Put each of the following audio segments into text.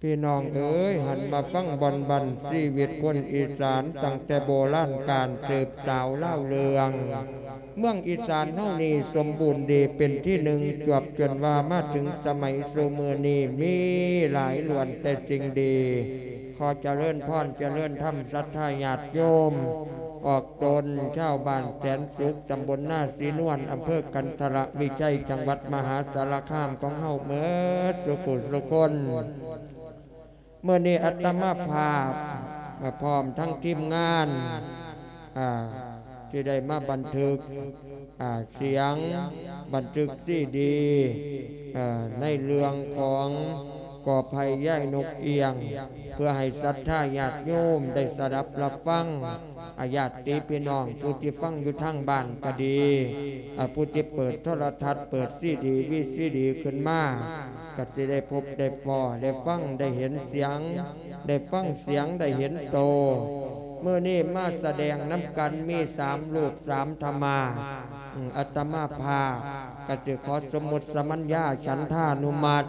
ພີ່ນ້ອງເອີຍ ຫັນມາຟັງບ່ອນບັນຊີວິດຄົນອີສານ ຕັ້ງແຕ່ໂບລານການ ສືບສາວລາວເລື່ອງ. ເມືອງອີສານເຮົານີ້ສົມບູນດີເປັນທີໜຶ່ງ ຈວບຈົນວ່າມາເຖິງສະໄໝສູ່ມື້ນີ້ ມີຫຼາຍລ້ວນແຕ່ສິ່ງດີ. ຂໍຈະເລີນພອນ ຈະເລີນທຳ ສັດທາຍາດໂຍມ ອອກຕົນຊາວບ້ານແສນສຸກ ຕຳບົນນາສີນວນ ອຳເພີກັນທະລະວິໄຊ ຈັງຫວັດມະຫາສາລະຄາມຂອງເຮົາເໝິດສູ່ຜູ້ສູ່ຄົນ. ມື້ນີ້ອາດຕະມາພາບ ອາ ພ້ອມທັງທີມງານ ອາ ທີ່ໄດ້ມາບັນທຶກ ອາ ສຽງ ບັນທຶກຊີດີ ເອີ ໃນເລື່ອງຂອງກໍໄຜ່ຍາຍນົກອຽງ ເພື່ອໃຫ້ສັດທາຍາດໂຍມໄດ້ສະດັບຮັບຟັງ. ອາ ຍາດຕິພີ່ນ້ອງຜູ້ທີ່ຟັງຢູ່ທາງບ້ານກໍດີ ອາ ຜູ້ທີ່ເປີດໂທລະທັດ ເປີດຊີດີ ວີຊີດີຂຶ້ນມາ ກໍຊິໄດ້ພົບໄດ້ພໍ້ ໄດ້ຟັງໄດ້ເຫັນສຽງ ໄດ້ຟັງສຽງໄດ້ເຫັນໂຕ. ມື້ນີ້ມາສະແດງນຳກັນມີສາມຮູບສາມທຳມາດ. ອາດຕະມາພາບກໍຊິຂໍສົມມຸດສະມັນຍາ ສັນທານຸມັດ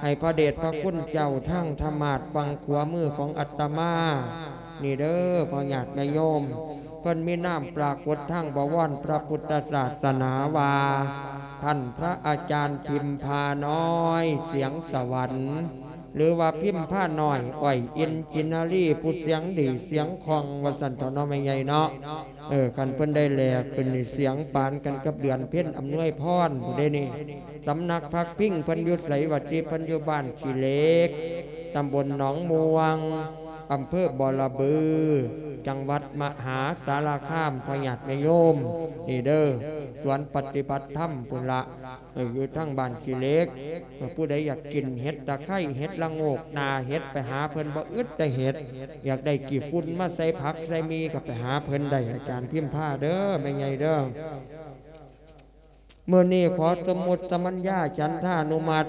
ໃຫ້ພະເດດພະຄຸນເຈົ້າທາງທຳມາດຝັ່ງຂວາມືຂອງອາດຕະມານີ້ເດີ ພໍ່ຍາດແມ່ໂຍມ. ເພິ່ນມີນາມປາກົດທາງບະວອນພະພຸດທະສາສະໜາວ່າ ທ່ານພະອາຈານພິມພານ້ອຍ ສຽງສະຫວັນ ຫຼືວ່າພິມພານ້ອຍ ອ້ອຍອິນຈິນນາລີ ຜູ້ສຽງດີສຽງຄ່ອງ ວ່າຊັ້ນເຖາະເນາະ ແມ່ໃຫຍ່ເນາະ. ເອີ ຄັນເພິ່ນໄດ້ແຫຼຂຶ້ນນີ້ ສຽງປານກັນກັບເດືອນເພັນ ອຳນວຍພອນພຸ້ນເດ້ນີ້. ສຳນັກພັກພິງເພິ່ນຢູ່ໃສຫວາຕິ? ເພິ່ນຢູ່ບ້ານຂີ້ເຫຼັກ ຕຳບົນໜອງມ່ວງ ອຳເພີບໍລະບື ຈັງຫວັດມະຫາສາລະຄາມ ພໍ່ຍາດແມ່ໂຍມ ນີ້ເດີ ສວນປະຕິບັດທຳພຸ້ນລະ ເອີ ຢູ່ທາງບ້ານຂີ້ເຫຼັກ. ເອີ ຜູ້ໃດຢາກກິນເຫັດຕະໄຄ ເຫັດລະໂງກ ໜ້າເຫັດ ໄປຫາເພິ່ນ ບໍ່ອຶດແຕ່ເຫັດ. ຢາກໄດ້ຂີ້ຝຸ່ນມາໃສ່ຜັກໃສ່ໝີ່ ກໍໄປຫາເພິ່ນໄດ້ ອາຈານພິມພາເດີ ແມ່ໃຫຍ່ເດີ. ມື້ນີ້ຂໍສົມມຸດສະມັນຍາ ສັນທານຸມັດ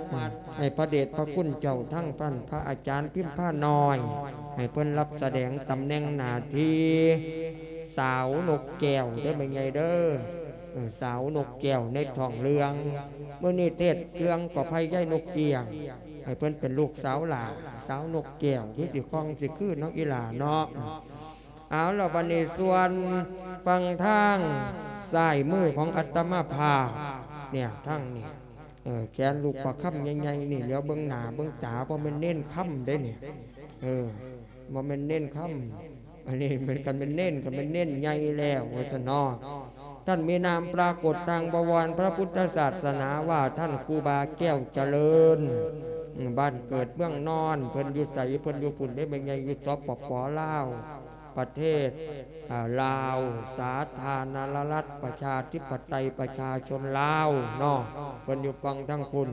ໃຫ້ພະເດດພະຄຸນເຈົ້າທັງທ່ານພະອາຈານພິມພານ້ອຍ ໃຫ້ເພິ່ນຮັບສະແດງຕຳແໜ່ງໜ້າທີ່ສາວນົກແກ້ວເດີ ແມ່ໃຫຍ່ເດີ. ເອີ ສາວນົກແກ້ວໃນທ້ອງເລື່ອງ ມື້ນີ້ເທດເລື່ອງກໍໄຜ່ຍາຍນົກອຽງ ໃຫ້ເພິ່ນເປັນລູກສາວຫຼ້າ ສາວນົກແກ້ວ ຄືຊິຄ່ອງຊິຄືເນາະ ອີຫຼ້າເນາະ. ເອົາລະ ບັດນີ້ສ່ວນຝັ່ງທາງຊ້າຍມືຂອງອາດຕະມາພາບເນ່ຍ ທາງນີ້ ເອີ ແຂນລູກປະຄຳໃຫຍ່ໆນີ້ ຫຼຽວເບິ່ງໜ້າເບິ່ງຕາ ບໍ່ແມ່ນເນນຄຳເດ້ນີ້ ເອີ ບໍ່ແມ່ນເນນຄຳ ອັນນີ້ແມ່ນ ຄັນແມ່ນເນນ ກໍແມ່ນເນນໃຫຍ່ແລ້ວ ວ່າຊັ້ນເນາະ. ທ່ານມີນາມປາກົດທາງບະວອນພະພຸດທະສາສະໜາວ່າ ທ່ານຄູບາແກ້ວຈະເລີນ ອືມ ບ້ານເກີດເມືອງນອນ ເພິ່ນຢູ່ໃສ? ເພິ່ນຢູ່ພຸ້ນເດ້ ແມ່ໃຫຍ່ ຢູ່ ສປປ ລາວ ປະເທດ ອາ ລາວ ສາທາລະນະລັດ ປະຊາທິປະໄຕ ປະຊາຊົນລາວເນາະ ເພິ່ນຢູ່ຝັ່ງທາງພຸ້ນ.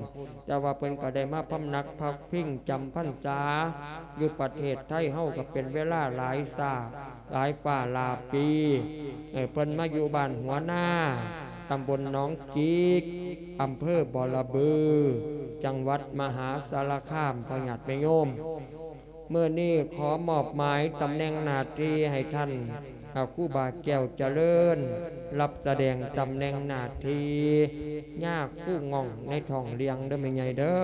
ແຕ່ວ່າເພິ່ນກໍໄດ້ມາພຳນັກພັກພິງຈຳພັນສາຢູ່ປະເທດໄທເຮົາ ກໍເປັນເວລາຫຼາຍຊາດ ຫຼາຍຟ້າຫຼາຍປີ. ເອີ ເພິ່ນມາຢູ່ບ້ານຫົວນາ ຕຳບົນໜອງຈິກ ອຳເພີບໍລະບື ຈັງຫວັດມະຫາສາລະຄາມ ພໍ່ຍາດແມ່ໂຍມ. ມື້ນີ້ຂໍມອບໝາຍຕຳແໜ່ງໜ້າທີ່ໃຫ້ທ່ານ ອາ ຄູບາແກ້ວຈະເລີນ ຮັບສະແດງຕຳແໜ່ງໜ້າທີ່ຍາຄູງ່ອງໃນທ້ອງເລື່ອງເດີ ແມ່ໃຫຍ່ເດີ.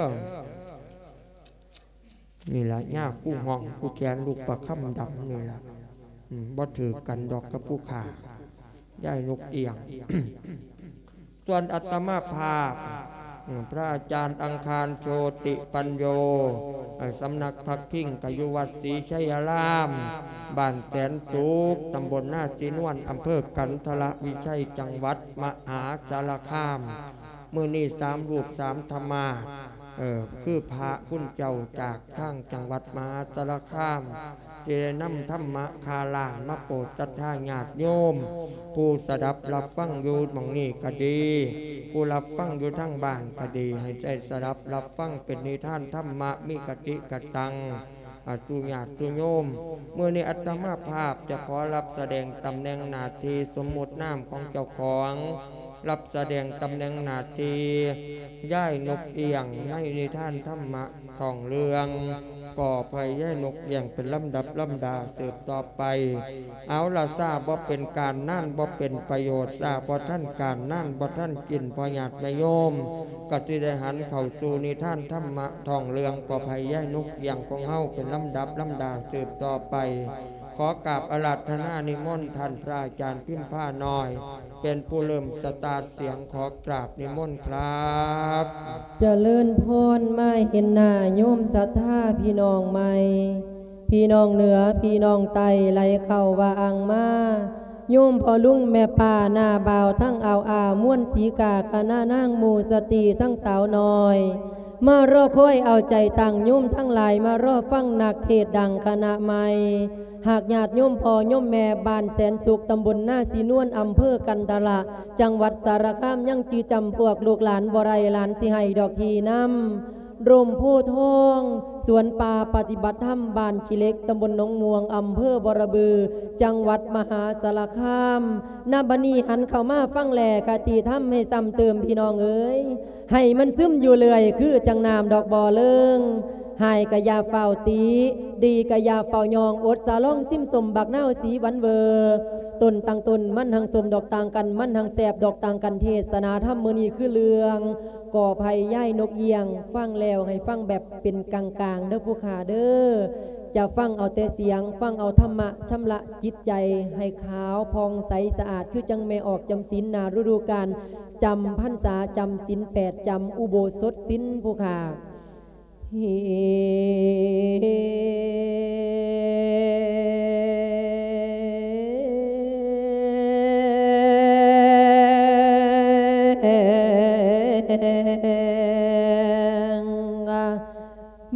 ນີ້ລະ ຍາຄູຮ່ອງ ຄູແຂນລູກປະຄຳດຳນີ້ລະ ອືມ ບໍ່ຖືກກັນດອກກັບຜູ້ຂ້າ ຍາຍນົກອຽງ. ສ່ວນອາດຕະມາພາບ ອືມ ພະອາຈານອັງຄານ ໂຊຕິປັນໂຍ ເອີ ສຳນັກພັກພິງກະຢູ່ວັດສີໄຊຍາລາມ ບ້ານແສນສຸກ ຕຳບົນນາສີນວນ ອຳເພີກັນທະລະວິໄຊ ຈັງຫວັດມະຫາສາລະຄາມ. ມື້ນີ້ສາມຮູບສາມທຳມາດ ເອີ ຄືພະຄຸນເຈົ້າຈາກທາງຈັງຫວັດມະຫາສາລະຄາມ ທີ່ໄດ້ນຳທຳມະຄາລານມາໂປດສັດທາຍາດໂຍມ ຜູ້ສະດັບຮັບຟັງຢູ່ໝ່ອງນີ້ກໍດີ ຜູ້ຮັບຟັງຢູ່ທາງບ້ານກໍດີ ໃຫ້ໄດ້ສະດັບຮັບຟັງເປັນນິທານທຳມະ ມີຄະຕິກະຕັງ ອາ ສູ່ຍາດສູ່ໂຍມ. ມື້ນີ້ອາດຕະມາພາບຈະຂໍຮັບສະແດງຕຳແໜ່ງໜ້າທີ່ສົມມຸດນາມຂອງເຈົ້າຂອງ ຮັບສະແດງຕຳແໜ່ງໜ້າທີ່ຍາຍນົກອຽງ ໃນນິທານທຳມະທ້ອງເລື່ອງ ກໍໃຫ້ຍາຍນົກລ້ຽງເປັນລຳດັບລຳດາສືບຕໍ່ໄປ. ເອົາລະ ຊ້າບໍ່ເປັນການ ນານບໍ່ເປັນປະໂຫຍດ, ຊ້າບໍ່ທັນການ ນານບໍ່ທັນກິນ. ພໍ່ຍາດແມ່ໂຍມກໍຊິໄດ້ຫັນເຂົ້າສູ່ນິທານທຳມະທ້ອງເລື່ອງ ກໍໃຫ້ຍາຍນົກລ້ຽງຂອງເຮົາເປັນລຳດັບລຳດາສືບຕໍ່ໄປ. ຂໍກາບອາລາທະນານິມົນທ່ານພະອາຈານພິມພານ້ອຍ ເປັນຜູ້ເລີ່ມສະຕາດສຽງ. ຂໍກາບນິມົນຄັບ. ຈະເລີນພອນ ມາເຫັນໜ້າໂຍມສັດທາພີ່ນ້ອງໃໝ່, ພີ່ນ້ອງເໜືອ ພີ່ນ້ອງໃຕ້ ໄຫຼເຂົ້າວ່າອ່າງມາ. ໂຍມພໍ່ລຸງແມ່ປ້າ ນ້າບ່າວທັງອາວອາ ມວນສີກາ ຄະນະນາງໝູ່ສະຕີທັງສາວນ້ອຍ ມາລໍຄອຍເອົາໃຈຕັ້ງ. ໂຍມທັງຫຼາຍມາລໍຟັງນັກເທດດັງຄະນະໃໝ່. ຫາກຍາດໂຍມພໍ່ໂຍມແມ່ບ້ານແສນສຸກ ຕຳບົນນາສີນວນ ອຳເພີກັນທະລະ ຈັງຫວັດສາລະຄາມ ຍັງຈື່ຈຳພວກລູກຫຼານບໍ່ໄດ້, ຫຼານຊິໃຫ້ດອກທີ່ນຳ ຮົ່ມໂພທອງ ສວນປ່າປະຕິບັດທຳ ບ້ານຂີ້ເຫຼັກ ຕຳບົນໜອງມ່ວງ ອຳເພີບໍລະບື ຈັງຫວັດມະຫາສາລະຄາມ. ນະບັດນີ້ຫັນເຂົ້າມາຟັງແລ ຄະຕິທຳໃຫ້ຊ້ຳເຕີມ ພີ່ນ້ອງເອີຍ. ໃຫ້ມັນຊຶມຢູ່ເລື້ອຍ ຄືຈັ່ງນ້ຳດອກບໍ່ເລີງ. ຮ້າຍກະຢ່າຟ້າວຕິ, ດີກະຢ່າຟ້າວຍ້ອງ, ອົດສະລອງຊິມສົ້ມບັກນາວສີຫວານເວີ. ຕົ້ນຕ່າງຕົ້ນມັນຮັ່ງສົ້ມ ດອກຕ່າງກັນມັນຮັ່ງແຊບ, ດອກຕ່າງກັນເທດສະໜາທຳມື້ນີ້ຄືເລື່ອງ ກໍໃຫ້ຍາຍນົກລ້ຽງ ຟັງແລ້ວໃຫ້ຟັງແບບເປັນກາງໆ ເດີຜູ້ຂ້າເດີ. ຢ່າຟັງເອົາແຕ່ສຽງ, ຟັງເອົາທຳມະ ຊຳລະຈິດໃຈໃຫ້ຂາວຜ່ອງໃສສະອາດ ຄືຈັ່ງແມ່ອອກຈຳສິນໜ້າລະດູການ ຈຳພັນສາ ຈຳສິນແປດ ຈຳອຸໂບສົດສິນ ຜູ້ຂ້າ.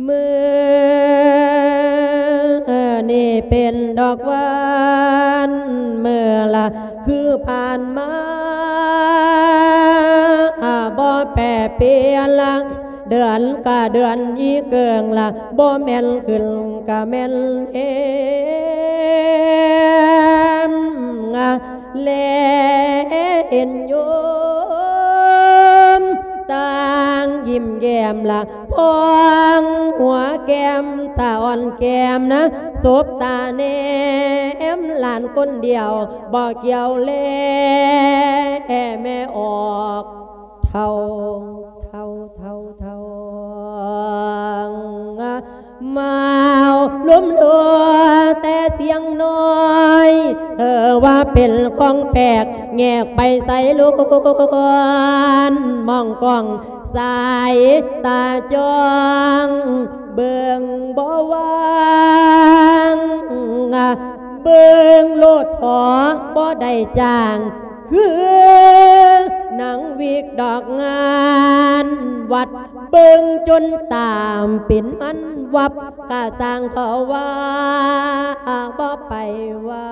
ມື້ນີ້ເປັນດອກຫວານ ມື້ລະຄືຜ່ານມາ ບໍ່ແປປ່ຽນລະ ເດືອນກະເດືອນອີເກີງລະ ບໍ່ແມ່ນຂຶ້ນກະແມ່ນແຮມ ແລເຫັນໂຍມຕ່າງຍິ້ມແຍ້ມລະ ພອງຫົວແກ້ມ ສະອ່ອນແກ້ມນະ ສົບຕາແນມຫຼານຄົນດຽວ ບໍ່ກ່ຽວແລແມ່ອອກ ເທົາ ເທົາ ເທົາ ເທົາ ມາວລົມລົວແຕ່ສຽງນ້ອຍ ເອີວ່າເປັນຂອງແປກ ແຍກໄປໃສລວນ ມອງກ້ອງສາຍຕາຈ້ອງ ເບິ່ງບໍ່ຫວ່າງ ເບິ່ງໂລດເຖາະບໍ່ໄດ້ຈ້າງ ຄືນາງວິກດອກງານວັດ ເບິ່ງຈົນຕາມເປັນມັນວັບ ກະຊ່າງເຂົາວ່າ ບໍ່ໄປວ່າ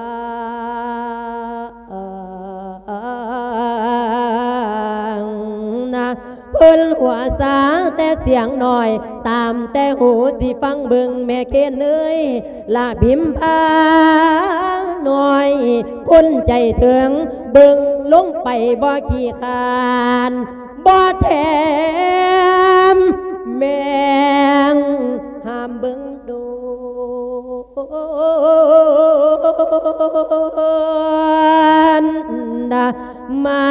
ນະ ເພິ່ນຫົວສາແຕ່ສຽງນ້ອຍ ຕາມແຕ່ຫູຊິຟັງເບິ່ງແມ່ເຄນເອີຍ ລະພິມພານ້ອຍ ຄົນໃຈເຖິງ ເບິ່ງລົງໄປບໍ່ຂີ້ຄ້ານ ບໍ່ແຖມແມ່ງຫ້າມເບິ່ງໂດນ ມາ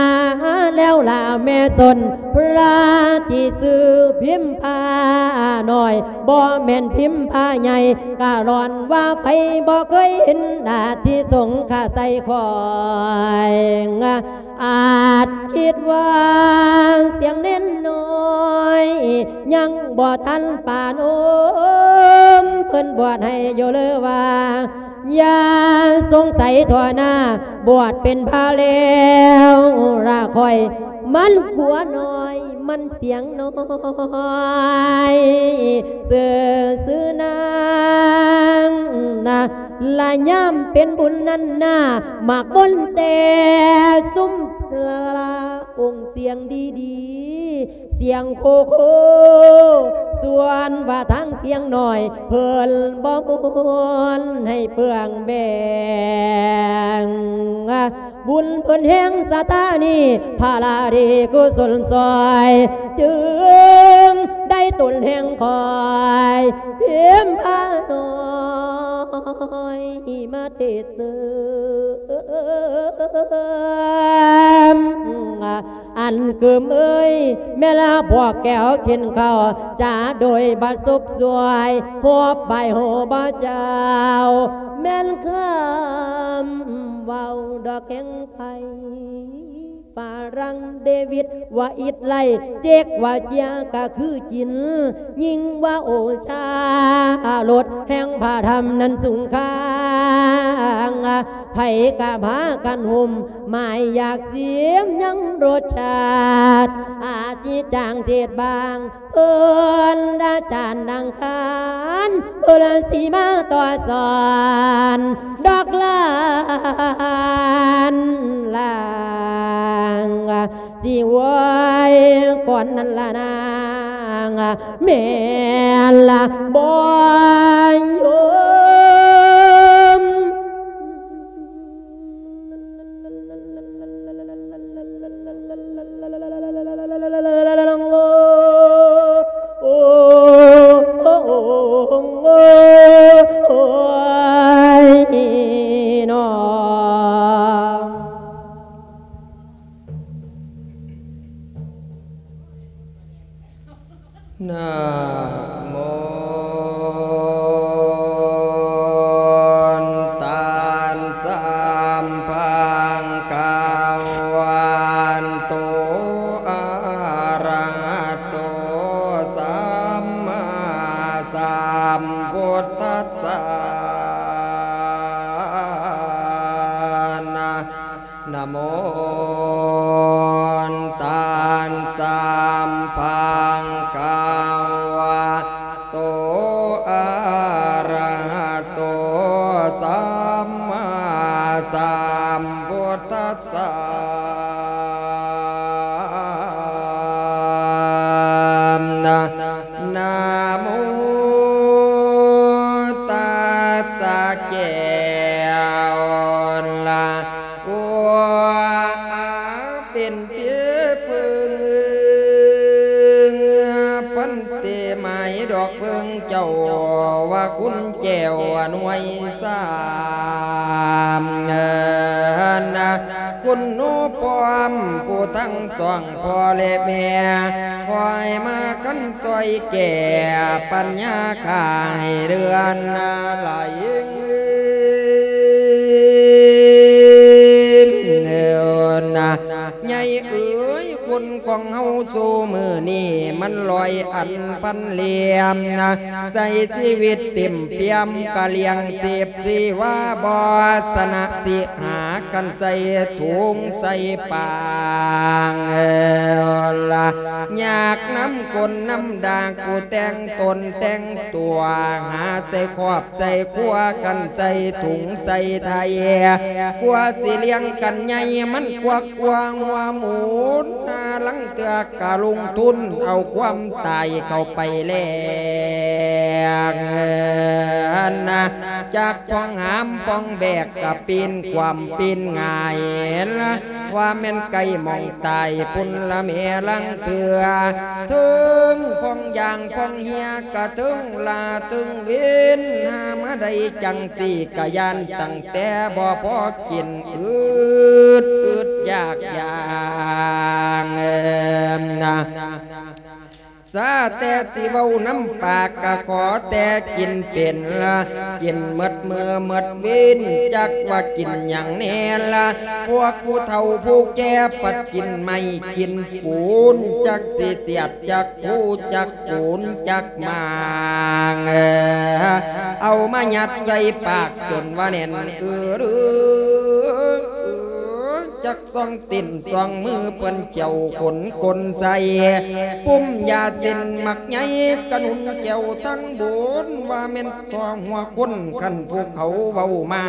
ແລ້ວລະແມ່ຊົນ ພະທີ່ຊື່ພິມພານ້ອຍ ບໍ່ແມ່ນພິມພາໃຫຍ່ ກະລ້ອນວ່າໃຜບໍ່ເຄີຍເຫັນ ອາທິສົງຄາໃສ່ຂ້ອຍ ອາດຄິດວ່າສຽງເນນນ້ອຍ ຍັງບໍ່ທັນປານໂອມ ເພິ່ນບວດໃຫ້ຢູ່ເລີວ່າ ຢ່າສົງໄສທົ່ວໜ້າ ບວດເປັນພະແລ້ວລະຂ້ອຍ ມັນຂົວນ້ອຍ ມັນສຽງນ້ອຍ ຊື່ ຊື່ນາງນະ ລະຍາມເປັນບຸນນັ້ນນາ ມັກວົນແຕ່ຊຸມພະອົງສຽງດີໆ ສຽງໂຄໂຄ ສ່ວນວ່າທາງສຽງນ້ອຍ ເພິ່ນບໍ່ມ່ວນໃຫ້ເປືອງແບງ. ບຸນເພິ່ນແຮງສະຕານີ້ ພາລາດີກຸສົນຊ່ອຍ ຈຶ່ງໄດ້ຕົນແຮງຄອຍ ພິມພານ້ອຍມາເທເສີມ. ອັນກຶມເອີຍ ແມ່ລະພວກແກ້ວກິນເຂົ້າ ຈາໂດຍບັດສົບສວຍ ຮວບໃບໂຫບໍ່ເຈົ້າ ແມ່ນຄຳເວົ້າດອກແຂງໄພ ຝຣັ່ງເດວິດວ່າອິດໄລ ເຈັກວ່າເຈຍກະຄືຈິນ ຍິ່ງວ່າໂອຊາລົດແຫ່ງພະທຳນັ້ນສູງຄ່າ ໃຜກະພາກັນຫຸ້ມ ໝາຍຢາກຊິມຍັງລົດຊາດ ອາຈິຈາງເຈດບາງ ເພິ່ນລະຈານອັງຄານ ເພິ່ນຊິມາຕໍ່ສອນ ດອກຫຼານລາງ ຊິໄຫວ້ກ່ອນນັ້ນລະນາງ ແມ່ນລະບໍ່ໂຍມ. ນະໂມຕັດສະ ພະຄະວະໂຕ ອະຣະຫະໂຕ ສຳມາສຳພຸດທັດສະ ນະ ນະໂມຕັດສະ ພະຄະວະໂຕ ອະຣະຫະໂຕ ສຳມາສຳພຸດທັດສະ ນະ ນະໂມຕັດສະ ແກ້ວລະ ໂອ ອາ ເປັນເທບເພິ່ງ ພັນເຕ ໝາຍດອກເພິ່ງເຈົ້າ ວ່າຄຸນແກ້ວໜ່ວຍສາມ ນະ ຄຸນໜູພ້ອມຜູ້ທັງສອງ ພໍ່ແລະແມ່ ຂໍໃຫ້ມາຄັນຊ່ອຍແກ້ປັນຍາຂ້າໃຫ້ເລື່ອນຫຼາຍ ນະ ໃຫຍ່ເອີຍ ຄົນຂອງເຮົາສູ່ມື້ນີ້ ມັນຮ້ອຍອັນພັນຫຼ່ຽມ ໃຊ້ຊີວິດເຕັມປ່ຽມ ກະລ້ຽງຊີບຊີວາ ບໍ່ຊະນະຊິຫາກັນໃສ່ຖົງໃສ່ປາງ ລະ ຍາກນຳກົ້ນນຳດາກ ຜູ້ແຕ່ງຕົນແຕ່ງຕົວ ຫາໃສ່ຄອບໃສ່ຄົວກັນ ໃສ່ຖົງໃສ່ໄຖ ກວ່າຊິລ້ຽງກັນໃຫຍ່ ມັນກວັກກວ່າຫົວໝູນ ນາ ລາງເທື່ອກະລົງທຶນເອົາຄວາມຕາຍເຂົ້າໄປແລກ ນະ ຈັກປ້ອງຫາມປ້ອງແບກ ກະປີນຄວ່ຳປີນຫງາຍ ລະ ວ່າແມ່ນໃກ້ໝ່ອງຕາຍພຸ້ນລະແມ່ ລາງເທື່ອ ເທິງພ້ອງຢ່າງພ້ອງເຮຍ ກະເທິງຫຼ້າເທິງເວັນ ຫາມາໄດ້ຈັ່ງຊີ້ ກະຢ້ານຕັ້ງແຕ່ບໍ່ພໍກິນ ອຶດອຶດຢາກຢາງ ນະ ສາແຕ່ຊິເວົ້ານຳປາກ ກະຂໍແຕ່ກິນເປັນລະ ກິນໝົດມື້ໝົດເວັນ ຈັກວ່າກິນຫຍັງແນ່ລະ ພວກຜູ້ເຖົ້າຜູ້ແກ່ ພັດກິນໄມ້ກິນປູນ ຈັກຊິສຽດຈັກພູ ຈັກປູນຈັກໝາງ ເອົາມາຍັດໃສ່ປາກ ຈົນວ່າແໜ້ນ ອື ອື ສອງຕີນສອງມືເພິ່ນເຈົ້າຂົນກົນໃສ່ ປຸ້ມຢາເສັ້ນໝາກໃຫຍ່ກະໜຸນແກ້ວທັງບຸນ ວ່າແມ່ນຕໍ່ຫົວຄົນຄັນຜູ້ເຂົາເວົ້າມາ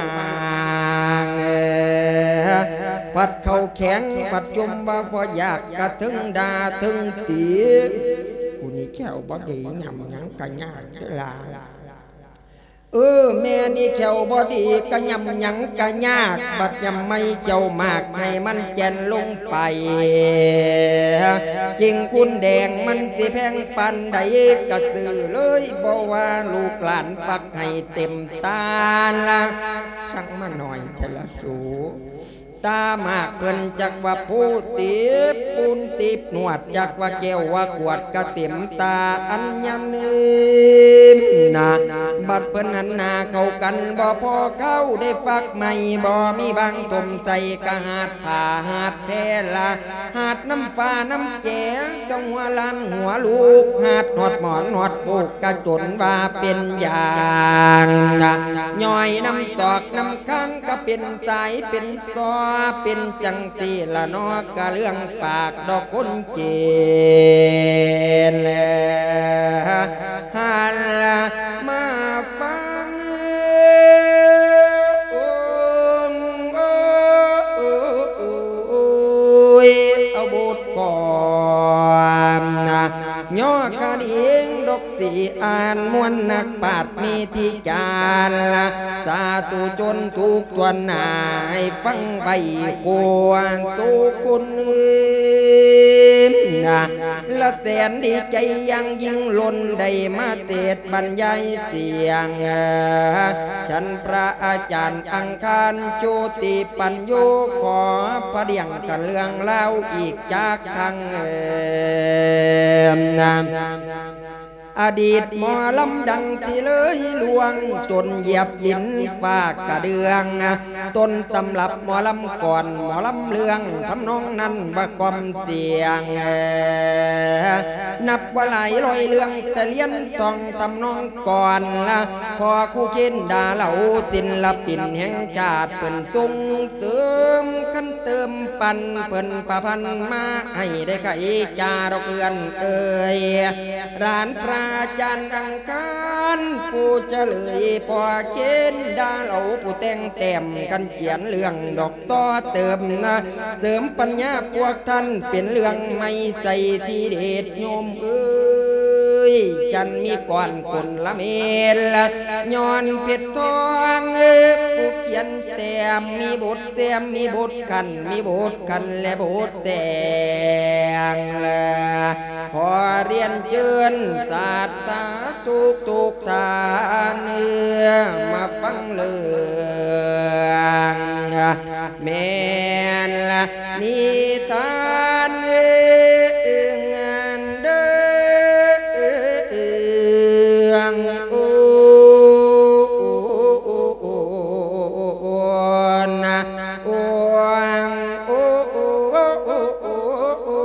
ພັດເຂົ້າແຂງພັດຈົ່ມວ່າບໍ່ຢາກກະເຖິງດ່າເຖິງຕີ ກູນີ້ແຂ້ວບໍ່ດີ ຫຍ້ຳຫຍັງກະຍາກເດີຫຼາ. ເອີ ແມ່ນີ້ແຂ້ວບໍ່ດີ ກະຫຍ້ຳຫຍັງກະຍາກ ບັດຫຍ້ຳໄມ້ແຂ້ວໝາກໃຫ້ມັນແກ່ນລົງໄປ ຈິງຄູນແດງມັນຊິແພງປານໃດ ກະຊື້ເລີຍ ບໍ່ວ່າລູກຫຼານຟັກໃຫ້ເຕັມຕາລະ ຊ່າງມາໜ້ອຍແທ້ລະສູ. ຕາໝາກເພິ່ນຈັກວ່າພູຕີບ ປູນຕີບນວດ ຈັກວ່າແກ້ວວ່າຂວດກະເຕັມຕາອັນຍານືມນະ ບັດເພິ່ນຫັນໜ້າເຂົ້າກັນ ບໍ່ພໍເຂົ້າໄດ້ຟັກໃໝ່ ບໍ່ມີບາງຖົມໃສ່ກະຫາດຜ້າຫາດແພລະ ຫາດນ້ຳຟ້ານ້ຳແຈ ກະຫົວຫຼານຫົວລູກ ຫາດຮອດໝອນຮອດປູກ ກະຈົນວ່າເປັນຢ່າງ ຍ້ອຍນ້ຳສອກນ້ຳຄາງ ກະເປັນສາຍເປັນຊໍ ເປັນຈັ່ງຊີ້ລະເນາະ ກະເລື່ອງປາກດອກຄົນເກນ ຫັນມາຟັງ ໂອ ໂອ ໂອ ໂອຍ ເອົາບົດກອນນະ ຍໍຄະດີງດອກ ຊິອ່ານມ່ວນນັກປາດມີທິຈານ ສາທຸຊົນທຸກທົ່ວໜ້າ ໃຫ້ຟັງໄວ້ກວນສູ່ຄົນອື່ນນະ ລະແສນດີໃຈຢ່າງຍິ່ງລົ້ນ ໄດ້ມາເທດບັນຍາຍສຽງ ເອີ ຊັ້ນພະອາຈານອັງຄານໂຈຕິປັນໂຍ ຂໍພະດຽງກັນເລື່ອງລາວອີກຈັກຄັ້ງ ເອີ ນະ. ອະດີດໝໍລຳດັງທີ່ເລີຍລ່ວງ ຈົນຢຽບດິນຟ້າກະເດືອງ ຕົ້ນຕຳລັບໝໍລຳກ່ອນ ໝໍລຳເລື່ອງ ທຳນອງນັ້ນວ່າກ່ອມສຽງ ນັບວ່າຫຼາຍຮ້ອຍເລື່ອງ ແຕ່ລຽນທ່ອງທຳນອງກ່ອນ ພໍ່ຄູເຄນດາເຫຼົ່າ ສິນລະປິນແຫ່ງຊາດ ເພິ່ນສົ່ງເສີມ ຄັນເຕີມປັນ ເພິ່ນປະພັນມາ ໃຫ້ໄດ້ໄຂຈາດອກເອື້ອນເອີຍ ຫຼານພະອາຈານອັງຄານ ຜູ້ຈະເລີຍພໍ່ເຄນດາເຫຼົ່າ ຜູ້ແຕ່ງແຕ້ມກັນຂຽນເລື່ອງດອກຕໍ່ເຕີມນະ ເສີມປັນຍາພວກທ່ານເປັນເລື່ອງໃໝ່ໃສ່ທີເດັດໂຍມເອີຍ ຈັນມີກ່ອນຄົນລະເມັດ ຍ້ອນເພັດທອງ ຜູ້ຂຽນແຕ້ມ ມີບົດແຊມ ມີບົດຂັນ ມີບົດຂັນ ແລະບົດແຕ່ງ ຂໍຮຽນເຊີນສາດສາທຸກໆທ່ານ ມາຟັງເລື່ອງ ແມ່ນນິທານເລື່ອງເດີ ເລື່ອງ ໂອ ນະ ໂອ ໂອ ໂອ ໂອ ໂອ ໂອ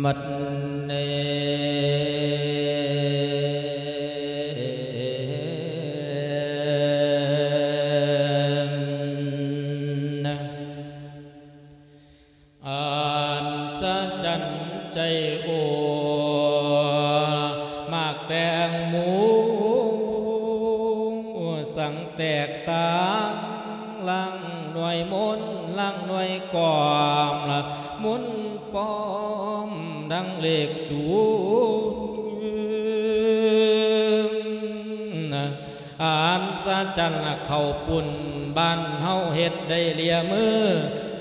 ບັດນີ້ ອັດສະຈັນໃຈໂອ ໝາກແຕງໂມ ສັງແຕກຕ່າງ ລາງໜ່ວຍມົນ ລາງໜ່ວຍກອມ ລະມົນປອມ ດັ່ງເລກສູນ ອັດສະຈັນເຂົ້າປຸ້ນ ບ້ານເຮົາເຮັດໄດ້ເລຍມື້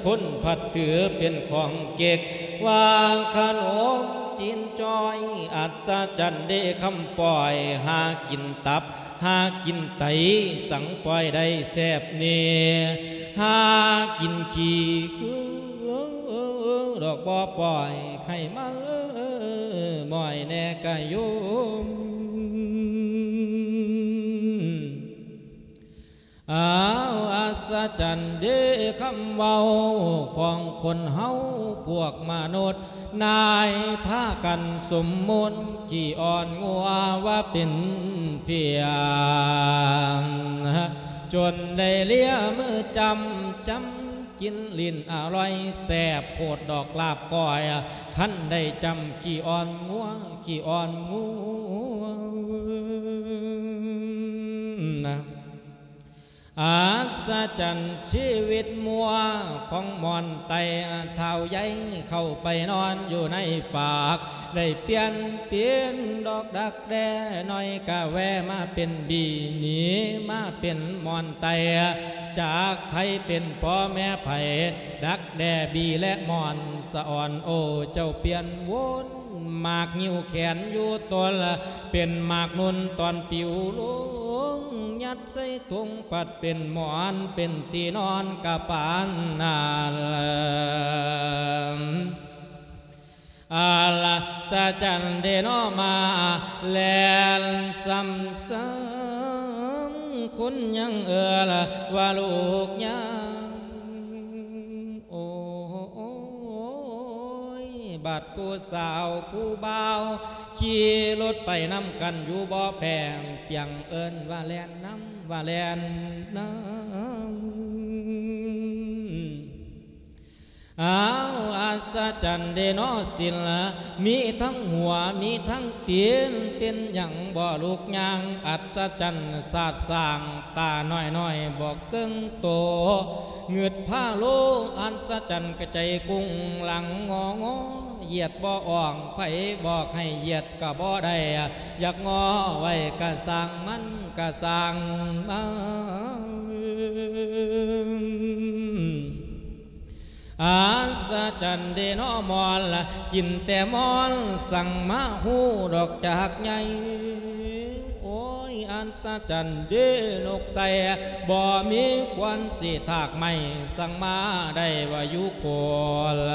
ຄົນພັດຖືເປັນຂອງເກັກ ວ່າຂະໜົມຈີນຈ້ອຍ ອັດສະຈັນເດ້ຄຳປ້ອຍ ຫາກິນຕັບ ຫາກິນໄຕ ສັງປ້ອຍໄດ້ແຊບແນ່ ຫາກິນຂີ້ ດອກບໍ່ປ້ອຍ ໃຫ້ມາເລີຍ ມ້ອຍແນ່ກະໂຍມ. ອ້າວ ອັດສະຈັນເດ້ຄຳເວົ້າຂອງຄົນເຮົາພວກມະນຸດ ນາຍພາກັນສົມມຸດ ຂີ້ອ້ອນງົວວ່າເປັນພຽງ ຈົນໄດ້ເລຍມືຈຳ ຈຳກິນ ຫຼິ້ນອະລ່ອຍແຊບໂພດດອກລາບກ້ອຍ ຄັນໄດ້ຈຳຂີ້ອ້ອນງົວ ຂີ້ອ້ອນງົວ. ອັດສະຈັນຊີວິດມົວຂອງມ່ອນໄຕ້ ທ້າວໃຫຍ່ເຂົ້າໄປນອນຢູ່ໃນຟາກ ໄດ້ປ່ຽນເປັນດອກດັກແດ້ນ້ອຍ ກະແວະມາເປັນບີ ໜີມາເປັນມ່ອນໄຕ້ ຈັກໃຜເປັນພໍ່ແມ່ໃຜ ດັກແດ້ບີ ແລະ ມ່ອນສະອອນ ໂອ ເຈົ້າປ່ຽນວົນ ໝາກງິ້ວແຂນຢູ່ຕົ້ນ ເປັນໝາກນຸ່ນຕອນປິວລົງ ຍັດໃສ່ຖົງປັດເປັນໝອນ ເປັນທີ່ນອນກະປານນັ້ນ ອັດສະຈັນເດເນາະ ມາແລ່ນຊ້ຳໆ ຄົນຍັງເອີ້ນວ່າລູກຍາ ໂອ້ຍ ບາດຜູ້ສາວຜູ້ບ່າວ ຂີ່ລົດໄປນຳກັນຢູ່ບໍ່ແພງ ປຽງເອີ້ນວ່າແລ່ນນຳ ວ່າແລ່ນນຳ. ອ້າວ ອັດສະຈັນເດເນາະ ສິລະ ມີທັງຫົວ ມີທັງຕີນ ເປັນຫຍັງບໍ່ລູກຍ່າງ ອັດສະຈັນ ສາດສ້າງ ຕານ້ອຍໆ ບໍ່ເກິ່ງໂຕ ງຶດພາໂລ ອັດສະຈັນກະໃຈກຸ້ງຫຼັງງໍງໍ ຢຽດບໍ່ອອກ ໃຜບອກໃຫ້ຢຽດກະບໍ່ໄດ້ ຢາກງໍໄວ້ກະຊ່າງມັນ ກະຊ່າງມັນ ອັດສະຈັນເດເນາະ ມ່ອນລະ ກິນແຕ່ມ່ອນ ສັງມາຮູ້ດອກຈາກໃຫຍ່ ໂອ້ຍ ອັດສະຈັນເດນົກໃສ່ ບໍ່ມີຄວັນຊິຖາກໄໝ້ ສັງມາໄດ້ວ່າຢູ່ໂກລ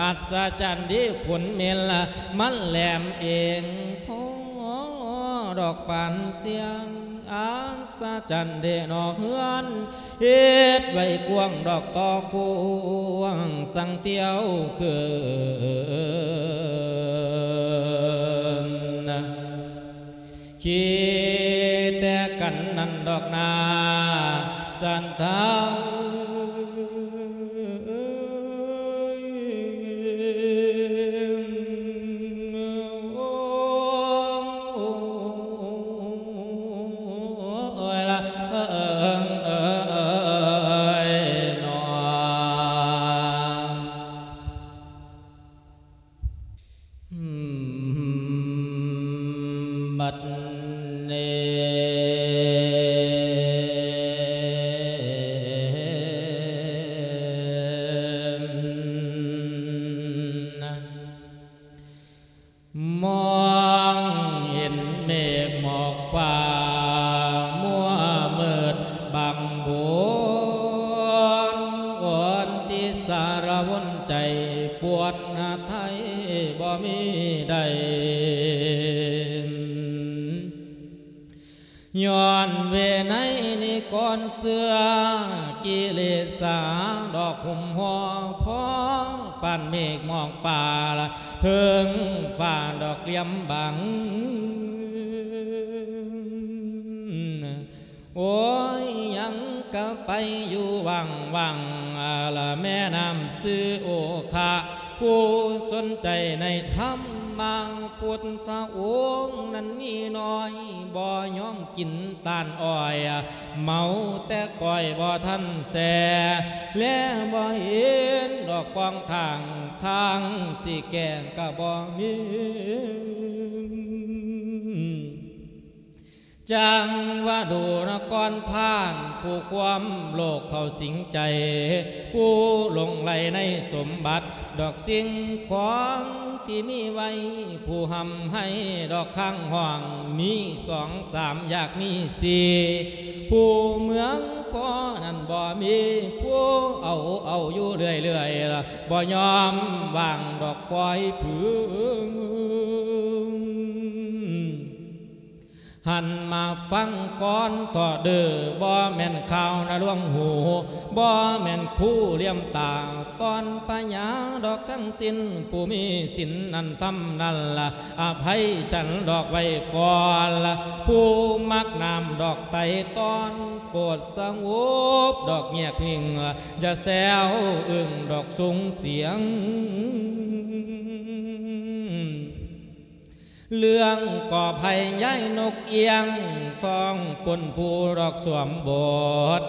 ອັດສະຈັນເດຂົນເໝັນລະ ມັນແຫຼມເອງພໍດອກປານຊຽງ ອັດສະຈັນເດເນາະ ເຮືອນ ເຮັດໄວ້ກວ້າງດອກຕໍ່ກວ້າງ ສັງທ່ຽວຄືນ ຄິດແຕ່ກັນນັ້ນດອກນາ ສັນເທົາເອີຍ ໂອ້ຍລະ ເອີຍເນາະ ບັດນີ້ ມອງເຫັນເມກໝອກຟ້າມົວມືດບັງບົນ ອ່ອນທີ່ສາລະວົນໃຈປວນຫາໄທບໍ່ມີໃດ ຍ້ອນເວໄນນິກອນເຊື່ອ ກິເລສາດອກຫຸ້ມຫໍ່ພໍ ປານເມກໝອກຟ້າ ເພິ່ງຟ້າດອກຫຼຽມບັງ ໂອ້ຍ ຍັງກະໄປຢູ່ຫວ່າງໆ ລະແມ່ນ້ຳຊື່ໂອຄະ ຜູ້ສົນໃຈໃນທຳມະ ພຸດທະອົງນັ້ນມີໜ້ອຍ ບໍ່ຍອມກິນຕານອ້ອຍ ເມົາແຕ່ກ້ອຍບໍ່ທັນແຊ່ ແລບໍ່ເຫັນດອກປອງທາງ ທາງຊິແກ້ກະບໍ່ມີ. ຈັ່ງວ່າດູນະກອນທ່ານ ຜູ້ຄວາມໂລກເຂົ້າສິງໃຈ ຜູ້ຫຼົງໄຫຼໃນສົມບັດ ດອກສິ່ງຂອງທີ່ມີໄວ້ ຜູ້ຮ່ຳໄຮດອກຄ້າງຫ້ອງ ມີສອງສາມຢາກມີສີ່ ຜູ້ເມືອງພໍນັ້ນບໍ່ມີ ຜູ້ເອົາເອົາຢູ່ເລື້ອຍໆ ບໍ່ຍອມວ່າງດອກປ່ອຍຜຶ່ງ. ຫັນມາຟັງກ່ອນເທາະເດີ້ ບໍ່ແມ່ນຂ່າວນະລວງຫູ ບໍ່ແມ່ນຄູຫຼຽມຕາ ຕອນປະຍາດອກທັງສິ້ນ ຜູ້ມີສິນນັ້ນທຳນັ້ນລະ ອະໄພສັນດອກໄວ້ກ່ອນລະ ຜູ້ມັກນ້ຳດອກໄຕຕອນ ໂປດສະຫງົບດອກແຍກຍິງ ຢ່າແຊວອຶ້ງດອກສູງສຽງ. ເລື່ອງກໍໄພຍາຍນົກອຽງ ຕ້ອງປົນຜູ້ດອກສວມບົດ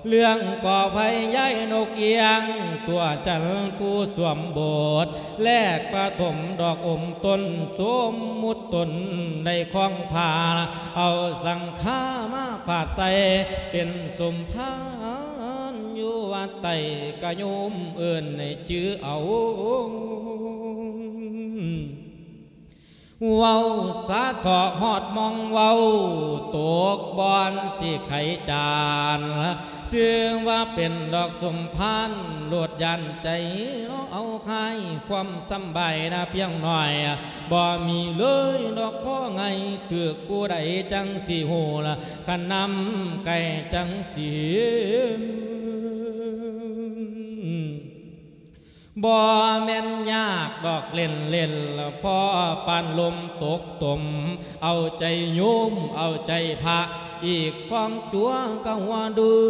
ເລື່ອງກໍໄພຍາຍນົກອຽງ ຕົວຈັນຜູ້ສວມບົດ ແລກປະຖົມດອກອົມຕົນ ສົມມຸດຕົນໄດ້ຄອງພາ ເອົາສັງຂາມາພາດໃສ່ ເປັນສົມພານຢູ່ວັດໃຕ້ ກະໂຍມເອີ້ນໃຫ້ຈື່ເອົາ. ເວົ້າສາເທາະຮອດໝ່ອງເວົ້າ ຕົກບ່ອນຊິໄຂຈານ ຊື່ວ່າເປັນດອກສົມພານ ໂລດຢ້ານໃຈເນາະເອົາຄາຍ ຄວາມສຳບາຍນະພຽງໜ້ອຍ ບໍ່ມີເລີຍດອກພໍໄງ ຖືກຜູ້ໃດຈັ່ງຊິຮູ້ລະ ຄັນນຳໄກ່ຈັ່ງຊິ ບໍ່ແມ່ນຍາກດອກເຫຼັ້ນໆ ພໍປານລົມຕົກຕົມ ເອົາໃຈໂຍມ ເອົາໃຈພະ ອີກຄວາມຕົວກະຫົວດື້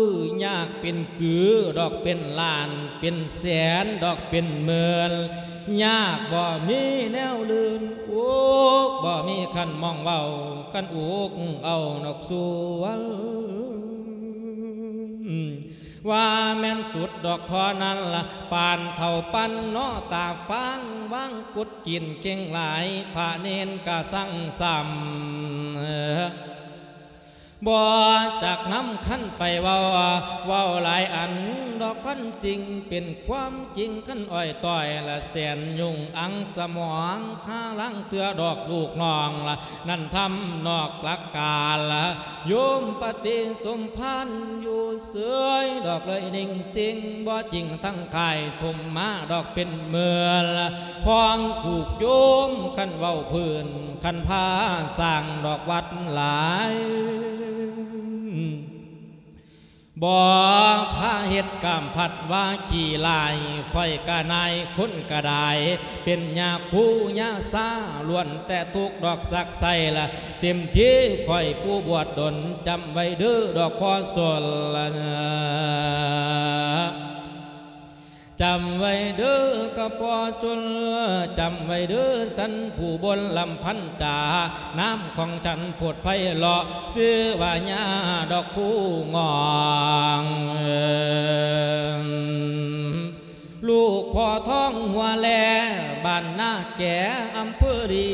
ຍາກເປັນກືດອກເປັນລ້ານ ເປັນແສນດອກເປັນໝື່ນ ຍາກບໍ່ມີແນວລື່ນ ອຸກບໍ່ມີຄັນມອງເວົ້າ ຄັນອຸກເອົານອກສວນ ວ່າແມ່ນສຸດດອກທໍ່ນັ້ນລະ ປານເຖົ້າປັນເນາະ ຕາຟາງວາງກຸດກິນເກັ່ງຫຼາຍ ພະເນນກະສັງສຳ ບໍ່ຈັກນຳຄັນໄປເວົ້າ ເວົ້າຫຼາຍອັນດອກພັນສິ່ງ ເປັນຄວາມຈິງຄັນອ້ອຍຕ້ອຍລະ ແສນຍຸງອັງສະໝອງ ຄາລາງເທື່ອດອກລູກນ້ອງລະ ນັ້ນທຳນອກຫຼັກການລະ ໂຍມປະຕິສົມພານຢູ່ເສີຍດອກເລີຍນິ່ງຊິງ ບໍ່ຈິງທັງຄ້າຍຖົມມາດອກເປັນເມືອລະ ຂອງຜູກໂຍມ ຄັນເວົ້າພື້ນ ຄັນພາສ້າງດອກວັດຫຼາຍ ບໍ່ພາເຮັດກາມພັດວາຂີ້ຫຼາຍ ຂ້ອຍກະນາຍຄົນກະດາຍ ເປັນຍາຄູຍາຊາ ລ້ວນແຕ່ທຸກດອກສັກໄຊລະ ເຕັມທີ່ຂ້ອຍຜູ້ບວດດົນ ຈຳໄວ້ເດີ້ດອກພໍ່ຊົນລະ ຈຳໄວ້ເດີ້ກະພໍ່ຊົນ ຈຳໄວ້ເດີ້ສັນຜູ້ບົນລຳພັນຈາ ນາມຂອງສັນໂພດໄພເລາະ ຊື່ວ່າຍາດອກຄູງອງ ລູກພໍ່ທອງຫົວແລ ບ້ານນາແກ ອຳເພີລີ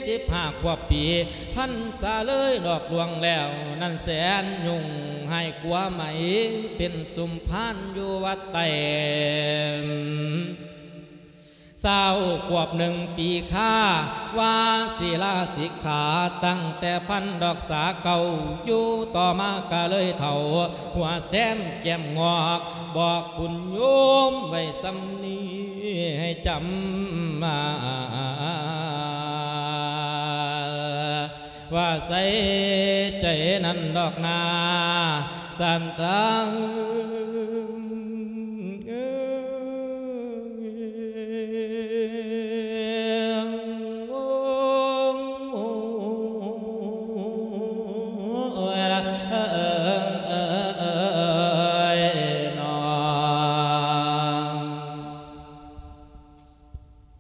ຊາວຫ້າຂວບປີ ພັນສາເລີຍດອກລວງແລ້ວ ນັ້ນແສນຍຸງ ຫາຍກົວໄໝ ເປັນສົມພານຢູ່ວັດໃຕ້ ຊາວຂວບໜຶ່ງປີຄາ ວ່າສິລາສິກຂາ ຕັ້ງແຕ່ພັນດອກສາເກົ່າ ຢູ່ຕໍ່ມາກະເລີຍເຖົ້າ ຫົວແຊມແກ້ມງອກ ບອກຄຸນໂຍມໄວ້ສ່ຳນີ້ ໃຫ້ຈຳມາ ວ່າໃສ່ໃຈນັ້ນດອກນາ ສັນຕາ ເອີຍ ໂອ້ຍ ເອີຍ ເອີຍ ເອີຍ ເອີຍ ເອີຍ ເອີຍ ເອີຍ ເອີຍ ເອີຍ ເອີຍ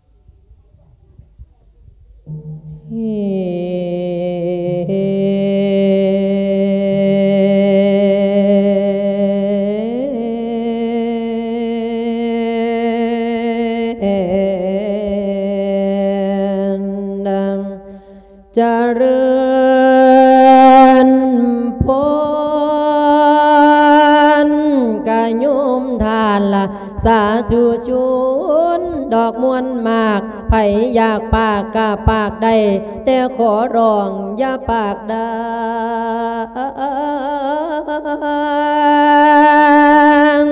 ເອີຍ ເອີຍ ເອີຍ ເອີຍ ເອີຍ ຈະເລີນພອນ ກະໂຍມທ່ານລະ ສາທຸຊົນ ດອກມ່ວນມາກ ໃຜຢາກປາກກະປາກໄດ້ ແຕ່ຂໍຮ້ອງຢ່າປາກດັງ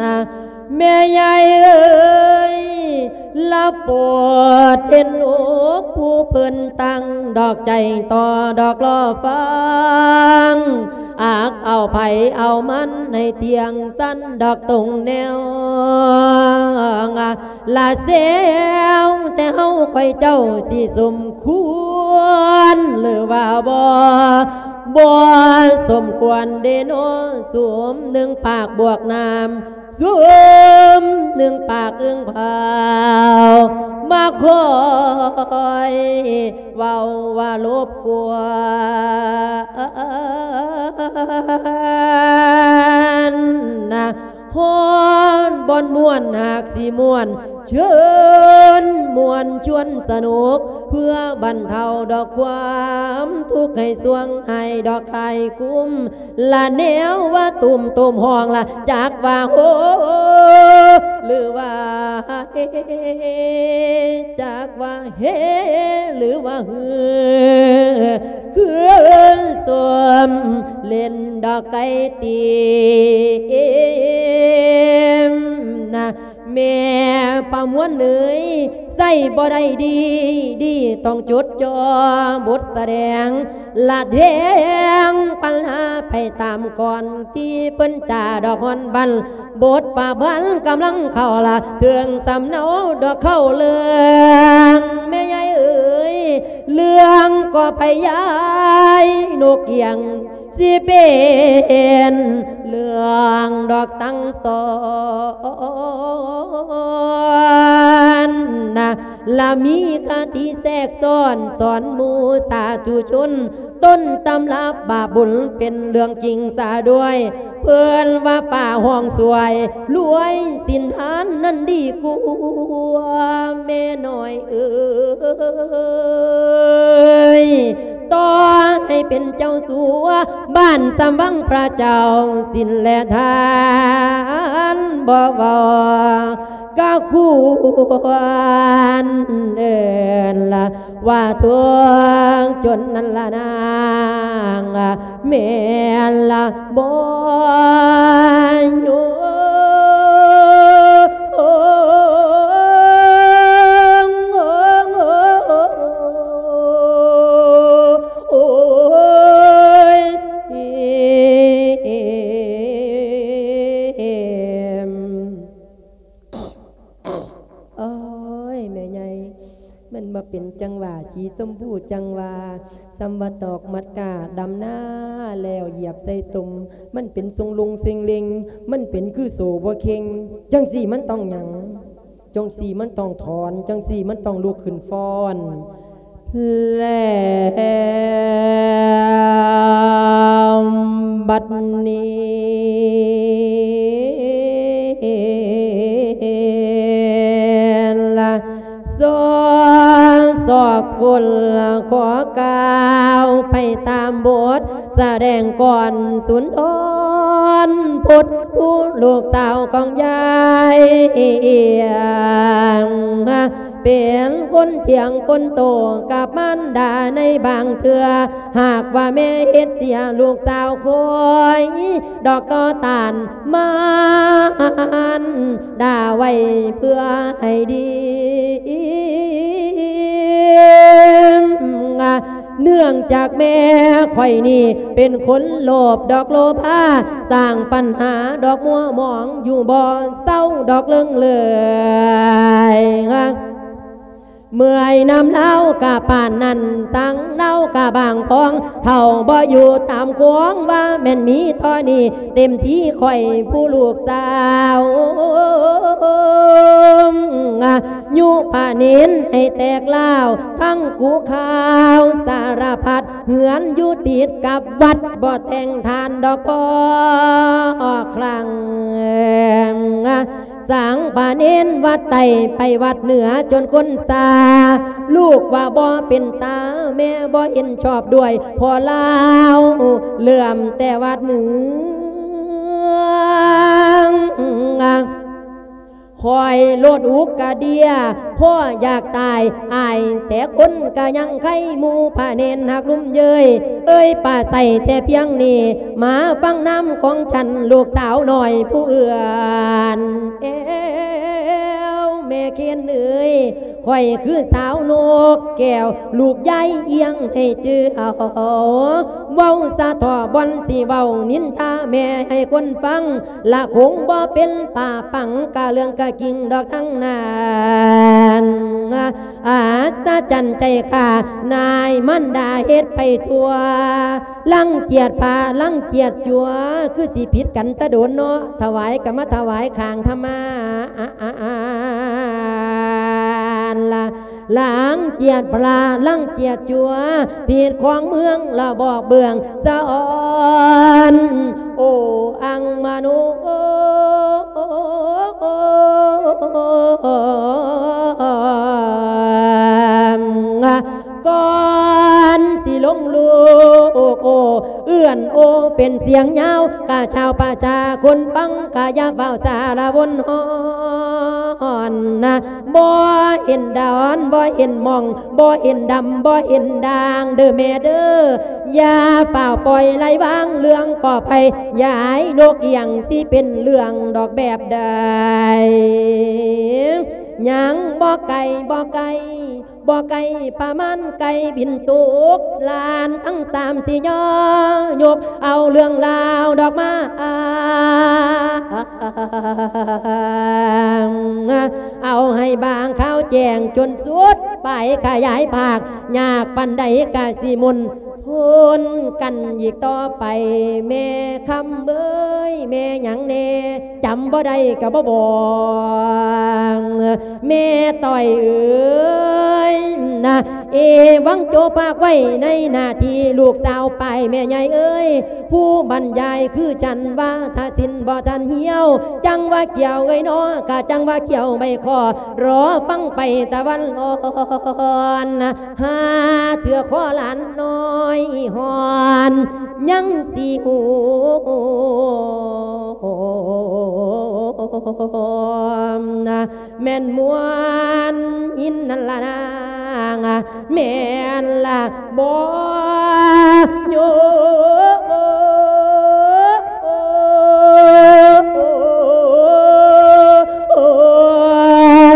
ນະ ແມ່ຍາຍເອີຍ ລະໂປດເຫັນອົກ ຜູ້ເພິ່ນຕັ້ງດອກໃຈຕໍ່ດອກລໍຟັງ ອາກເອົາໃຜເອົາມັນໃຫ້ທ່ຽງສັນດອກຕົງແນວ ລະແຊວແຕ່ເຮົາຂ້ອຍເຈົ້າຊິສົມຄວນ ຫຼືວ່າບໍ່ ບໍ່ສົມຄວນເດເນາະ ສຸມໜຶ່ງປາກບວກນ້ຳ ຊຸມໜຶ່ງປາກອຶ່ງເຜົາ ມາຄອຍເວົ້າວ່າລົບກວນນະ ຮອນບ່ອນມ່ວນຫາກຊິມ່ວນ ເຊີນມ່ວນຊວນສະໜຸກ ເພື່ອບັນເທົາດອກຄວາມທຸກໃຫ້ຊ່ວງໃຫ້ດອກຄາຍຄຸ້ມ ລະແນວວ່າຕຸ່ມໂຕມຫ້ອງລະ ຈັກວ່າໂຮ ຫຼືວ່າເຮ ຈັກວ່າເຮ ຫຼືວ່າຮື ຄືສົມເຫຼັ້ນດອກໄກ່ຕີມນະ ແມ່ປະມວນເອີຍ ໃຊ້ບໍ່ໄດ້ດີ ດີຕ້ອງຈົດຈ່ອບົດສະແດງ ລະແດງປັນຫາໄປຕາມກ່ອນ ທີ່ເພິ່ນຈາດອກຮອນບັນ ບົດປະພັນກຳລັງເຂົ້າລະ ເຖິງສຳເນົາດອກເຂົ້າເລື່ອງ ແມ່ໃຫຍ່ເອີຍ ເລື່ອງກໍໄປຍາຍນົກກຽງ ຊິເປັນເລື່ອງດອກສັ່ງສອນນະ ລະມີຄະຕິແຊກຊ້ອນ ສອນໝູ່ສາທຸຊົນ ຕົ້ນຕຳລັບບາບບຸນເປັນເລື່ອງຈິງສາດ້ວຍ ເພິ່ນວ່າຟ້າຫ້ອງຊ່ວຍ ລວຍສິນທານນັ້ນດີກວ່າ ແມ່ນ້ອຍເອີຍ ຕໍ່ໃຫ້ເປັນເຈົ້າສັວບ້ານສຳວັງພະເຈົ້າ ສິນແລະທານບໍ່ເວົ້າ ກະຄວນເອີ້ນລະວ່າທຸກຈົນນັ້ນລະນາງ ແມ່ນລະບໍ່ໂຍ ໂອ້ຍ ໂອ້ຍ ແມ່ໃຫຍ່ ມັນບໍ່ເປັນຈັ່ງຫວາ ສີຊົມພູຈັ່ງຫວາ ສ່ຳວ່າຕອກມັດກ້າ ດຳນາແລ້ວຢຽບໃສ່ຕົມ ມັນເປັນຊົງລົງເຊັງເລັງ ມັນເປັນຄືໂສ້ບໍ່ເຄັ່ງ ຈັ່ງຊີ້ມັນຕ້ອງຫຍັງ? ຈັ່ງຊີ້ມັນຕ້ອງຖອນ ຈັ່ງຊີ້ມັນຕ້ອງລຸກຂຶ້ນຟ້ອນ ແລ້ວບັດນີ້ລະ ສອກຄົນລະຂໍກ່າວໄປຕາມບົດ ສະແດງກ່ອນສຸນທອນ ພົດຜູ້ລູກສາວຂອງຍາຍ ເປັນຄົນຖຽງຄົນໂຕກັບມານດາໃນບາງເທື່ອ ຫາກວ່າແມ່ເຮັດເສຍລູກສາວຂ້ອຍ ດອກຕໍ່ຕ້ານມານດາໄວ້ເພື່ອໃຫ້ດີ ເນື່ອງຈາກແມ່ຂ້ອຍນີ້ເປັນຄົນໂລບດອກໂລພາ ສ້າງປັນຫາດອກມົວໝອງຢູ່ບໍ່ເຊົາດອກເລິງເລີຍ ເມື່ອຍນຳລາວກະປານນັ້ນ ສັງລາວກະບາງພອງ ເຖົ້າບໍ່ຢູ່ຕາມຂວງ ວ່າແມ່ນມີທໍ່ນີ້ ເຕັມທີ່ຂ້ອຍຜູ້ລູກສາວ ຍຸພະເນນໃຫ້ແຕກລ້າວ ທັງກຸຂ່າວສາລະພັດ ເຮືອນຢູ່ຕິດກັບວັດ ບໍ່ແຕ່ງທານດອກພໍຄັ້ງ ສັງພະເນນວັດໃຕ້ໄປວັດເໜືອຈົນຄົນຊາ ລູກວ່າບໍ່ເປັນຕາ ແມ່ບໍ່ເຫັນຊອບດ້ວຍ ເພາະລາວເລີ່ມແຕ່ວັດເໜືອ ຂ້ອຍໂລດອຸກກະເດຍ ພໍຢາກຕາຍ ອາຍແຕ່ຄົນກະຍັງໄຄ ໝູ່ພະເນນຮັກລຸມເຍີຍ ເອີຍປາໄສແຕ່ພຽງນີ້ ມາຟັງນຳຂອງສັນ ລູກສາວນ້ອຍຜູ້ເອື້ອນແອວ ແມ່ເຄນເອີຍ ຂ້ອຍຄືສາວນົກແກ້ວ ລູກຍາຍອຽງໃຫ້ຈື່ເອົາ ເວົ້າສະເທາະບ່ອນຊິເວົ້ານິນທາແມ່ໃຫ້ຄົນຟັງ ລະຄົງບໍ່ເປັນປາປັງ ກະເລື່ອງກະກິງດອກທັງນັ້ນ ອັດສະຈັນໃຈຂ້າ ນາຍມານດາເຮັດໄປທົ່ວ ລັງກຽດພະ ລັງກຽດຈົວ ຄືຊິຜິດກັນແຕ່ດົນເນາະ ຖວາຍກະມາຖວາຍຂ້າງທຳມາ ລະລັງກຽດພະ ລັງກຽດຈົວ ຜິດຂອງເມືອງລະບອກເບື້ອງສະອອນ ໂອອັງມະໂນ ກ່ອນຊິລົງລູກໂອ ເອື້ອນໂອເປັນສຽງຍາວ ກະຊາວປະຊາຄົນຟັງ ກະຢ່າຟ້າວສາລະວົນຮອນນະ ບໍ່ເຫັນດອນ ບໍ່ເຫັນໝ່ອງ ບໍ່ເຫັນດຳ ບໍ່ເຫັນດ່າງເດີແມ່ເດີ ຢ່າຟ້າວປ່ອຍໄຫຼວາງເລື່ອງກໍໄພ ຢາຍນົກອຽງຊິເປັນເລື່ອງດອກແບບໃດ ຍັງບໍ່ໄກ ບໍ່ໄກ ບໍ່ໄກປະມານໄກ່ບິນຕົກ ຫຼານທັງສາມຊິຍໍຍົກເອົາເລື່ອງລາວດອກມາ ເອົາໃຫ້ບາງຂ່າວແຈ້ງຈົນສຸດ ໄປຂະຫຍາຍພາກ ຍາກປານໃດກະຊິມົນ ທົນກັນອີກຕໍ່ໄປ ແມ່ຄຳເອີຍ ແມ່ຫຍັງແດ່ ຈຳບໍ່ໄດ້ກະບໍ່ບອກ ແມ່ຕ້ອຍເອີຍນະ ເອວັງໂຈພາກໄວ້ໃນໜ້າທີ່ລູກສາວປາຍແມ່ໃຫຍ່ເອີຍ ຜູ້ບັນຍາຍຄືສັນວາທະສິນບໍ່ທັນຫ່ຽວ ຈັ່ງວ່າກ່ຽວເອີຍເນາະ ກະຈັ່ງວ່າກ່ຽວໃບຄໍ ລໍຟັງໄປຕາວັນອ່ອນ ຫາເທື່ອຂໍຫຼານນ້ອຍອ່ອນ ຍັງຊິຮູ້ ແມ່ນມ່ວນຍິນນັ້ນລະນາງ ແມ່ນລະບໍ່ໂຍ ໂອ້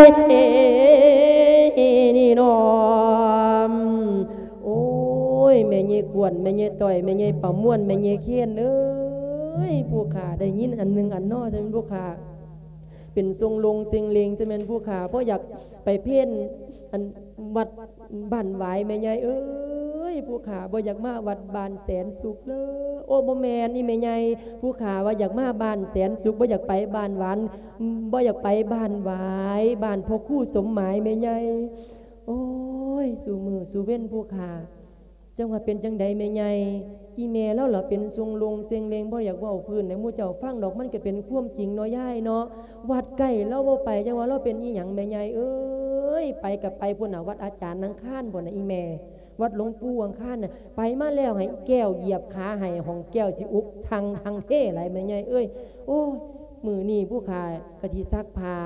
ຍ ເອ ນີ້ນ້ອງ ໂອ້ຍ ແມ່ໃຫຍ່ຂວັນ ແມ່ໃຫຍ່ຕ້ອຍ ແມ່ໃຫຍ່ປະມວນ ແມ່ໃຫຍ່ເຄນເອີຍ ຜູ້ຂ້າໄດ້ຍິນອັນໜຶ່ງອັນນໍ ຈັ່ງແມ່ນຜູ້ຂ້າ ເປັນຊົງລົງເຊັງເລັງ ຈັ່ງແມ່ນຜູ້ຂ້າ ບໍ່ຢາກໄປເພນອັນວັດບ້ານຫວາຍ ແມ່ໃຫຍ່ເອີຍ ຜູ້ຂ້າ ບໍ່ຢາກມາວັດບ້ານແສນສຸກເລີຍ ໂອ້ ບໍ່ແມ່ນ ອີ່ແມ່ໃຫຍ່ ຜູ້ຂ້າວ່າຢາກມາບ້ານແສນສຸກ ບໍ່ຢາກໄປບ້ານຫວານ ບໍ່ຢາກໄປບ້ານຫວາຍ ບ້ານພໍ່ຄູສົມໝາຍ ແມ່ໃຫຍ່ ໂອ້ຍ ສູ່ມື້ສູ່ເວັນຜູ້ຂ້າ ຈັ່ງວ່າເປັນຈັ່ງໃດແມ່ໃຫຍ່ ອີ່ແມ່ລາວລະເປັນຊົງລົງເຊັງເລັງ ບໍ່ຢາກເວົ້າພື້ນໃຫ້ໝູ່ເຈົ້າຟັງດອກ ມັນກະເປັນຄວາມຈິງເນາະຍາຍເນາະ ວັດໃກ້ລາວບໍ່ໄປ ຈັ່ງວ່າລາວເປັນອີ່ຫຍັງແມ່ໃຫຍ່ເອີຍ ໄປກະໄປພຸ້ນນະ ວັດອາຈານອັງຄານພຸ້ນນະອີ່ແມ່ ວັດຫຼວງປູ່ອັງຄານນະ ໄປມາແລ້ວໃຫ້ແກ້ວຢຽບຂາໃຫ້ ຫ້ອງແກ້ວຊິອຸກທັງທັງເທຫຼາຍແມ່ໃຫຍ່ເອີຍ ໂອ້ຍ ມື້ນີ້ຜູ້ຂ້າກະຊິຊັກຜ້າ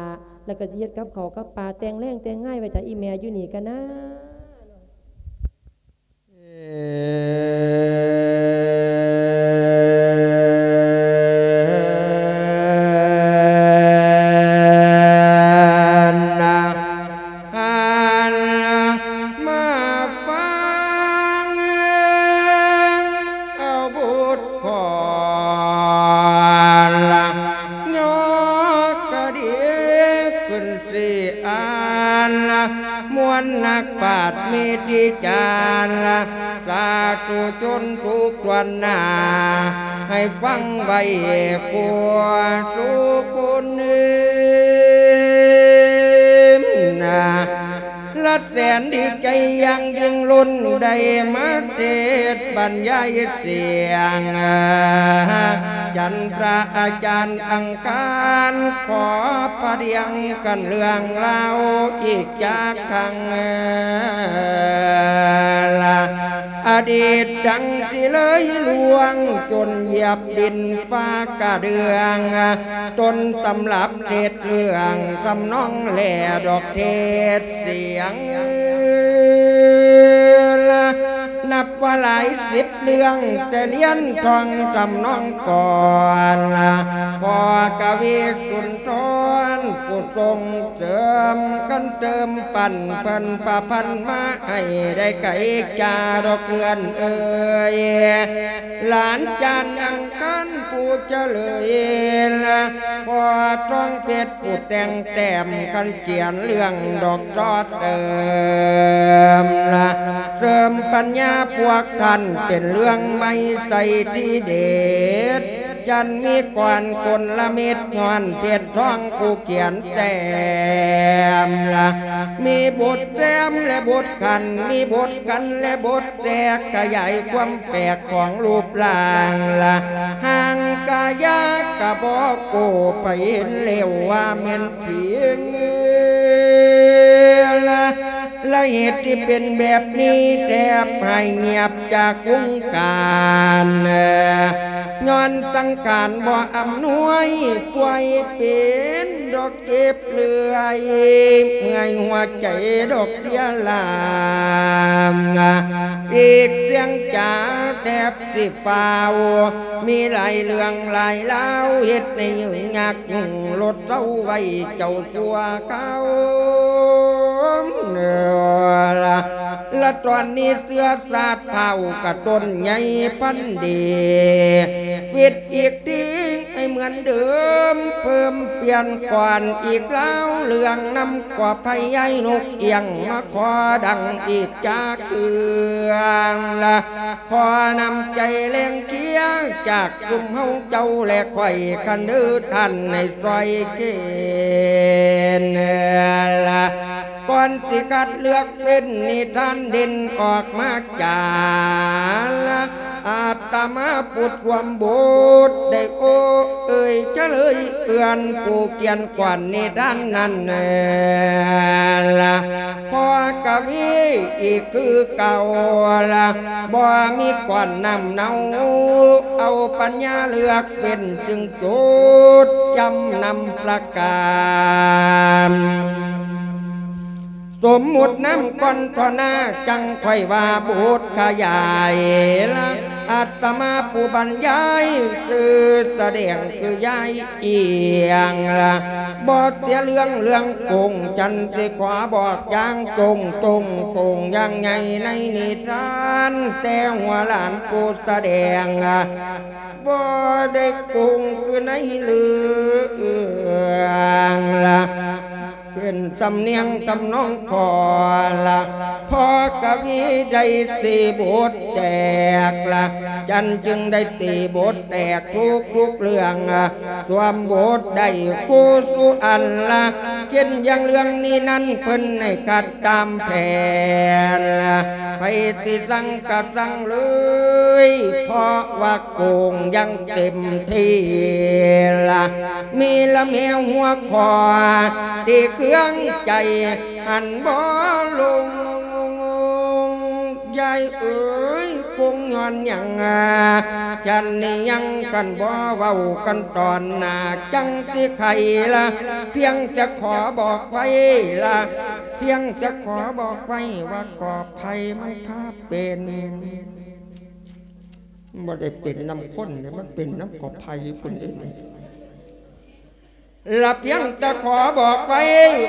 ແລ້ວກະຊິເຮັດກັບເຂົ້າກັບປາ ແຕ່ງແລງແຕ່ງງາຍໄວ້ຖ້າອີ່ແມ່ຢູ່ນີ້ກະນາ. ມາຟັງເອົາບົດຂອນ ຍອດກະດີຂຶ້ນຊິອ່ານ ມ່ວນນັກປາດມີຕິຈານ ສາທຸຊົນທຸກທົ່ວໜ້າ ໃຫ້ຟັງໄວ້ຄູ່ສູ່ຄົນນາ ລະແສນດີໃຈຢ່າງຍິ່ງລົ້ນ ໄດ້ມາເທດບັນຍາຍສຽງ ຈັນພະອາຈານອັງຄານ ຂໍປະດຽງກັນເລື່ອງລາວອີກຈັກຄັ້ງ ອະດີດດັ່ງທີ່ເລີຍລ່ວງ ຈົນຢຽບດິນຟ້າກະເດືອງ ຕົ້ນຕຳລັບເທດເລື່ອງ ທຳນອງແລດອກເທດສຽງ ນັບວ່າຫຼາຍສິບເລື່ອງ ແຕ່ລຽນທ່ອງທຳນອງກ່ອນ ພໍ່ກະວີສຸນທອນ ຜູ້ສົ່ງເສີມ ຄັນເຕີມປັນເພິ່ນປະພັນມາໃຫ້ໄດ້ໄກຈາດອກເອື້ອນເອີຍ ຫຼານຈານອັງຄານຜູ້ຈະເລີຍລະ ພໍ່ທອງເພັດຜູ້ແຕ່ງແຕ້ມ ຄັນຂຽນເລື່ອງດອກຊໍເຕີມລະ ເສີມປັນຍາພວກທ່ານເປັນເລື່ອງໃໝ່ໃສທີເດັດ ຈັນມີກອນຄົນລະເມັດ ຍ້ອນເພັດທອງຜູ້ຂຽນແຕ້ມລະ ມີບົດແຕ້ມ ແລະ ບົດຂັນ ມີບົດກັນ ແລະ ບົດແຕກ ຂະຫຍາຍຄວາມແປກຂອງຮູບຮ່າງລະ ຮ່າງກາຍາກະບໍ່ໂກ ໃຜເຫັນແລ້ວວ່າແມ່ນຜີລະ ລະເຫດທີ່ເປັນແບບນີ້ ແທບຫາຍງຽບຈາກວົງການ ຍ້ອນສັງຂານບໍ່ອຳນວຍ ປ່ວຍເປັນດອກເຈັບເລື່ອຍ ເມື່ອຍຫົວໃຈດອກເພຍລາ ອີກສຽງຈາແທບ ຊິຟ້າວ ມີຫຼາຍເລື່ອງຫຼາຍລາວ ເຮັດໃຫ້ຫຍຸ້ງຍາກຫຍຸ້ງ ລົດເຊົາໄວ້ເຈົ້າຊົ່ວຄາວ ລະຕອນນີ້ເຊື້ອຊາດພ້າວກະຕົ້ນໃຫຍ່ພັນດີ ຟິດອີກທີໃຫ້ເໝືອນເດີມ ເພີ່ມປ່ຽນກ່ອນອີກລາວ ເລື່ອງນຳກໍໄພຍາຍນົກອຽງ ມາຂໍດັງອີກຈາກເທື່ອລະ ຂໍນ້ຳໃຈແລງເຄຍ ຈາກຊຸມເຮົາເຈົ້າ ແລະ ຂ້ອຍຄັນເດີ ທ່ານໃຫ້ຊ່ອຍເຄນລະ ກ່ອນຊິຄັດເລືອກເປັນນິທານເດັ່ນອອກມາຈາລະ ອາດຕະມາຜູ້ສວມບົດ ໄດ້ໂອ້ເອີຍຈະເລີຍເອື້ອນ ຜູ້ຂຽນກ່ອນນິທານນັ້ນລະ ພໍ່ກະວີອີກຄືເກົ່າລະ ບໍ່ມີກ່ອນນ້ຳເນົາ ເອົາປັນຍາເລືອກເປັນຈຶ່ງຈຸດ ຈຳນຳປະການ ສົມມຸດນາມກ່ອນທໍ່ໜ້າ ຈັ່ງຄ່ອຍວ່າບົດຂະຫຍາຍລະ ອາດຕະມາຜູ້ບັນຍາຍ ຊື່ສະແດງຄືຍາຍ ອຽງລະ ບໍ່ເສຍເລື່ອງເລື່ອງໂກງ ຈັນຊິຂໍບອກຢ່າງໂຈງໂຈງໂກງຢ່າງໃຫຍ່ໃນນິທານ ແຕ່ຫົວຫຼານຜູ້ສະແດງ ບໍ່ໄດ້ໂກງຄືໃນເລື່ອງລະ ເປັນສຳນຽງທຳນອງຂໍລະ ພໍ່ກະວີໄດ້ຕີບົດແຕກລະ ຈັນຈຶ່ງໄດ້ຕີບົດແຕກທຸກໆເລື່ອງ ສວມບົດໄດ້ຄູ່ສູ່ອັນລະ ເຊັ່ນຢ່າງເລື່ອງນີ້ນັ້ນເພິ່ນໃຫ້ຄັດຕາມແຜນລະ ໃຜຊິສັ່ງກະສັ່ງເລີຍ ເພາະວ່າໂກງຢ່າງເຕັມທີ່ລະ ມີລະແມ່ຫົວຂໍ້ທີ່ເຄືອງໃຈຫັນບໍ່ລົງ ຍາຍເອີຍ ໂກງຍ້ອນຫຍັງ ຈັນນີ້ຍັງກັນບໍ່ເວົ້າກັນຕອນໜ້າ ຈັ່ງຊິໄຂລະ ພຽງແຕ່ຂໍບອກໄວ້ລະ ພຽງແຕ່ຂໍບອກໄວ້ວ່າຂອບໄພມັນພາເປັນ ບໍ່ໄດ້ເປັນນຳຄົນເດ້ ມັນເປັນນຳຂອບໄພພຸ້ນເດ້ນີ້ ລະພຽງແຕ່ຂໍບອກໄວ້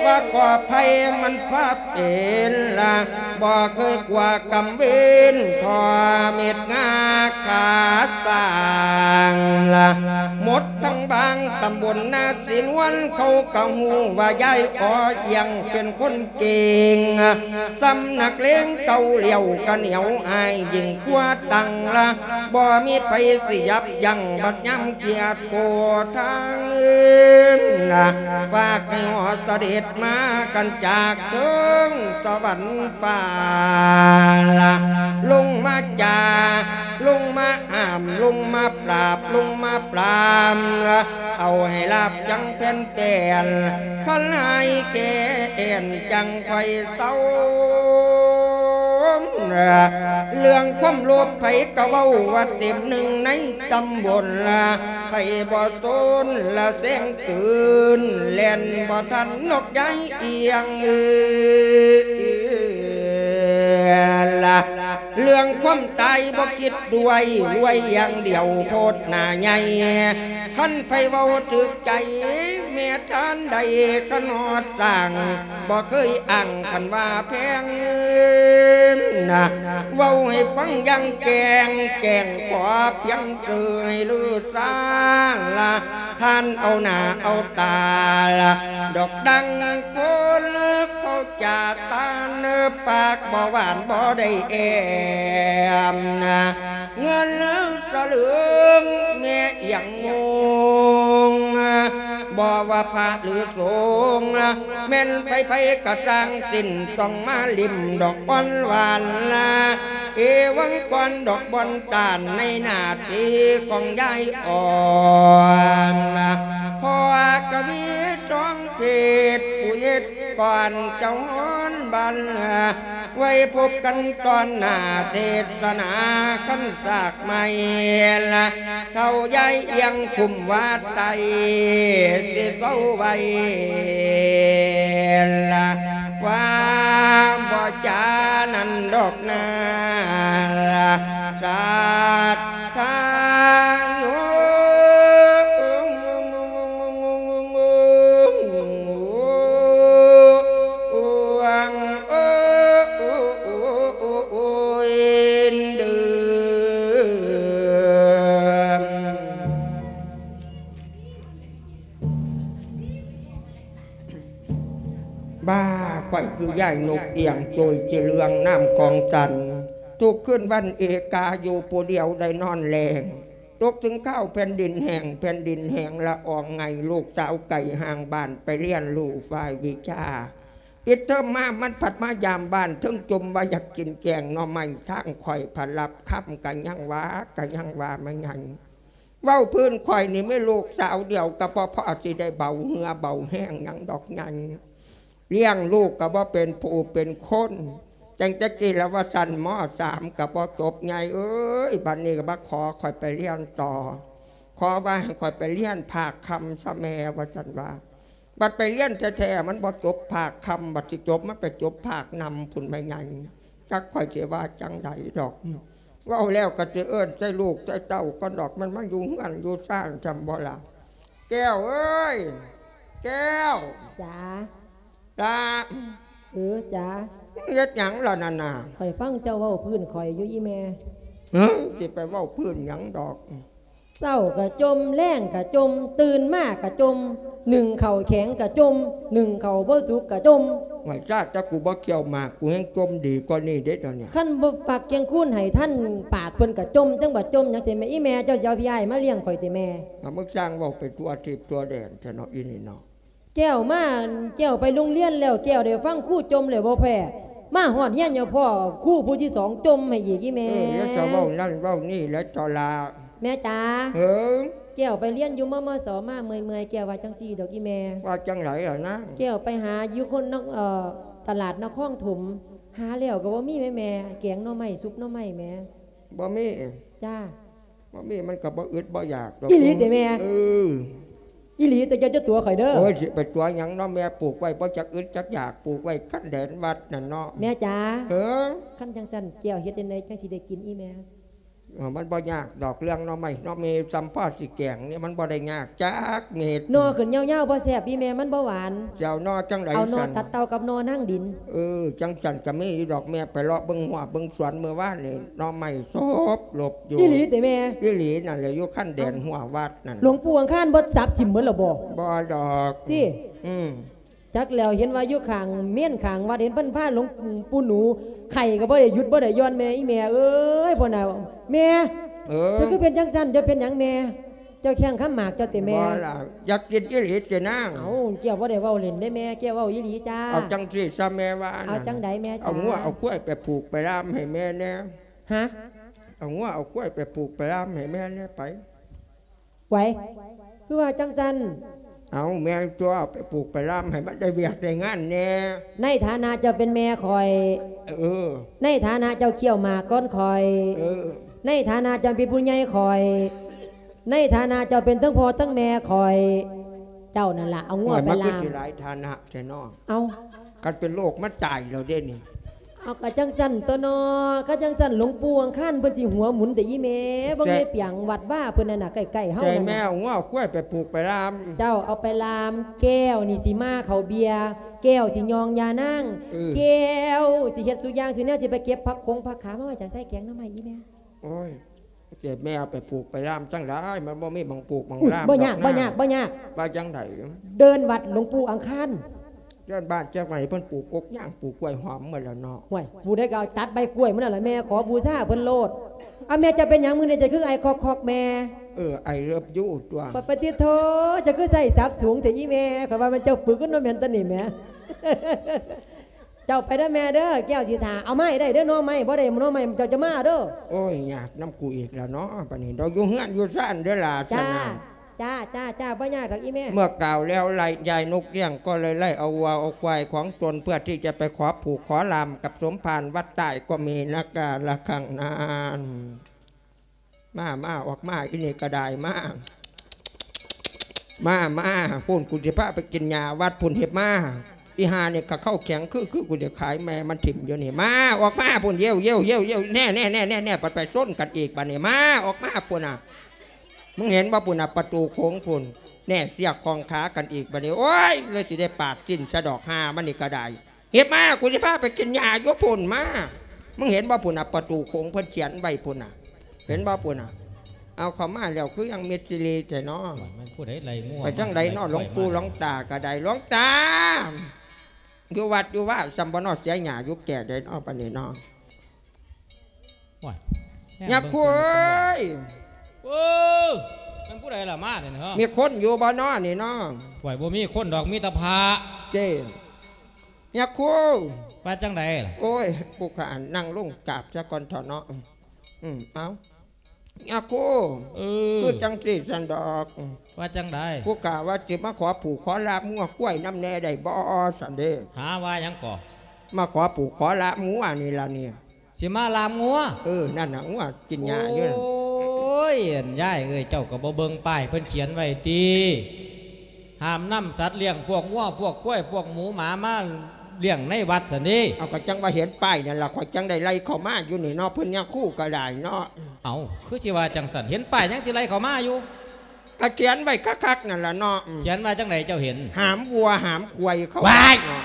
ວ່າຂອບໄພມັນພາເປັນລະ ບໍ່ເຄີຍກົວກຳເວັນ ທໍ່ເມັດງາຂາສ້າງລະ ໝົດທັງບາງຕຳບົນນາສີນວນ ເຂົາກະຮູ້ວ່າຍາຍອໍອຽງເປັນຄົນ ເກັ່ງ ສຳນັກເລງເກົ່າຫຼຽວກະໜຽວອ້າຍຍິ່ງກວ່າຕັງລະ ບໍ່ມີໃຜຊິຢັບຢັ້ງບັດຍາມກຽດໂກທາງ ຝາກໃຫ້ຫໍສະເດັດມາກັນຈາກເທິງສະຫວັນຟ້າລະ ລົງມາຈາ ລົງມາຫ້າມ ລົງມາປາບ ລົງມາປາມລະ ເອົາໃຫ້ລາບຈັ່ງແຜ່ນ ແກ່ນ ຄັນຫາຍແກ່ແອ່ນຈັ່ງຄ່ອຍເຊົາ. ເລື່ອງຄວາມໂລບໃຜກະເວົ້າວ່າເຕັມໜຶ່ງໃນຕຳບົນລະ ໃຜບໍ່ສົນລະແຊງຕື່ນ ແລ່ນບໍ່ທັນນົກຍາຍອຽງເອີ ລະ ເລື່ອງຄວາມຕາຍບໍ່ຄິດດ້ວຍ ລວຍຢ່າງດຽວໂພດໜ້າໃຫຍ່ ຄັນໃຜເວົ້າຖືກໃຈແມ່ ທ່ານໃດກະນອດສ້າງ ບໍ່ເຄີຍອ້າງຄັນວ່າແພງນະ ເວົ້າໃຫ້ຟັງຢ່າງແຈ້ງແຈ້ງ ຂໍພຽງເຊີໃຫ້ລືຊາລະ ທ່ານເອົາໜ້າເອົາຕາລະ ດອກດັງຄົນເຂົາຈາຕານ ປາກບໍ່ຫວານບໍ່ໄດ້ແອມນະ ເງິນສະເຫຼີງແມ່ອຽງງົງ ບໍ່ວ່າພະຫຼືສົງ ແມ່ນໃຜໆກະຊ່າງສິ້ນ ຕ້ອງມາຫຼິ້ມດອກບອນຫວານລະ ເອວັງກ່ອນດອກບອນຕານ ໃນໜ້າທີ່ຂອງຍາຍອ່ອນ ພໍ່ກະວີທອງເພດ ຜູ້ເຮັດກ່ອນເຈົ້າຮອນບັນ ໄວ້ພົບກັນຕອນໜ້າເທດສະໜາຄັນສາກໃໝ່ລະ ເຖົ້າຍາຍອຽງຄຸ້ມວາດໄຕ ຊິເຊົາໄວ້ລະ ວ່າບໍ່ຈານັ້ນດອກນາ ສັດທາໂຍ ບ້າ ຂ້ອຍຄືຍາຍນົກອຽງໂຈຍຈະເລື່ອງນ້ຳຂອງສັນ ທຸກຄືນວັນເອກາຢູ່ຜູ້ດຽວໄດ້ນອນແລງ ຕົກເຖິງຄາວແຜ່ນດິນແຫ້ງ ແຜ່ນດິນແຫ້ງລະອອງໄງ ລູກສາວໄກຫ່າງບ້ານໄປຮຽນຮູ້ຝ່າຍວິຊາ ປິດເທີມມາມັນພັດມາຢາມບ້ານ ເຖິງຈົ່ມວ່າຢາກກິນແກງໜໍ່ໄມ້ ທາງຂ້ອຍພັດລັບຄຳກະຍັງວ່າ ກະຍັງວ່າແມ່ໃຫຍ່ ເວົ້າພື້ນຂ້ອຍນີ້ມີລູກສາວດຽວ ກະບໍ່ພໍຊິໄດ້ເບົາເຫື່ອເບົາແຮງຫຍັງດອກໃຫຍ່ ລ້ຽງລູກກະບໍ່ເປັນຜູ້ເປັນຄົນ ຈັ່ງແຕ່ກີ້ລະວ່າຊັ້ນ ມໍສາມ ກະບໍ່ຈົບໃຫຍ່ເອີຍ ບັດນີ້ກະມາຂໍຂ້ອຍໄປຮຽນຕໍ່ ຂໍວ່າໃຫ້ຂ້ອຍໄປຮຽນພາກຄ່ຳຊະແມ່ ວ່າຊັ້ນວ່າ ບັດໄປຮຽນແທ້ໆ ມັນບໍ່ຈົບພາກຄ່ຳ ບັດຊິຈົບມັນໄປຈົບພາກນຳພຸ້ນແມ່ໃຫຍ່ ຈັກຂ້ອຍຊິວ່າຈັ່ງໃດດອກ ເວົ້າແລ້ວກໍຊິເອີ້ນໃສ່ລູກໃສ່ເຕົ້າກ່ອນດອກ ມັນມາຢູ່ເຮືອນຢູ່ຊານຊ່ຳບໍ່ລະ ແກ້ວເອີຍ ແກ້ວ ຈ໋າ ລະ ເອີ ຈ໋າ ເຮັດຫຍັງລະນັ້ນນະ ຂ້ອຍຟັງເຈົ້າເວົ້າພື້ນຂ້ອຍຢູ່ອີ່ແມ່ ເອີ ຊິໄປເວົ້າພື້ນຫຍັງດອກ ເຊົ້າກະຈົ່ມ ແລງກະຈົ່ມ ຕື່ນມາກະຈົ່ມ ໜຶ້ງເຂົ້າແຂງກະຈົ່ມ ໜຶ້ງເຂົ້າບໍ່ສຸກກະຈົ່ມ ຫ້ວຍ ຊາດ ແຕ່ກູບໍ່ຂ້ຽວໝາກ ກູແຮ່ງຈົ່ມດີກວ່ານີ້ເດ້ດຽວນີ້ ຄັນບໍ່ປັກກຽງຄູນໃຫ້ທັນປາກເພິ່ນກະຈົ່ມ ຈັ່ງວ່າຈົ່ມຫຍັງ ຊິແມ່ ອີ່ແມ່ ເຈົ້າຊິເອົາພີ່ອ້າຍມາລ້ຽງຂ້ອຍຕິແມ່ ອາ ມຶງຊ່າງເວົ້າໄປທົ່ວທີບທົ່ວແດນແທ້ເນາະ ອີນີ້ເນາະ. ແກ້ວມາ ແກ້ວໄປໂຮງຮຽນແລ້ວ ແກ້ວໄດ້ຟັງຄູຈົ່ມແລ້ວບໍ່ແພ້ ມາຮອດຮຽນຍັງພໍ້ຄູຜູ້ທີສອງຈົ່ມໃຫ້ອີກ ອີ່ແມ່ ເອີ ຢ່າຊະເວົ້ານັ້ນເວົ້ານີ້ແຫຼະ ເຈົ້າຫຼ້າ ແມ່ຈ໋າ ເອີ ແກ້ວໄປຮຽນຢູ່ ມມສ ມາເມື່ອຍໆ ແກ້ວວ່າຈັ່ງຊີ້ດອກ ອີ່ແມ່ ວ່າຈັ່ງໃດລະນາງ ແກ້ວໄປຫາຢູ່ຄົນນະ ເອີ ຕະຫຼາດນະຄອນຖົມ ຫາແລ້ວກໍບໍ່ມີແມ່ ແກງໜໍ່ໄມ້ ຊຸບໜໍ່ໄມ້ແມ່ ບໍ່ມີ ຈ້າ ບໍ່ມີມັນກໍບໍ່ອຶດບໍ່ຢາກດອກ ອີ່ຫຼີຕິແມ່ ເອີ ອີ່ຫຼີ ແຕ່ເຈົ້າຈະຕົວະຂ້ອຍເດີ ໂອ້ຍ ຊິໄປຕົວະຫຍັງເນາະ ແມ່ປູກໄວ້ບໍ່ຈັກອຶດຈັກຢາກ ປູກໄວ້ຄັນແດນວັດນັ້ນເນາະ ແມ່ຈ໋າ ເອີ ຄັນຈັ່ງຊັ້ນແກ້ວເຮັດຈັ່ງໃດຈັ່ງຊິໄດ້ກິນອີ່ແມ່ ເອີ ມັນບໍ່ຍາກດອກ ເລື່ອງໜໍ່ໄມ້ໜໍ່ເມ ຊ່ຳພໍຊິແກງນີ້ ມັນບໍ່ໄດ້ຍາກຈັກເມັດ ໜໍ່ຂຶ້ນຍາວໆບໍ່ແຊບອີ່ແມ່ ມັນບໍ່ຫວານ ຊິເອົາໜໍ່ຈັ່ງໃດ ເອົາໜໍ່ ຊັ້ນ ຕັດເຕົ່າກັບໜໍ່ນາງດິນ ເອີ ຈັ່ງຊັ້ນກໍມີຢູ່ດອກ ແມ່ໄປເລາະເບິ່ງຮົ້ວເບິ່ງສວນມື້ວານນີ້ ໜໍ່ໄມ້ສົບລົບຢູ່ ອີ່ຫຼີຕິແມ່ ອີ່ຫຼີນັ້ນແຫຼະ ຢູ່ຄັນແດນຮົ້ວວັດນັ້ນ ຫຼວງປູ່ອັງຄານບໍ່ສັບຖິ້ມໝົດແລ້ວບໍ່ ບໍ່ດອກ ຕິ ອືມ ຈັກແລ້ວ ເຫັນວ່າຢູ່ຂ້າງເມນຂ້າງວັດ ເຫັນເພິ່ນພາຫຼວງປູ່ໜູໄຂ້ກໍບໍ່ໄດ້ຢຸດບໍ່ໄດ້ຢ່ອນ ແມ່ ອີ່ແມ່ເອີຍ ພຸ້ນນະ ແມ່ ເອີ ເຈົ້າຄືເປັນຈັ່ງຊັ້ນ ເຈົ້າເປັນຫຍັງແມ່ ເຈົ້າແຂ້ງຄຳໝາກເຈົ້າຕິແມ່ ບໍ່ລະ ຢາກກິນອີ່ຫຼີຕິນາງ ເອົ້າ ແກ້ວບໍ່ໄດ້ເວົ້າຫຼິ້ນເດ້ແມ່ ແກ້ວເວົ້າອີ່ຫຼີຈ້າ ເອົາຈັ່ງຊີ້ຊະແມ່ວ່າ ເອົາຈັ່ງໃດແມ່ ເອົາງົວເອົາຄວາຍໄປຜູກໄປລ່າມໃຫ້ແມ່ແດ່ ຮະ ເອົາງົວເອົາຄວາຍໄປຜູກໄປລ່າມໃຫ້ແມ່ແດ່ໄປ ໄຫວ ຄືວ່າຈັ່ງຊັ້ນ ເອົາ ແມ່ຕົວະ ໄປຜູກໄປລ່າມໃຫ້ມັນໄດ້ວຽກໄດ້ງານແດ່ ໃນຖານະເຈົ້າເປັນແມ່ຂ້ອຍ ເອີ ໃນຖານະເຈົ້າຄ້ຽວໝາກກ່ອນຂ້ອຍ ເອີ ໃນຖານະເຈົ້າເປັນຜູ້ໃຫຍ່ຂ້ອຍ ໃນຖານະເຈົ້າເປັນທັງພໍ່ທັງແມ່ຂ້ອຍ ເຈົ້ານັ້ນລະເອົາງົວໄປລ່າມ ໂອ້ຍ ມັນຄືຊິຫຼາຍຖານະແທ້ເນາະ ເອົ້າ ຄັນເປັນໂລກມັນຕາຍແລ້ວເດ້ນີ້ ເອົາ ກະຈັ່ງຊັ້ນຕົວເນາະ ກະຈັ່ງຊັ້ນ ຫຼວງປູ່ອັງຄານເພິ່ນຊິຫົວໝູນແຕ່ອີ່ແມ່ ເບິ່ງ ໃຈ ໃນປຽງວັດວາເພິ່ນນັ້ນນະ ໃກ້ໆເຮົານັ້ນນະ ໃຈແມ່ເອົາງົວຄວາຍໄປຜູກໄປລ່າມ ເຈົ້າເອົາໄປລ່າມ ແກ້ວນີ້ຊິມາເຂົ້າເບຍ ແກ້ວຊິຍ່ອງຢານາງ ເອີ ແກ້ວຊິເຮັດສູ່ຢ່າງສູ່ແນວ ຊິໄປເກັບຜັກຂົງຜັກຂາມາໄວ້ຈາກໃສ່ແກງໜໍ່ໄມ້ອີ່ແມ່. ໂອ້ຍ ເສຍແມ່ເອົາໄປຜູກໄປລ່າມຈັ່ງໃດ ມັນບໍ່ມີໝ່ອງຜູກໝ່ອງລ່າມ ບໍ່ຍາກ ດອກນາ ບໍ່ຍາກ ບໍ່ຍາກ ວ່າຈັ່ງໃດ ເດີ່ນວັດຫຼວງປູ່ອັງຄານ ເດີ່ນບ້ານ ຈັກວ່າໃຫ້ເພິ່ນປູກກົກຍາງ ປູກກ້ວຍຫອມໝົດແລ້ວເນາະ ຫ້ວຍ ຜູ້ໃດກໍເອົາຕັດໃບກ້ວຍໝົດນັ້ນລະ ແມ່ຂໍບູຊາເພິ່ນໂລດ. ເອົາ ແມ່ເຈົ້າເປັນຫຍັງມື້ນີ້ ເຈົ້າຄືໄອຄອກໆ ແມ່? ເອີ I love you ຕົວະ ປະຕິດໂທ ເຈົ້າຄືໃຊ້ສັບສູງແທ້ອີ່ແມ່ ຂ້ອຍວ່າແມ່ນເຈົ້າປຶກກັນເນາະ ແມ່ນຕົວະນີ້ແໝ. ເຈົ້າໄປເດີແມ່ເດີ ແກ້ວຊິຖ້າ ເອົາມາໃຫ້ໄດ້ເດີໜໍ່ໄມ້ ບໍ່ໄດ້ໜໍ່ໄມ້ເຈົ້າຈະມາເດີ. ໂອ້ຍ ຍາກນຳກູອີກແລ້ວເນາະ ບາດນີ້ເນາະ ຢູ່ເຮືອນຢູ່ຊານເດີຫຼ້າ ຊັ້ນນະ ຈ້າ ຈ້າ ຈ້າ ບໍ່ຍາກດອກອີ່ແມ່. ເມື່ອກ່າວແລ້ວ ລາຍ ຍາຍນົກກ້ຽງກໍເລີຍໄລ່ເອົາວັວເອົາຄວາຍຂອງຕົນ ເພື່ອທີ່ຈະໄປຂໍຜູກຂໍລ່າມກັບສົມພານວັດໃຕ້ ກໍມີນະກາລະຄັ້ງນັ້ນ. ມາ ມາ ອອກມາ ອີ່ນີ້ກະໄດ້ ມາ ມາ ມາ ພຸ້ນ ກູຊິພາໄປກິນຫຍ້າວັດພຸ້ນ ຮີບມາ ອີ່ຫ່ານີ້ກະເຂົ້າແຂງ ຄື ຄື ກູຈະຂາຍແມ່ມັນຖິ້ມຢູ່ນີ້ ມາ ອອກມາພຸ້ນ ເຢວ ເຢວ ເຢວ ເຢວ ແນ່ ແນ່ ແນ່ ແນ່ ແນ່ ໄປ ໄປຊົນກັນອີກບາດນີ້ ມາ ອອກມາພຸ້ນນະ ມຶງເຫັນບໍ່ພຸ້ນນະ ປະຕູໂຂງພຸ້ນ ແນ່ ເຊືອກຂ້ອງຂາກັນອີກບາດນີ້ ໂອ້ຍ ເລີຍຊິໄດ້ປາດສິ້ນຊະດອກ ຫ່າມັນນີ້ກະໄດ້. ຮີບມາ ກູຊິພາໄປກິນຫຍ້າຢູ່ພຸ້ນ ມາ ມຶງເຫັນບໍ່ພຸ້ນນະ ປະຕູໂຂງເພິ່ນຂຽນໄວ້ພຸ້ນນະ ເຫັນບໍ່ພຸ້ນນະ ເອົາເຂົ້າມາແລ້ວ ຄືຍັງມິດຊິລີແທ້ເນາະ ມັນຜູ້ໃດໄລ່ງົວ ໄປທາງໃດເນາະ ມາໄລ່ ຫຼວງປູ່ ຫຼວງຕາກະໄດ້ ຫຼວງຕາ ຢູ່ວັດຢູ່ວາສ່ຳບໍ່ເນາະ ເສຍຫຍ້າຢູ່ແກ່ໃດເນາະ ປານນີ້ເນາະ. ໂອ້ຍ ຍາຄູເອີຍ ເອີ ມັນຜູ້ໃດລະມານີ້ເນາະ ມີຄົນຢູ່ບໍ່ເນາະນີ້ເນາະ ໂອ້ຍ ບໍ່ມີຄົນດອກ ມີແຕ່ພະ ເຈ້ ຍາຄູ ວ່າຈັ່ງໃດລະ ໂອ້ຍ ຜູ້ຂ້າ ອັນ ນັ່ງລົງກາບຊະກ່ອນເຖາະເນາະ ອືມ ເອົາ ຍາຄູ ເອີ ຄືຈັ່ງຊີ້ຊັ້ນດອກ ວ່າຈັ່ງໃດ ຜູ້ຂ້າວ່າຊິມາຂໍຜູກຂໍລ່າມງົວຄວາຍນຳແດ່ໄດ້ບໍ່ ຊັ້ນເດ້ ຫາວ່າຫຍັງກໍ ມາຂໍຜູກຂໍລ່າມງົວນີ້ລະນີ້ ຊິມາລ່າມງົວ ເອີ ນັ້ນນະ ງົວກິນຫຍ້າຢູ່ນັ້ນ ໂອ້ຍ ອັນ ຍາຍເອີຍ ເຈົ້າກໍບໍ່ເບິ່ງປ້າຍເພິ່ນຂຽນໄວ້ຕິ ຫ້າມນຳສັດລ້ຽງ ພວກງົວ ພວກຄວາຍ ພວກໝູໝາມາລ້ຽງໃນວັດຊັ້ນເດ້ ເອົາ ກໍຈັ່ງວ່າເຫັນປ້າຍນັ້ນລະ ຂ້ອຍຈັ່ງໄດ້ໄລ່ເຂົ້າມາຢູ່ນີ້ເນາະ ເພິ່ນຍາຄູກໍໄດ້ເນາະ ເອົ້າ ຄືຊິວ່າຈັ່ງຊັ້ນ ເຫັນປ້າຍຍັງຊິໄລ່ເຂົ້າມາຢູ່ ກໍຂຽນໄວ້ຄັກໆນັ້ນລະເນາະ ຂຽນວ່າຈັ່ງໃດເຈົ້າເຫັນ ຫ້າມວັວຫ້າມຄວາຍເຂົ້າ ວ້າຍ ເນາະ.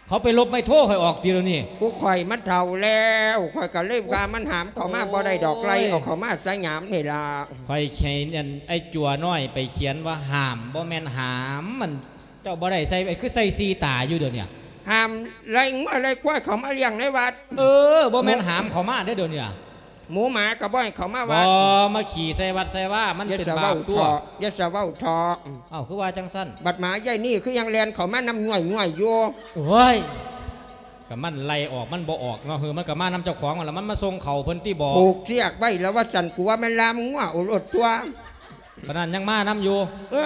ເຂົາໄປລົບໄມໂທຂ້ອຍອອກຕິດຽວນີ້ ຜູ້ຂ້ອຍມັນເຖົ້າແລ້ວ ຂ້ອຍກໍເລີຍວ່າມັນຫ້າມເຂົ້າມາບໍ່ໄດ້ດອກ ໂອ້ຍ ໄລ່ເອົາເຂົ້າມາສະຫຍາມນີ້ລະ ຂ້ອຍໃຫ້ອັນ ໄອ້ຈົວນ້ອຍໄປຂຽນວ່າຫ້າມ ບໍ່ແມ່ນຫາມ ມັນ ເຈົ້າບໍ່ໄດ້ໃສ່ ຄືໃສ່ສີ່ຕາຢູ່ດຽວນີ້ ຫ້າມໄລ່ງົວໄລ່ຄວາຍເຂົ້າມາລ້ຽງໃນວັດ ເອີ ບໍ່ແມ່ນຫາມເຂົ້າມາເດ້ດຽວນີ້ ໝູໝາກໍບໍ່ໃຫ້ເຂົ້າມາວັດ ບໍ່ມາຂີ້ໃສ່ວັດໃສ່ວາ ມັນເປັນບາບຕົວະ ຢ່າສະເວົ້າເຖາະ ຢ່າສະເວົ້າເຖາະ ເອົ້າ ຄືວ່າຈັ່ງຊັ້ນ ບັດໝາຍາຍນີ້ຄືຍັງແລ່ນເຂົ້າມານຳຍ້ວຍໆຢູ່ ໂອ້ຍ ກໍມັນໄລ່ອອກມັນບໍ່ອອກເນາະ ເຮີ ມັນກໍມານຳເຈົ້າຂອງຫັ້ນລະ ມັນມາສົ່ງເຂົ້າເພິ່ນຕິບໍ ຜູກເຊືອກໄວ້ລະວ່າຊັ້ນ ກູວ່າແມ່ນລ່າມງົວເອົາໂລດຕົວະ ປານນັ້ນຍັງມານຳຢູ່ ເອີ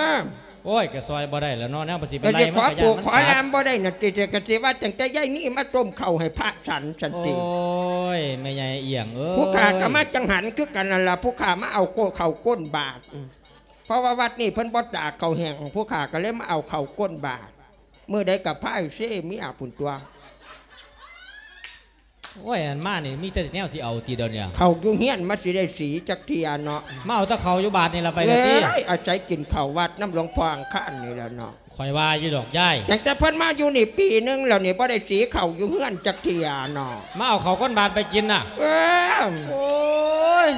ໂອ້ຍ ກໍຊ່ອຍບໍ່ໄດ້ແລ້ວເນາະ ແນວມັນຊິໄປໄລ່ ກໍຊິຂໍຜູກຂໍລ່າມບໍ່ໄດ້ນັ້ນຕິ ກໍຊິວ່າຕັ້ງແຕ່ຍາຍນີ້ມາຕົ້ມເຂົ້າໃຫ້ພະສັນຊັ້ນຕິ ໂອ້ຍ ແມ່ໃຫຍ່ອຽງເອີຍ ຜູ້ຂ້າກໍມາຈັງຫັນຄືກັນນັ້ນລະ ຜູ້ຂ້າມາເອົາເຂົ້າກົ້ນບາດ ເພາະວ່າວັດນີ້ເພິ່ນບໍ່ຕາກເຂົ້າແຫ້ງ ຜູ້ຂ້າກໍເລີຍມາເອົາເຂົ້າກົ້ນບາດ ມື້ໃດກໍພາຍເຊເມຍພຸ້ນຕົວະ ໂອ້ຍ ອັນມານີ້ມີແຕ່ແນວຊິເອົາຕິດຽວນີ້ ເຂົ້າຢູ່ເຮືອນມັນຊິໄດ້ສີຈັກເທື່ອເນາະ ມາເອົາແຕ່ເຂົ້າຢູ່ບາດນີ້ລະໄປລະຕິ ເອີຍ ອາໄສກິນເຂົ້າວັດນຳຫຼວງພໍ່ອັງຄານນີ້ລະເນາະ ຂ້ອຍວ່າຢູ່ດອກຍາຍ ຕັ້ງແຕ່ເພິ່ນມາຢູ່ນີ້ປີໜຶ່ງແລ້ວນີ້ ບໍ່ໄດ້ສີເຂົ້າຢູ່ເຮືອນຈັກເທື່ອເນາະ ມາເອົາເຂົ້າກ້ອນບາດໄປກິນນະ ເອີ ໂອ້ຍ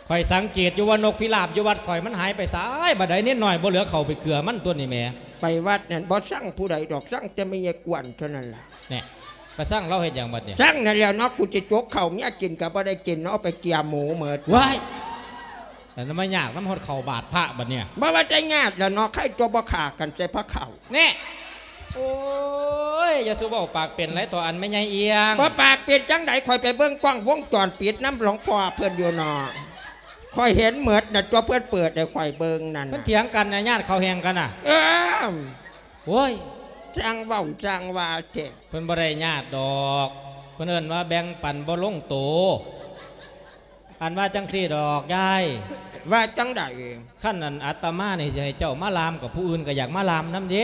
ຂ້ອຍສັງເກດຢູ່ວ່ານົກພິລາບຢູ່ວັດຂ້ອຍມັນຫາຍໄປໃສ ບັດໃດເນນນ້ອຍບໍ່ເຫຼືອເຂົ້າໄປເກືອມັນຕົວະນີ້ແໝ ໄປວັດນັ້ນບໍ່ຊັງຜູ້ໃດດອກ ຊັງແຕ່ແມ່ຍາຍກວນເທົ່ານັ້ນລະ ແນ່ ໄປຊັງລາວເຮັດຫຍັງບັດນີ້ ຊັງນັ້ນແຫຼະເນາະ ກູຊິຈົກເຂົ້າເມຍກິນກໍບໍ່ໄດ້ກິນເນາະ ເອົາໄປເກຍໝູເໝິດ ວ້າຍ ແລ້ວມາຍາກນຳຮອດເຂົ້າບາດພະບັດນີ້ ບໍ່ວ່າແຕ່ຍາກແຫຼະເນາະ ໃຄຕົວະບໍ່ຂ້າກັນໃສ່ພະເຂົ້າ ແນ່ ໂອ້ຍ ຢ່າສູ່ເວົ້າປາກເປັນຫຼາຍ ຕໍ່ອັນແມ່ໃຫຍ່ອຽງ ບໍ່ປາກເປັນຈັ່ງໃດ ຂ້ອຍໄປເບິ່ງກ້ອງວົງຈອນປິດນຳຫຼວງພໍ່ເພິ່ນຢູ່ເນາະ ຂ້ອຍເຫັນເໝິດນະ ຕົວະເພິ່ນເປີດໃຫ້ຂ້ອຍເບິ່ງນັ້ນ ເພິ່ນຖຽງກັນນະ ຍາດເຂົ້າແຫ້ງກັນນະ ເອີ ໂອ້ຍ ຊ່າງເວົ້າຊ່າງວ່າແທ້ ເພິ່ນບໍ່ໄດ້ຍາດດອກ ເພິ່ນເອີ້ນວ່າແບ່ງປັນບໍ່ລົງໂຕ ອັນວ່າຈັ່ງຊີ້ດອກຍາຍ ວ່າຈັ່ງໃດ ຄັນອັນອາດຕະມານີ້ຊິໃຫ້ເຈົ້າມາລ່າມ ກໍຜູ້ອື່ນກໍຢາກມາລ່າມນຳເດ້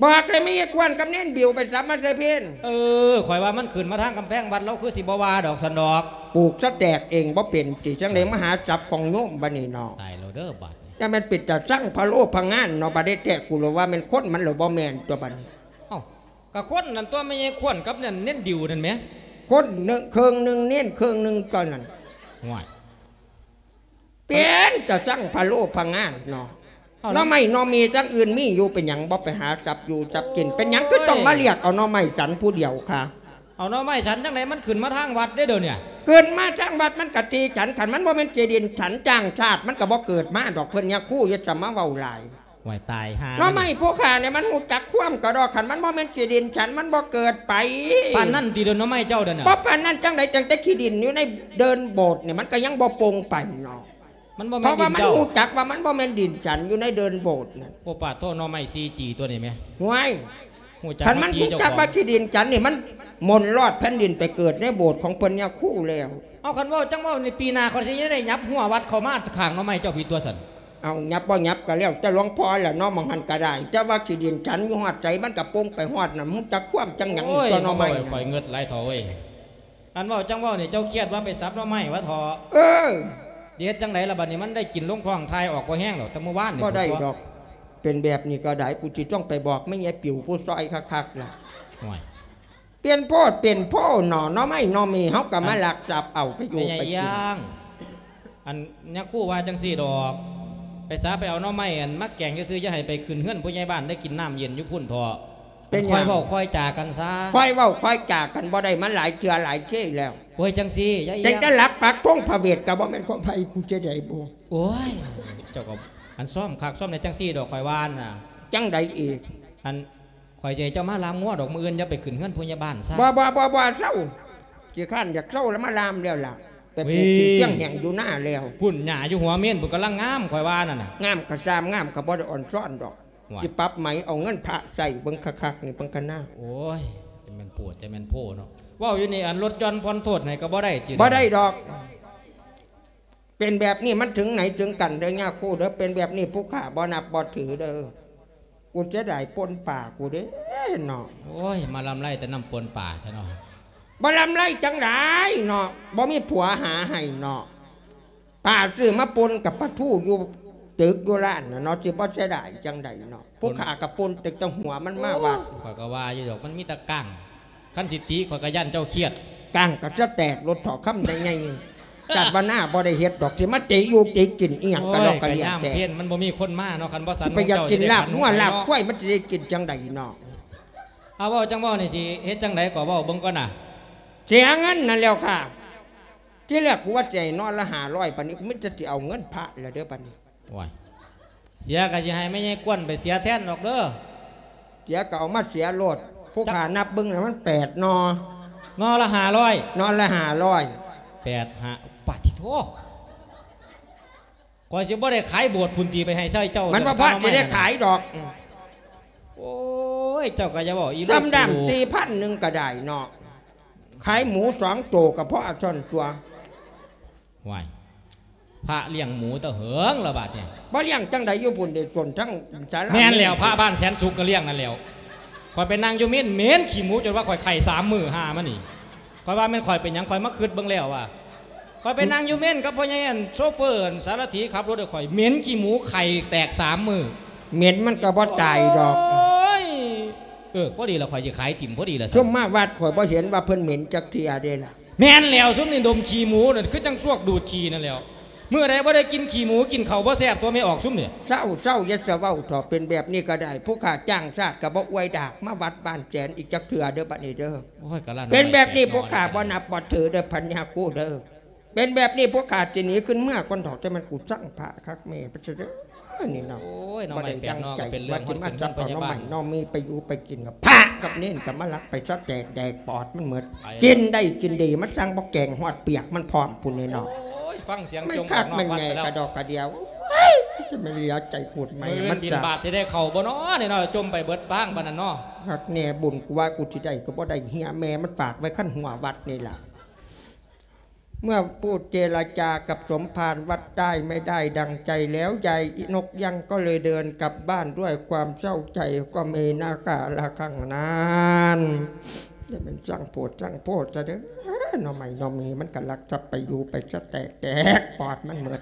ບອກແລ້ວ ມີຍາຍຄວນກັບເນນບິວໄປສັບມາໃສ່ເພນ. ເອີ ຂ້ອຍວ່າມັນຂຶ້ນມາທາງກຳແພງວັດ ລາວຄືຊິບໍ່ວ່າດອກຊັ້ນດອກ. ປູກສະແຕກເອງບໍ່ເປັນຕິ ຈັ່ງໃດມາຫາສັບຂອງໂຍມບັດນີ້ເນາະ. ຕາຍແລ້ວເດີບັດນີ້. ຢ່າແມ່ນເປັນຕາຊັງພະໂລພະງານເນາະ ບັດໄດ້ແທ້ ກູລະວ່າແມ່ນຄົນ ມັນລະບໍ່ແມ່ນຕົວະບັດນີ້. ເອົ້າ ກະຄົນນັ້ນຕົວະ ແມ່ຍາຍຄວນກັບນັ້ນເນນດິວນັ້ນແໝ. ຄົນໜຶ່ງເຄິ່ງໜຶ່ງເນນເຄິ່ງໜຶ່ງຕົວະນັ້ນ. ໂອ້ຍ ເປັນຕາຊັງພະໂລພະງານເນາະ. ເອົາ ໜໍ່ໄມ້ໜໍ່ເມຈັ່ງອື່ນມີຢູ່ ເປັນຫຍັງບໍ່ໄປຫາສັບຢູ່ສັບກິນ? ໂອ້ຍ ເປັນຫຍັງຄືຕ້ອງມາລຽກເອົາໜໍ່ໄມ້ສັນຜູ້ດຽວຄະ? ເອົາໜໍ່ໄມ້ສັນຈັ່ງໃດ ມັນຂຶ້ນມາທາງວັດເດ້ດຽວນີ້. ຂຶ້ນມາທາງວັດມັນກະຕີກັນ ຄັນມັນບໍ່ແມ່ນທີ່ດິນສັນຈ້າງຊາດ ມັນກະບໍ່ເກີດມາດອກ. ເພິ່ນຍາຄູ ຢ່າສະມາເວົ້າຫຼາຍ. ໂອ້ຍ ຕາຍຫ່າ ໜໍ່ໄມ້ຜູ້ຂ້ານີ້ມັນຮູ້ຈັກຄວາມກະດອກ ຄັນມັນບໍ່ແມ່ນທີ່ດິນສັນ ມັນບໍ່ເກີດໄປ. ປານນັ້ນຕິດອກ ໜໍ່ໄມ້ເຈົ້ານັ້ນນະ? ບໍ່ປານນັ້ນຈັ່ງໃດ ຕັ້ງແຕ່ຂີ້ດິນຢູ່ໃນເດີ່ນໂບດນີ້ ມັນກະຍັງບໍ່ປົງໄປເນາະ. ມັນບໍ່ແມ່ນດິນເຈົ້າ ເພາະວ່າມັນຮູ້ຈັກວ່າມັນບໍ່ແມ່ນດິນສັນຢູ່ໃນເດີ່ນໂບດນັ້ນ. ໂອ້ ປາດໂທ ໜໍ່ໄມ້ສີ່ຈີ່ຕົວນີ້ແໝ. ຫ້ວຍ ຮູ້ຈັກ ຄັນມັນຮູ້ຈັກວ່າຂີ້ດິນສັນນີ້ ມັນໝົນລອດແຜ່ນດິນໄປເກີດໃນໂບດຂອງເພິ່ນຍາຄູແລ້ວ. ເອົາ ຄັນເວົ້າຈັ່ງເວົ້ານີ້ ປີໜ້າຂ້ອຍຊິໄດ້ຫຍັບຮົ້ວວັດເຂົ້າມາຂ້າງໜໍ່ໄມ້ເຈົ້າພີ້ຕົວະຊັ້ນ. ເອົາ ຫຍັບບໍ່ຫຍັບກະແລ້ວແຕ່ຫຼວງພໍ່ແຫຼະເນາະ ໝ່ອງຫັ້ນກະໄດ້. ແຕ່ວ່າຂີ້ດິນສັນຢູ່ຮອດໃສ ມັນກະປົງໄປຮອດນັ້ນ ຮູ້ຈັກຄວາມຈັ່ງຫຍັງ ໂອ້ຍ ຕົວະໜໍ່ໄມ້. ໂອ້ຍ ຂ້ອຍເງິດຫຼາຍເຖົ້າເອີຍ. ອັນເວົ້າຈັ່ງເວົ້ານີ້ ເຈົ້າຄຽດວ່າໄປສັບໜໍ່ໄມ້ວະເຖາະ. ເອີ ຊິເຮັດຈັ່ງໃດລະບັດນີ້ ມັນໄດ້ກິນລົງທ້ອງ ຖ່າຍອອກບໍ່ແຮງດອກ ແຕ່ມື້ວານນີ້. ບໍ່ໄດ້ດອກ ເປັນແບບນີ້ກະໄດ້ ກູຊິຕ້ອງໄປບອກແມ່ຍາຍປິວຜູ້ຊ່ອຍຄັກໆລະ. ໂອ້ຍ ເປັນໂພດເປັນໂພເນາະ ໜໍ່ໄມ້ໜໍ່ເມເຮົາກະມາລັກສັບເອົາໄປຢູ່ໄປກິນ. ອັນຍາຄູວ່າຈັ່ງຊີ້ດອກ ໄປສາໄປເອົາໜໍ່ໄມ້ອັນມາແກງຊື່ໆ ຢ່າໃຫ້ໄປຂຶ້ນເຮືອນຜູ້ໃຫຍ່ບ້ານ ໄດ້ກິນນ້ຳເຢັນຢູ່ພຸ້ນເຖາະ. ເປັນຫຍັງ? ຄ່ອຍເວົ້າຄ່ອຍຈາກັນຊະ. ຄ່ອຍເວົ້າຄ່ອຍຈາກັນບໍ່ໄດ້ ມາຫຼາຍເທື່ອຫຼາຍເທື່ອແລ້ວ. ໂອ້ຍ ຈັ່ງຊີ້ ຢ່າອີ່ຫຍັງ ແຕ່ຫຼັກປັກທງພະເວດກະບໍ່ແມ່ນຂອງໃຜ ກູຈະໄດ້ບໍ່? ໂອ້ຍ ເຈົ້າກະ ອັນຊ້ອມຄັກຊ້ອມແນ່ ຈັ່ງຊີ້ດອກ ຂ້ອຍວ່ານະ. ຈັ່ງໃດອີກ? ອັນ ຂ້ອຍຊິໃຫ້ເຈົ້າມາລາມງົວດອກ ມື້ອື່ນຢ່າໄປຂຶ້ນເຮືອນຜູ້ໃຫຍ່ບ້ານຊະ. ບໍ່ ບໍ່ ບໍ່ ບໍ່ ເຊົາ ຂີ້ຄ້ານຢາກເຊົາລະ ມາລາມແລ້ວລະ ໄປປູກກິນ ເອີ ຕຽງແຫ້ງຢູ່ນາແລ້ວ. ພຸ້ນ ຫຍ້າຢູ່ຫົວເມນພຸ້ນກຳລັງງາມ ຂ້ອຍວ່ານັ້ນນະ. ງາມກະຊ່າງ ງາມກະບໍ່ໄດ້ອ່ອນຊ້ອນດອກ. ຊິປັບໃໝ ເອົາເງິນພະໃສ່ເບິ່ງຄັກໆນີ້ເບິ່ງກະນາ. ໂອ້ຍ ຈະແມ່ນໂພດ ຈະແມ່ນໂພເນາະ. ເວົ້າຢູ່ນີ້ ອັນລົດຢ່ອນຜ່ອນໂທດໃຫ້ກະບໍ່ໄດ້ຕິ? ບໍ່ໄດ້ດອກ. ເປັນແບບນີ້ມັນເຖິງໄຫນເຖິງກັນເດີຍາຄູເດີ ເປັນແບບນີ້ຜູ້ຂ້າບໍ່ນັບບໍ່ຖືເດີ. ກູເສຍດາຍປົ່ນປາກູເດ້ເນາະ. ໂອ້ຍ ມາລຳໄລແຕ່ນ້ຳປົ່ນປາແທ້ເນາະ. ບໍ່ລຳໄລຈັ່ງໃດເນາະ ບໍ່ມີຜົວຫາໃຫ້ເນາະ. ປາຊື້ມາປົ່ນກັບປາທູຢູ່ຕຶກຢູ່ຮ້ານນະເນາະ ຊິບໍ່ເສຍດາຍຈັ່ງໃດເນາະ. ຜູ້ຂ້າກະປົ່ນຕັ້ງແຕ່ຫົວມັນມາວ່າ. ໂອ້ຍ ຂ້ອຍກະວ່າຢູ່ດອກ ມັນມີແຕ່ກ້າງ. ຄັນຊິຕິຂ້ອຍກະຢ້ານເຈົ້າຄຽດ. ກ້າງກະສະແຕກໂລດເຖາະ ຄຳໃດໃຫຍ່. ຊາດວ່າໜ້າບໍ່ໄດ້ເຮັດດອກ ຊິມາຕິຢູ່ຕິກິນອີ່ຫຍັງກະດອກກະເດຍແທ້. ໂອ້ຍ ກະຍາມເພັນມັນບໍ່ມີຄົນມາເນາະ ຄັນບໍ່ສັນ ໄປຢາກກິນລາບງົວລາບຄວາຍ ມັນຊິໄດ້ກິນຈັ່ງໃດເນາະ. ເອົາ ເວົ້າຈັ່ງເວົ້ານີ້ ຊິເຮັດຈັ່ງໃດກໍເວົ້າເບິ່ງກ່ອນນະ. ເສຍເງິນນັ້ນແລ້ວຄ່າ. ທີແລກກູວ່າຊິໃຫ້ນອນລະຫ້າຮ້ອຍ ບາດນີ້ກູມີແຕ່ຊິເອົາເງິນພະແລ້ວເດີບາດນີ້. ໂອ້ຍ ເສຍກະຊິໃຫ້ແມ່ໃຫຍ່ກວນໄປເສຍແທນດອກເດີ. ເສຍກະເອົາມາເສຍໂລດ. ຜູ້ຂ້ານັບເບິ່ງແລ້ວມັນແປດໜໍ່. ໜໍ່ລະຫ້າຮ້ອຍ. ໜໍ່ລະຫ້າຮ້ອຍ. ແປດຫ້າ ປາດທິໂທ. ຂ້ອຍຊິບໍ່ໄດ້ຂາຍໂບດພຸ້ນຕິ ໄປໃຫ້ໃຊ້ເຈົ້າ. ມັນບໍ່ພໍຊິໄດ້ຂາຍດອກ. ໂອ້ຍ ເຈົ້າກະຢ່າເວົ້າອີ່ລູກ. ຊຳດຳສີ່ພັນໜຶ່ງກະໄດ້ເນາະ. ຂາຍໝູສອງໂຕກະພໍເທົ່ານັ້ນຕົວະ. ຫວ້າຍ ພະລ້ຽງໝູແຕ່ເຫິງລະບາດນີ້. ບໍ່ລ້ຽງຈັ່ງໃດ ຢູ່ພຸ້ນເດ ສົ້ນທັງສາລາ. ແມ່ນແລ້ວ ພະບ້ານແສນສຸກກະລ້ຽງນັ້ນແລ້ວ. ຂ້ອຍໄປນັ່ງຢູ່ເມນ ເໝັນຂີ້ໝູຈົນວ່າຂ້ອຍໄຂ້ສາມມື້ ຫາມານີ້. ຂ້ອຍວ່າແມ່ນຂ້ອຍເປັນຫຍັງ ຂ້ອຍມາຄຶດເບິ່ງແລ້ວວ່າ ຂ້ອຍໄປນັ່ງຢູ່ເມນກັບພໍ່ໃຫຍ່ອັນໂຊເຟີ ອັນສາລະຖີຂັບລົດໃຫ້ຂ້ອຍ ເໝັນຂີ້ໝູໄຂ້ແຕກສາມມື້. ເໝັນມັນກະບໍ່ຕາຍດອກ. ໂອ້ຍ ເອີ ພໍດີລະ ຂ້ອຍຊິຂາຍຖິ້ມພໍດີລະ. ຊຸມມາວັດຂ້ອຍບໍ່ເຫັນວ່າເພິ່ນເໝັນຈັກເທື່ອເດ້ລະ. ແມ່ນແລ້ວ ຊຸມນີ້ດົມຂີ້ໝູນັ້ນ ຄືຈັ່ງຊວກດູດຂີ້ນັ້ນແຫຼ້ວ. ມື້ໃດບໍ່ໄດ້ກິນຂີ້ໝູ ກິນເຂົ້າບໍ່ແຊບຕົວະ ແມ່ອອກຊຸມນີ້. ເຊົາ ເຊົາ ຢ່າສະເວົ້າເຖາະ ເປັນແບບນີ້ກະໄດ້. ຜູ້ຂ້າຈ້າງຊາດກະບໍ່ອວຍດາກມາວັດບ້ານແສນອີກຈັກເທື່ອເດີ ບາດນີ້ເດີ. ໂອ້ຍ ກະລະ ເປັນແບບນີ້ ນ້ອຍ ພວກຂ້າບໍ່ນັບບໍ່ຖືເດີ ພະຍາຄູເດີ. ເປັນແບບນີ້ ພວກຂ້າຊິໜີຂຶ້ນເມືອກ່ອນເຖາະ. ແຕ່ມັນກູຊັງພະຄັກແນ່ປະເສີດເດີ ນີ້ເນາະ. ໂອ້ຍ ໜໍ່ໄມ້ແປດໜໍ່ກະເປັນເລື່ອງ ຮອດຂຶ້ນເຮືອນພະຍາບານ. ເອົາໜໍ່ໄມ້ໜໍ່ມີໄປຢູ່ໄປກິນ ກະພະກັບເນນກະມາລັກໄປຊະແຕກແດກປອດມັນໝົດ. ກິນໄດ້ກິນດີ ມັນສັ່ງບໍ່ແກງ ຮອດປຽກມັນພ້ອມພຸ້ນນີ້ເນາະ. ໂອ້ຍ ຟັງສຽງ ມັນຄັກມັນແນ່ກະດອກກະດຽວ. ໂອ້ຍ ຈະມາເຫຼືອໃຈໂຄດໃໝ່ ມື້ອື່ນບິນບາດຊິໄດ້ເຂົ້າບໍ່ນໍນີ້ນໍ ຈົ່ມໄປເບິດບ້າງປານນັ້ນນໍ. ຄັກແນ່ ບຸນກູວ່າກູຊິໄດ້ກະບໍ່ໄດ້ ເຮຍແມ່ມັນຝາກໄວ້ຄັນຫົວວັດນີ້ລະ. เมื่อพูดเจรจากับสมภารวัดใต้ไม่ได้ดังใจแล้ว ยายนกยั้งก็เลยเดินกลับบ้านด้วยความเศร้าใจ ก็มีนาคาละครั้งนั้น จะเป็นสร้างโพดสร้างโพดซะเด้อ หน่อไม้หน่อมีมันก็ลักทรัพย์ไปอยู่ไปซะแตกแตกปอดมันหมด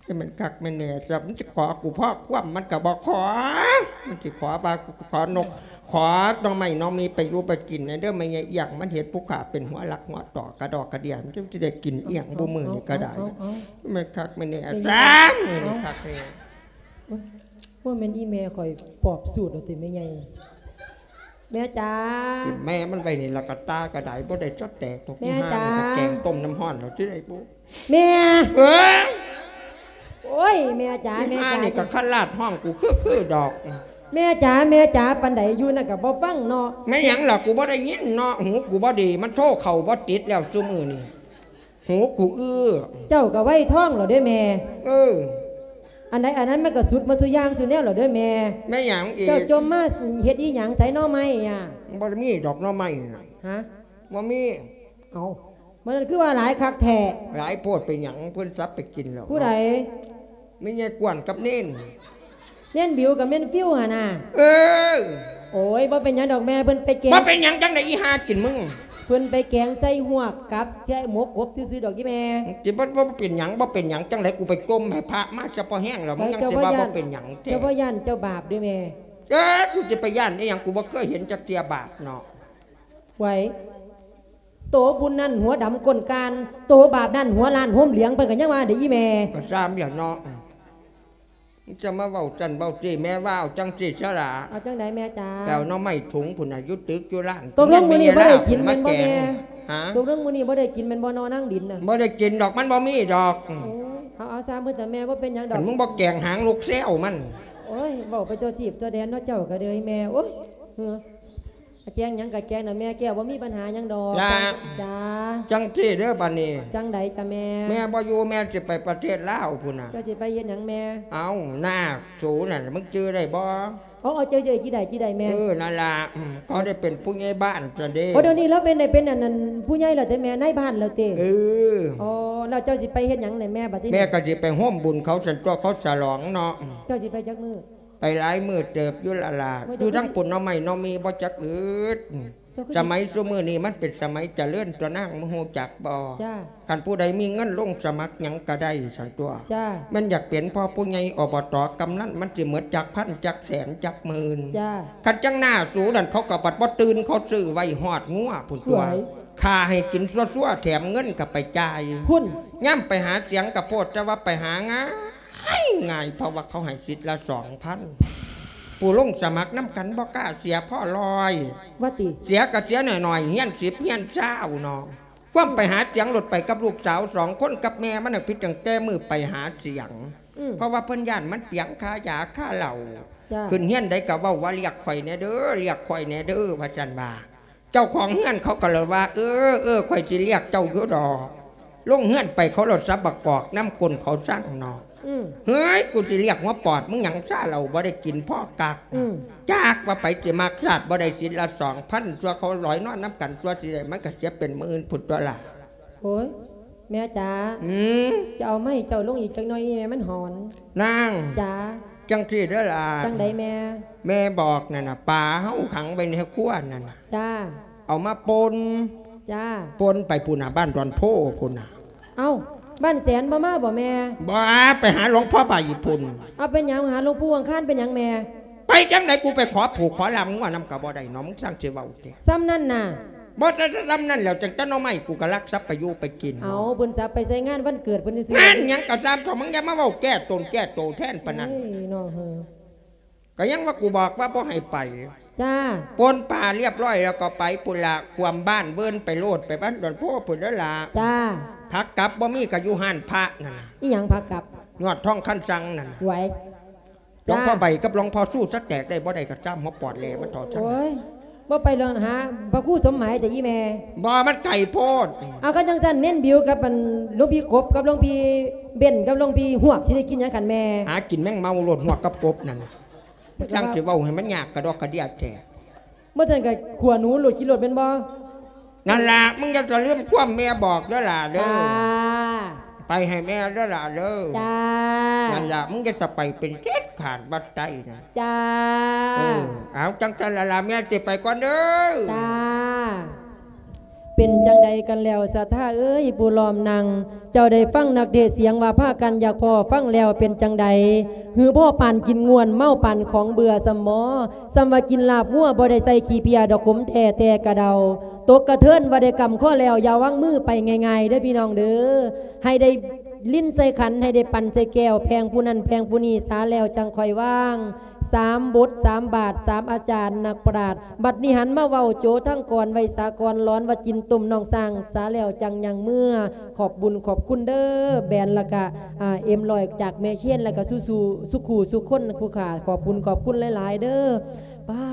จะมันคักแม่นแน่ซะ มันสิขอกูพอความมันก็บ่ขอ มันสิขอว่ากูขอนก ขอหน่อไม้หน่อมีไปอยู่ไปกินแหน่เด้อ แม่ใหญ่เอี้ยง มันเห็นผู้ข้าเป็นหัวหลักหัวต่อกระดอกกระเดี่ย มันสิได้กินอีหยังบุมื้อนี้ก็ได้ เอา เอา เอา มันคักแม่นแน่ เป็นไง ซะ มันคักแน่ ว่าแม่นอีแม่ข่อยปอบสูตรเอาติแม่ใหญ่ แม่จ๋า แม่มันไว้นี่ละกะตาก็ได้ บ่ได้ซอดแตกดอก แม่ อีห่า จ๋า นี่ก็แกงต้มน้ำร้อนแล้วสิได้บ่ แม่ เอ้ย โอ้ย แม่จ๋า อี แม่ ห่า จ๋า นี่ก็ขลาดห้องกูคือๆดอก แม่จ๋า แม่จ๋า ปานใดอยู่นั่นก็บ่ฟังเนาะ แม่หยังล่ะ กูบ่ได้ยินเนาะ หูกูบ่ดี มันโทรเข้าบ่ติดแล้วซุมื้อนี้ หูกูอื้อ เจ้าก็ไวทองแล้วเด้แม่ เออ อันใดอันนั้นมันก็สุดหมดซุอย่างซุแนวแล้วเด้แม่ แม่หยังอีก เจ้าจมมาเฮ็ดอีหยัง ไสหน่อไม้อะ บ่มีดอกหน่อไม้น่ะ ฮะ บ่มี เอ้า มันคือว่าหลายคักแท้ หลายโพดไปหยัง เพิ่นสับไปกินแล้ว ผู้ใด แม่ใหญ่กวนกับเน้น เน้นบิวกับเน้นฟิวหั่นน่ะ เออ โอ้ย บ่เป็นหยังดอกแม่ เพิ่นไปแกง บ่เป็นหยังจั่งใด๋อีห่ากินมึง เพิ่นไปแกงใส่ฮวกกับใส่หมกกบซื่อๆดอกอีแม่ สิบ่ บ่เป็นหยัง บ่เป็นหยังจั่งใด๋ กูไปจมให้พระมาซะพอแฮงแล้ว มึงยังสิว่าบ่เป็นหยังแท้ เจ้าบ่ย่านเจ้าบาปเด้แม่ เอ้อ กูสิไปย่านอีหยัง กูบ่เคยเห็นจักเทื่อบาปเนาะ ไหว โตบุญนั่นหัวดำก้นกาน โตบาปนั่นหัวล้านโฮมเหลียง เพิ่นก็ยังว่าเด้อีแม่ ก็ซ่ำแล้วเนาะ จะมาเว้าจั่นเว้าซี้ แม่ว่าเอาจั่งซี้ซะล่ะ เอาจั่งใด๋แม่จ๋า ไปเอาหน่อไม้ถุงพุ้นน่ะ อยู่ตึกอยู่ร้าน ตกลงมื้อนี้บ่ได้กินแม่นบ่แม่ ฮะ ตกลงมื้อนี้บ่ได้กินแม่นบ่นอนางดินน่ะ บ่ได้กินดอก มันบ่มีดอก โอ้ย เอา เอาซ่ำเพิ่นซะแม่ บ่เป็นหยังดอก คันมึงบ่แกงหางนกแซวมัน โอ้ย เว้าไปทั่วทีปทั่วแดนเนาะเจ้าก็เด้อแม่ โอ้ย เหือ แกงหยังก็แกงน่ะแม่ แก้วบ่มีปัญหาหยังดอก ล่ะ จ้า จั่งซี้เด้อบัดนี้ จั่งใด๋จ้ะแม่ แม่บ่อยู่ แม่สิไปประเทศลาวพุ้นน่ะ เจ้าสิไปเฮ็ดหยังแม่ เอ้า น้าสูนั่น มึงจื่อได้บ่ อ๋อ เจ้า เจ้า จิได้ จิได้แม่ เออ นั่นล่ะ อืม เขาได้เป็นผู้ใหญ่บ้านซะเด้ โอ้ เดี๋ยวนี้ลาวเป็น ได้เป็นอันนั้น ผู้ใหญ่แล้วติแม่ นายบ้านแล้วติ เออ อ๋อ แล้วเจ้าสิไปเฮ็ดหยังนี่แม่ บัดนี้ แม่ก็สิไปร่วมบุญเขาซั่นตั๊ว เขาฉลองเนาะ เจ้าสิไปจักมื้อ ไปหลายมื้อเติบอยู่ละล่ะ มื้อเดียว อยู่ทางพุ้นหน่อไม้หน่อมีบ่จักอึด เจ้าคือ สมัยซุมื้อนี้มันเป็นสมัยเจริญตั๊วนาง มึงฮู้จักบ่ จ้า คันผู้ใดมีเงินลงสมัครหยังก็ได้ซั่นตั๊ว จ้า แม่นอยากเป็นพ่อผู้ใหญ่ อบต กำนัน มันสิหมดจักพัน จักแสน จักหมื่น จ้า คันจั่งหน้าสูนั่น เขาก็บัดบ่ตื่น เขาซื้อไว้ฮอดงัวพุ้นตั๊ว หวย ฆ่าให้กินซั่วๆ แถมเงินก็ไปจ่าย พุ้น ยามไปหาเสียงก็โพดแต่ว่าไปหาง่าย ง่าย เพราะว่าเขาให้สิทธิ์ละสองพัน ผู้ลงสมัครนำกันบ่กล้าเสียพอร้อย ว่าติ เสียก็เสียน้อยๆ เฮียนสิบเฮียนซาวเนาะ ความไปหาเสียงโลดไปกับลูกสาวสองคนกับแม่มันน่ะ ผิดตั้งแต่มื้อไปหาเสียง อืม เพราะว่าเพิ่นย้านมันเปียงค่ายาค่าเหล้า จ้า ขึ้นเฮียนใดก็เว้าว่า เรียกข่อยแหน่เด้อ เรียกข่อยแหน่เด้อ ว่าซั่นว่า เจ้าของเฮือนเขาก็เลยว่า เออ เออ ข่อยสิเรียกเจ้าอยู่ดอก ลงเฮือนไปเขาโลดสับบักกอกนำก้นเขาสั่งเนาะ อืม เฮ้ย กูสิเรียกหัวปอดมึงหยัง ซาเหล้าบ่ได้กินพอกัก อืม จักว่าไผสิมัก ซาดบ่ได้สิทธิ์ละสองพัน ซั่วเขาลอยนอนนำกัน ซั่วสิได้มันก็เสียเป็นหมื่นพุ้นตั๊วล่ะ โอ้ย แม่จ๋า อืม จะเอามาให้เจ้าลงอีกจักหน่อยนี่แม่ มันหอน นาง จ๋า จั่งซี้เด้อล่ะ จั่งใดแม่ แม่บอกนั่นน่ะ ปลาเฮาขังไว้ในครัวนั่นน่ะ จ้า เอามาป่น จ้า ป่นไปพุ้นน่ะ บ้านดอนโพพุ้นน่ะ เอ้า บ้านแสนบ่มาบ่แม่ บ่ ไปหาหลวงพ่อใบพุ้น เอาเป็นหยังหาหลวงปู่อังคารเป็นหยังแม่ ไปจั่งใด๋ กูไปขอผูกขอล่ามงัวนำก็บ่ได้เนาะ มึงสั่งสิเว้าแท้ ส่ำนั่นน่ะ บ่ซะ ส่ำนั่นแล้ว จั่งแต่หน่อไม้กูก็ลักทรัพย์ไปอยู่ไปกิน เอา เพิ่นสับไปใส่งานวันเกิดเพิ่นซื่อๆ งานหยังก็ซ่ำเถาะ มึงอย่ามาเว้าแก้ตนแก้โตแทนปานนั้น เอ้ย น้องเฮอ ก็ยังว่ากูบอกว่าบ่ให้ไป จ้า ป่นปลาเรียบร้อยแล้วก็ไปพุ้นล่ะ ขวมบ้านเวิ้นไปโลด ไปบ้านดอนโพพุ้นเด้อล่ะ จ้า ผักกับบ่มีก็อยู่ฮ้านพระนั่นน่ะ อีหยังผักกับ ยอดทองคันสั่งนั่นน่ะ ไหว หลวงพ่อ จ้า ใบกับหลวงพ่อสู้สะแตกได้บ่ได้ก็ซ่ำหัวปอดแหล่มันเถาะซั่น โอ้ย บ่ไปเรื่องหาพระครูสมหมายแต่อีแม่ บ่ มันไกลโพด เอา คันจั่งซั่นเน้นบิวกับอันหลวงพี่กบกับหลวงพี่เบนกับหลวงพี่ฮวกสิได้กินหยังคันแม่ หากินแมงเม่าโลด ฮวกกับกบนั่นน่ะ มันช่างสิเว้าให้มันยากกระดอกกระเดี้ยแท้ บ่ซั่นก็ขั่วหนูโลดกินโลดแม่นบ่ ນັ້ນລະ ມຶງຢ່າສະລືມຄວາມແມ່ບອກເດີຫຼ້າເດີ. ຈ້າ. ໄປໃຫ້ແມ່ເດີຫຼ້າເດີ. ຈ້າ. ນັ້ນລະ ມຶງຢ່າສະໄປເປັນເດັດຂາດວັດໃຕ້ນະ. ຈ້າ. ເອີ ເອົາ ຈັ່ງຊັ້ນລະຫຼ້າ ແມ່ຊິໄປກ່ອນເດີ. ຈ້າ. ເປັນຈັ່ງໃດກັນແລ້ວ ສັດທາເອີຍ ຜູ້ລ້ອມນັ່ງ? ເຈົ້າໄດ້ຟັງນັກເທດສຽງວ່າພາກັນຢາກພໍ້ຟັງແລ້ວເປັນຈັ່ງໃດ? ຫຼືພໍ້ປານກິນງ່ວນເມົາປານຂອງເບື່ອຊຳໝໍ? ສ່ຳວ່າກິນລາບງົວບໍ່ໄດ້ໃສ່ຂີ້ເພຍດອກ ຂົມແທ້ແຕ່ກະເດົາ. ຕົກກະເທີນວ່າໄດ້ກຳຄໍແລ້ວ ຢ່າວາງມືໄປງ່າຍໆເດີພີ່ນ້ອງເດີ. ໃຫ້ໄດ້ລິນໃສ່ຂັນ ໃຫ້ໄດ້ປັ່ນໃສ່ແກ້ວ ແພງຜູ້ນັ້ນແພງຜູ້ນີ້ ສາແລ້ວຈັ່ງຄ່ອຍວາງ. ສາມບົດສາມບາດ ສາມອາຈານນັກປະດາດ ບັດນີ້ຫັນມາເວົ້າໂຈທາງກອນໄວສາກອນ ຫຼອນວ່າກິນຕົ້ມນ້ອງຊ້າງ ສາແລ້ວຈັ່ງຍ່າງເມືອ. ຂອບບຸນຂອບຄຸນເດີ ແບນ ແລ້ວກະ ອາ ເອັມຮ້ອຍ ຈາກແມ່ເຊນ ແລ້ວກະສູ່ໆ ສູ່ຄູ່ສູ່ຄົນຜູ້ຂ້າ ຂອບບຸນຂອບຄຸນຫຼາຍໆເດີ. ປ້າ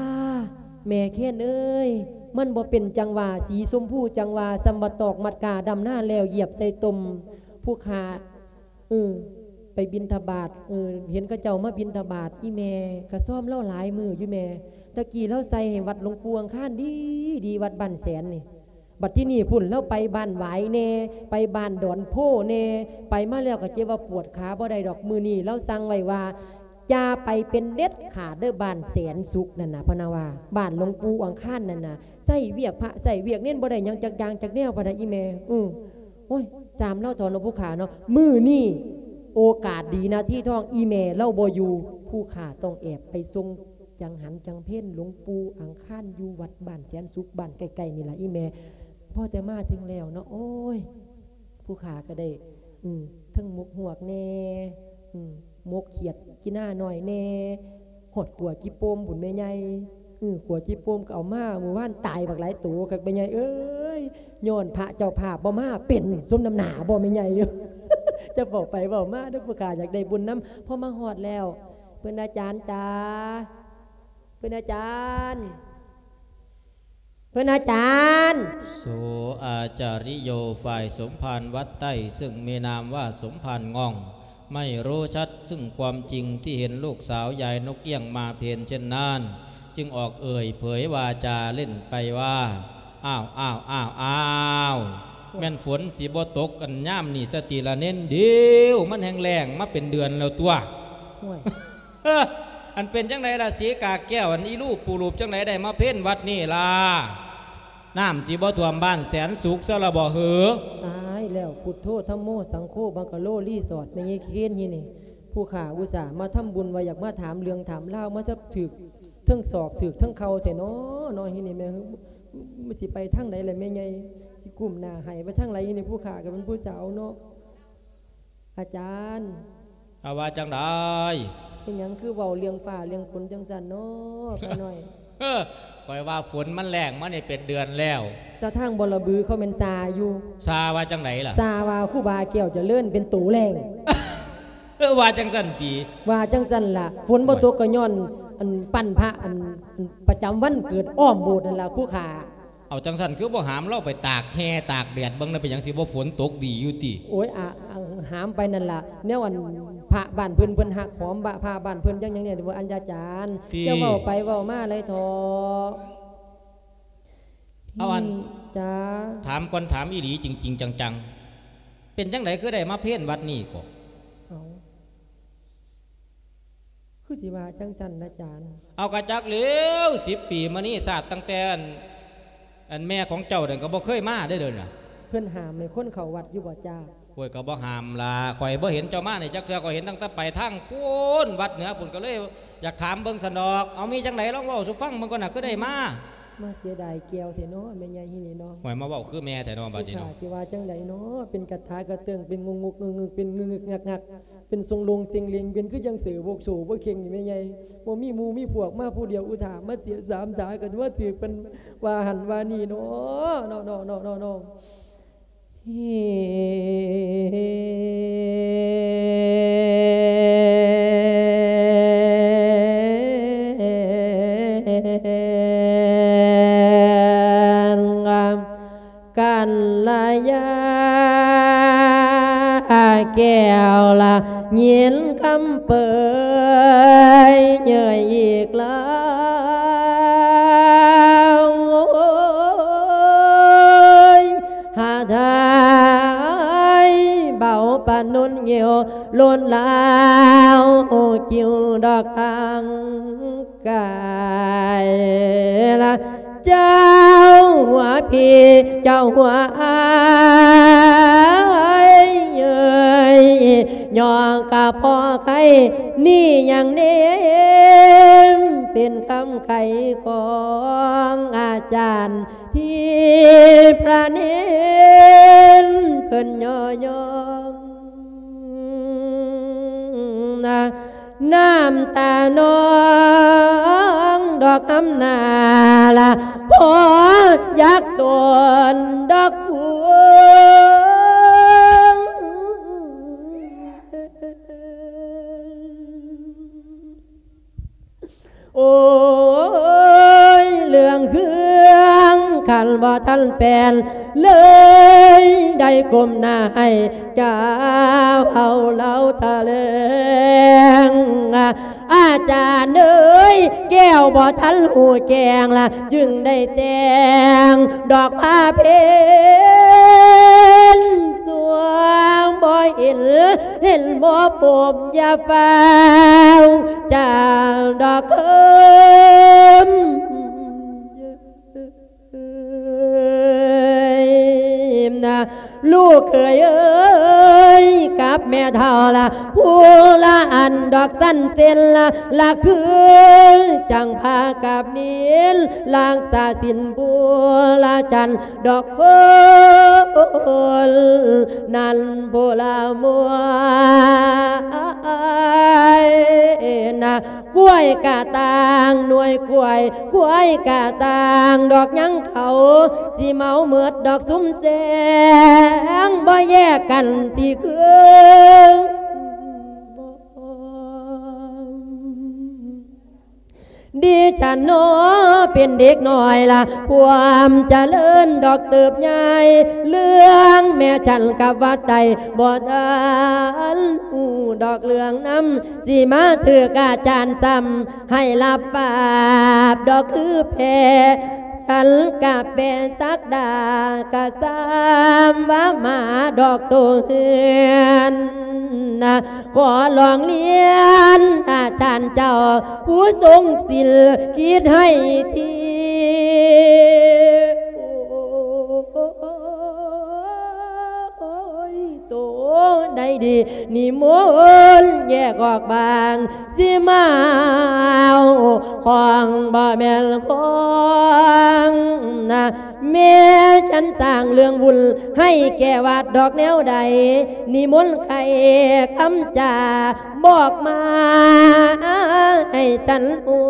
ແມ່ເຄນເອີຍ ມັນບໍ່ເປັນຈັ່ງຫວາ ສີຊົມພູຈັ່ງຫວາ ສ່ຳບັກຕອກມັດກາ ດຳນາແລ້ວຢຽບໃສ່ຕົມ ຜູ້ຂ້າ ເອີ ໄປບິນທະບາດ ເອີ ເຫັນເຂົາເຈົ້າມາບິນທະບາດ ອີ່ແມ່ກະຊອມລາວຫຼາຍມື້ຢູ່ແມ່. ຕະກີ້ລາວໃສ່ໃຫ້ວັດຫຼວງປູ່ອັງຄານດີໆ ວັດບ້ານແສນນີ້. ບັດທີນີ້ພຸ້ນ ລາວໄປບ້ານຫວາຍແດ່ ໄປບ້ານດອນໂພແດ່ ໄປມາແລ້ວກະເຈັບວ່າປວດຂາບໍ່ໄດ້ດອກ. ມື້ນີ້ລາວສັ່ງໄວ້ວ່າ ຢ່າໄປເປັນເດັດຂາດເດີ ບ້ານແສນສຸກນັ້ນນະ ພະນະວ່າ ບ້ານຫຼວງປູ່ອັງຄານນັ້ນນະ ໃຊ້ວຽກພະໃຊ້ວຽກເນນ ບໍ່ໄດ້ຫຍັງຈັກຢ່າງຈັກແນວ ພະນະ ອີ່ແມ່. ອື ໂອ້ຍ ຊ່າງລາວເຖາະເນາະ ຜູ້ຂ້າເນາະ. ມື້ນີ້ໂອກາດດີນາທີທອງ ອີ່ແມ່ລາວບໍ່ຢູ່ ຜູ້ຂ້າຕ້ອງແອບໄປສົ່ງຈັງຫັນຈັງເພັນຫຼວງປູ່ອັງຄານ ຢູ່ວັດບ້ານແສນສຸກ ບ້ານໃກ້ໆນີ້ລະ ອີ່ແມ່. ພໍແຕ່ມາເຖິງແລ້ວເນາະ ໂອ້ຍ ຜູ້ຂ້າກະໄດ້ ອື ເທິງໝົກຮວກແດ່ ອື ໝົກຂຽດຈີ່ໜ້ານ້ອຍແດ່ ຮອດຂົວຈີ່ໂປ່ມພຸ້ນແມ່ໃຫຍ່. ອື ຂົວຈີ່ໂປ່ມກະເອົາມາ ມື້ວານຕາຍບັກຫຼາຍໂຕຄັກແມ່ໃຫຍ່ເອີຍ. ຍ້ອນພະເຈົ້າພາບບໍ່ມາເປັນ ສົມນ້ຳໜ້າບໍ່ແມ່ໃຫຍ່. ຈະເວົ້າໄປເວົ້າມາເດີ ຜູ້ຂ້າຢາກໄດ້ບຸນນຳ. ພໍມາຮອດແລ້ວ ເພິ່ນອາຈານຈ໋າ ເພິ່ນອາຈານ ເພິ່ນອາຈານ ໂສອາຈາລິໂຍ ຝ່າຍສົມພານວັດໃຕ້ ເຊິ່ງມີນາມວ່າສົມພານງ່ອງ ໄມ່ຮູ້ຊັດຊຶ່ງຄວາມຈິງທີ່ເຫັນລູກສາວຍາຍນົກກ້ຽງມາເພນເຊັ່ນນັ້ນ ຈຶ່ງອອກເອີ່ຍເຜີຍວາຈາຫຼິ້ນໄປວ່າ ອ້າວ ອ້າວ ອ້າວ ອ້າວ ແມ່ນຝົນຊິບໍ່ຕົກອັນຍາມນີ້ສະຕິລະເນນ? ດຽວມັນແຮ່ງແລ້ງມາເປັນເດືອນແລ້ວຕົວະ. ໂອ້ຍ ເອີ ອັນເປັນຈັ່ງໃດລະສີກາແກ້ວ ອັນອີລູບປູລູບຈັ່ງໃດໄດ້ມາເພນວັດນີ້ລະ? ນ້ຳຊິບໍ່ຖ້ວມບ້ານແສນສຸກຊະລະບໍ່ເຫີ? ຕາຍແລ້ວ ພຸດໂທ ທຳໂມ ສັງໂຄ ບັງກະໂລ ຣີສອດ ແມ່ໃຫຍ່ເຄນ ຮີນີ້ ຜູ້ຂ້າອຸດສ່າມາທຳບຸນ ວ່າຢາກມາຖາມເລື່ອງຖາມລາວ ມາຈັບຖືກເທິງສອກ ຖືກເທິງເຂົ່າແທ້ເນາະ ເນາະ ຮີນີ້ແມ່. ມັນຊິໄປທາງໃດລະແມ່ໃຫຍ່? ຊິກຸ້ມໜ້າໃຫ້ໄປທາງໃດ ຮີນີ້ ຜູ້ຂ້າກະເປັນຜູ້ສາວເນາະ. ອາຈານ ອາ ວ່າຈັ່ງໃດ? ເປັນຫຍັງຄືເວົ້າເລື່ອງຟ້າເລື່ອງຝົນຈັ່ງຊັ້ນເນາະ ຂ້ານ້ອຍ? ເອີ ຂ້ອຍວ່າຝົນມັນແລ້ງມານີ້ເປັນເດືອນແລ້ວ ແຕ່ທາງບໍລະບືເຂົາແມ່ນຊ່າຢູ່. ຊ່າວ່າຈັ່ງໃດລະ? ຊ່າວ່າຄູບາແກ້ວຈະເລີນເປັນໂຕແລ້ງ. ເອີ ວ່າຈັ່ງຊັ້ນຕິ? ວ່າຈັ່ງຊັ້ນລະ ຝົນບໍ່ຕົກກະຍ້ອນ ອັນ ປັ້ນພະ ອັນ ປະຈຳວັນເກີດອ້ອມໂບດນັ້ນລະ ຄູຂ້າ. ເອົາ ຈັ່ງຊັ້ນຄືບໍ່ຫາມລາວໄປຕາກແຮ່ຕາກແດດເບິ່ງນະ ເປັນຫຍັງຊິບໍ່ຝົນຕົກດີຢູ່ຕິ? ໂອ້ຍ ອາ ອາ ຫາມໄປນັ້ນລະ ແນວອັນພະບ້ານເພິ່ນ ເພິ່ນຮັກຫອມ ບະ ພະບ້ານເພິ່ນຈັ່ງຫຍັງແດ່ ບໍ່ ອັນ ອາຈານ ຕິ ຢ່າເວົ້າໄປເວົ້າມາຫຼາຍເຖາະ. ເອົາ ອັນ ອືມ ຈ້າ ຖາມກ່ອນ ຖາມອີ່ຫຼີ ຈິງໆ ຈັງໆ ເປັນຈັ່ງໃດຄືໄດ້ມາເພນວັດນີ້ເກາະ? ເອົາ ຄືຊິວ່າຈັ່ງຊັ້ນລະ ອາຈານ? ເອົາ ກະຈັກແລ້ວ ສິບປີມານີ້ ຊາດຕັ້ງແຕ່ອັນ ອັນແມ່ຂອງເຈົ້ານັ້ນກະບໍ່ເຄີຍມາເດ້ ດຽວນີ້ນະ. ເພິ່ນຫ້າມໃຫ້ຄົນເຂົ້າວັດຢູ່ບໍ່ຈ້າ? ໂອ້ຍ ກະບໍ່ຫ້າມລະ ຂ້ອຍບໍ່ເຫັນເຈົ້າມານີ້ຈັກເທື່ອ ຂ້ອຍເຫັນຕັ້ງແຕ່ໄປທາງພຸ້ນ ວັດເໜືອພຸ້ນ ກະເລີຍຢາກຖາມເບິ່ງຊັ້ນດອກ. ເອົາ ມີຈັ່ງໃດລອງເວົ້າສູ່ຟັງເບິ່ງກ່ອນນະ ຄືໄດ້ມາ? ມາເສຍດາຍແກ້ວແທ້ເນາະ ແມ່ໃຫຍ່ຮີນີ້ເນາະ. ໂອ້ຍ ມາເວົ້າຄືແມ່ແທ້ເນາະ ບັດນີ້ເນາະ. ຊິວ່າຈັ່ງໃດເນາະ ເປັນກະຖາກະເຕີງ ເປັນງຶກໆ ງຶກໆ ເປັນງຶກໆ ງັກໆ ເປັນຊົງລົງເຊັງເລັງ ເປັນຄືຈັ່ງເສີໂວກໂສໂວເຄັງນີ້ແມ່ໃຫຍ່. ບໍ່ມີໝູ່ມີພວກ ມາຜູ້ດຽວອຸທາ ມາເສຍສາມສາ ກະວ່າຖືກເພິ່ນວ່າຫັ້ນວ່ານີ້ເນາະ ເນາະ ເນາະ ເນາະ ເນາະ ເນາະ. ກັນລະຍາແກ້ວລະຍິນຄຳເປີຍເຍີ້ຍອີກແລ້ວ. ເອີວໂລດລາວ ໂອ ກິວດອກທາງກາຍລະ ເຈົ້າຫົວພີ່ ເຈົ້າຫົວອ້າຍເອີຍ ຍ້ອນກະເພາະໄຂ້ນີ້ຍັງເນມ ເປັນຄຳໄຂຂອງອາຈານ ທີ່ພະເນນເພິ່ນຍໍຍ້ອງ ນ້ຳຕານອງດອກຫຳໜ້າລະ ພໍຢາກໂຕນດອກພູ. ໂອ້ຍ ເລື່ອງເຄື່ອງຄັນບໍ່ທັນແປນ ເລີຍໄດ້ກົ້ມໜ້າໃຫ້ກາວເອົາເລົ່າຖະແຫຼງ. ອາຈານເອີຍ ແກ້ວບໍ່ທັນຮູ້ແຈ້ງລະ ຈຶ່ງໄດ້ແຕ່ງດອກຜ້າເພັນ ສ່ວງບໍ່ເຫັນ ເຫັນບໍ່ພົບ ຢ່າຟ້າວຈາງດອກເຄີມນະ ລູກເຂີຍເອີຍ ກັບແມ່ເຖົ້າລະ ຜູ້ລະອັນດອກສັນເສັ້ນລະ ລະຄືຈັ່ງພາກັບນິນ ລັກສາສິນບູລະຈັນ ດອກຄົນນັ້ນຜູ້ລະມົວນະ ກ້ວຍກະຕ່າງໜ່ວຍກ້ວຍ ກ້ວຍກະຕ່າງດອກຍັງເຂົາ ຊິເມົາໝົດດອກຊຸມແສງ ບໍ່ແຍກກັນຊິຄືນ. ດິສັນເນາະເປັນເດັກນ້ອຍລະ ຄວາມຈະເລີນດອກເຕີບໃຫຍ່ ເລື່ອງແມ່ສັນກັບວັດໃດ ບໍ່ທັນຮູ້ດອກເລື່ອງນຳ ຊິມາຖືກອາຈານຊ້ຳໃຫ້ລະປາບດອກຄືແພ້ ສັນກະແປສັກດາ ກະຊ້ຳວ່າມາດອກໂຕເຮືອນນະ ຂໍລອງລຽນອາຈານເຈົ້າ ຜູ້ຊົງສິນຄິດໃຫ້ທີ ໂອ້ຍ ໂຕໃດດີ ນິມົນແຍກອອກບາງ ຊິມາເອົາຂອງບໍ່ແມ່ນຂອງນະ ແມ່ສັນສ້າງເລື່ອງວຸ່ນໃຫ້ແກ່ວັດດອກແນວໃດ ນິມົນໃຄ່ຄຳຈາບອກມາໃຫ້ສັນຮູ້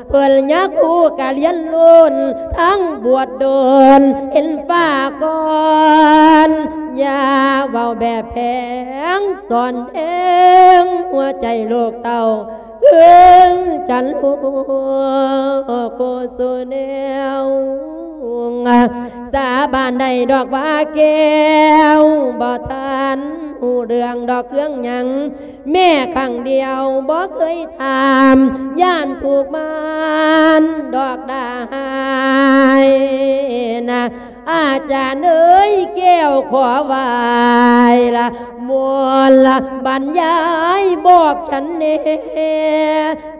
ເພິ່ນຢາກຮູ້ກະລຽນໂລດ ທັງບວດດົນເຫັນຟ້າກ່ອນ ຢ່າເວົ້າແບບແຜງ ສອນແທງຫົວໃຈລູກເຕົ້າ ເອີຍ ຈັນຮູ້ຄູ່ສູ່ແນວ ສາບານໄດ້ດອກວ່າແກ້ວ ບໍ່ທັນຮູ້ເລື່ອງດອກເຄື່ອງຫຍັງ ແມ້ຄັ້ງດຽວບໍ່ເຄີຍຖາມ ຢ້ານຖືກມານດອກດ່າຮ້າຍນະ ອາຈານເອີຍ ແກ້ວຂໍໄຫວ້ລະ ມົນລະບັນຍາຍບອກສັນແດ່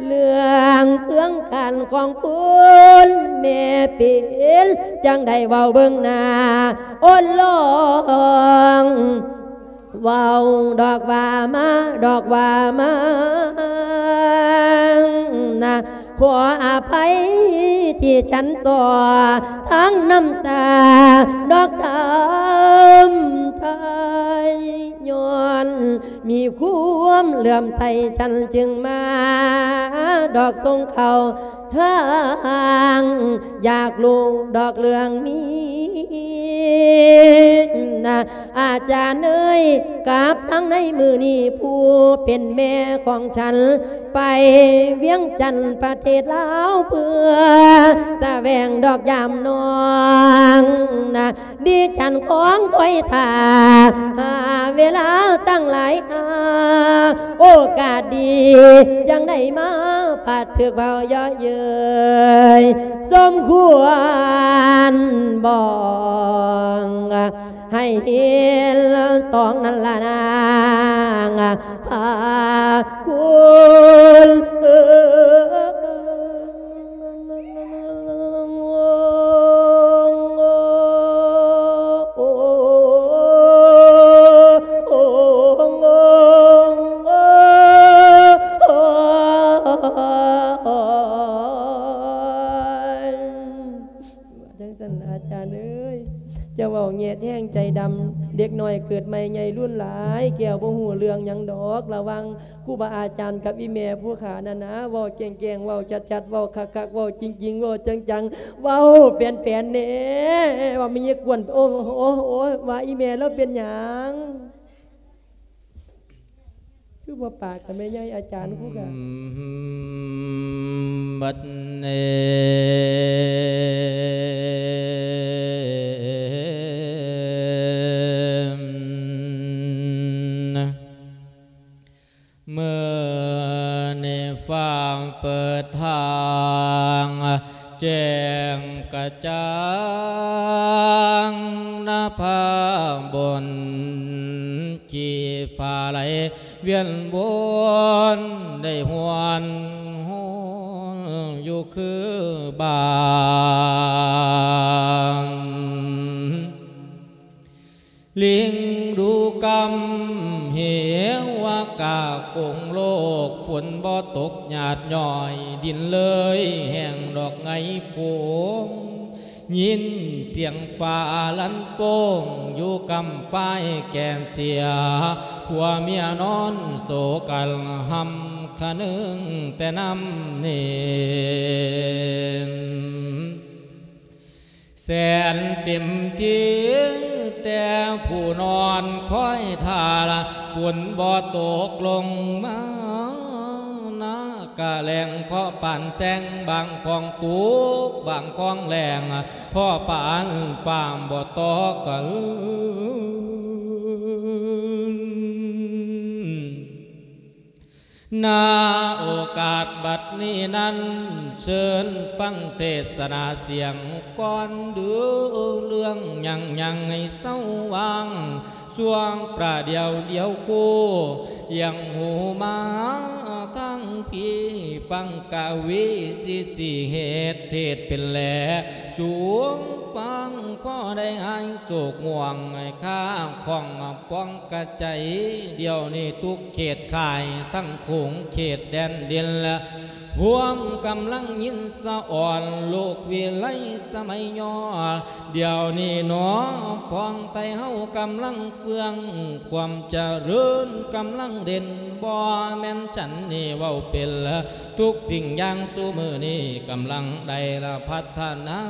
ເລື່ອງເຄື່ອງຂັນຂອງຄຸນແມ່ເປັນຈັ່ງໃດ ເວົ້າເບິ່ງໜ້າ ໂອນລອງ ເວົ້າດອກວ່າມາ ດອກວ່າມານະ ຂໍອະໄພທີ່ສັນສໍ້ ທັງນ້ຳຕາດອກຖາມໄຖ່ ຍ້ອນມີຄວາມເຫຼື້ອມໃສ ສັນຈຶ່ງມາດອກສົ່ງເຂົ້າ ທາງຢາກຮູ້ດອກເລື່ອງນີ້ນະ ອາຈານເອີຍ ກັບທັງໃນມື້ນີ້ ຜູ້ເປັນແມ່ຂອງສັນ ໄປວຽງຈັນປະເທດລາວ ເພື່ອສະແຫວງດອກຢາມນ້ອງນະ ດິສັນຄອງຄອຍຖ້າ ຫາເວລາຕັ້ງຫຼາຍ ຫາໂອກາດດີ ຈັ່ງໄດ້ມາ ປາດຖືກເວົ້າເຍາະເຍີ້ຍ ສົມຄວນບອງ ໃຫ້ເຫັນຕອງນັ້ນລະນາງ ພາຄຸນເອີຍ. ຈັ່ງຊັ້ນອາຈານເອີຍ ເຈົ້າເວົ້າແຍດແຮງໃຈດຳ, ເດັກນ້ອຍເກີດໃໝ່ໃຫຍ່ລຸນຫຼາຍ ແກ້ວບໍ່ຮູ້ເລື່ອງຫຍັງດອກ ລະຫວ່າງ ຄູບາອາຈານກັບອີ່ແມ່ຜູ້ຂ້ານັ້ນນະ ເວົ້າແຈ້ງໆ ເວົ້າຊັດໆ ເວົ້າຄັກໆ ເວົ້າຈິງໆ ເວົ້າຈັງໆ ເວົ້າແປນໆ ແດ່ ວ່າມີຍາກວນ ໂອ້ ໂອ້ ໂອ້ ວ່າອີ່ແມ່ລາວເປັນຫຍັງ ຄືບໍ່ປາກກັບແມ່ໃຫຍ່ອາຈານຄູກະ ບັດນີ້ ມື້ນີ້ຟ້າເປີດທາງ ແຈ້ງກະຈ່າງນະພາບົນ ຂີ້ຟ້າໄຫຼວຽນວົນ ໄດ້ຫວນໂຮຍຢູ່ຄືບ້ານ ລິງດູກຳເຫວະກາກົງໂລກ ຝົນບໍ່ຕົກຫຍາດຍ້ອຍ ດິນເລີຍແຫ້ງດອກໄງໂປງ ຍິນສຽງຟ້າລັນໂປ່ງ ຢູ່ກຳຝ້າຍແກ່ນເສຍ ຜົວເມຍນອນໂສກັນ ຮ່ຳຄະນຶງແຕ່ນ້ຳເນນ ແສນເຕັມທີ່ ແຕ່ຜູ້ນອນຄອຍຖ້າ ຝົນບໍ່ຕົກລົງມາ ນາກະແລ້ງເພາະປານແຊງ ບາງພອງຕຸກ ບາງພອງແລ້ງ ເພາະປານຟ້າບໍ່ຕົກກັນ. ນາໂອກາດບັດນີ້ນັ້ນ ເຊີນຟັງເທດສະນາສຽງກ່ອນ ດູເລື່ອງຫຍັງຫຍັງໃຫ້ເຊົາວາງ ຊ່ວງປະດຽວດຽວຄູ່ ອຽງຫູມາທາງພີ້ ຟັງກະວີສີສີເຫດ ເທດເປັນແລ ສູງຟັງພໍໄດ້ຫາຍໂສກງ່ວງ ຂ້າຂອງປອງກະໃຈ ດຽວນີ້ທຸກເຂດຂ່າຍ ທັງຂົງເຂດແດນດິນ ພວມກຳລັງຍິນສະອອນ ໂລກວິໄລສະໄໝຍ້ອນ ດຽວນີ້ໜໍ ປອງໄຕເຮົາກຳລັງເຟື່ອງ ຄວາມຈະເລີນກຳລັງເດັ່ນ ບໍ່ແມ່ນສັນນີ້ເວົ້າເປັນ ທຸກສິ່ງຢ່າງສູ່ມື້ນີ້ກຳລັງໄດ້ລະພັດທະນາ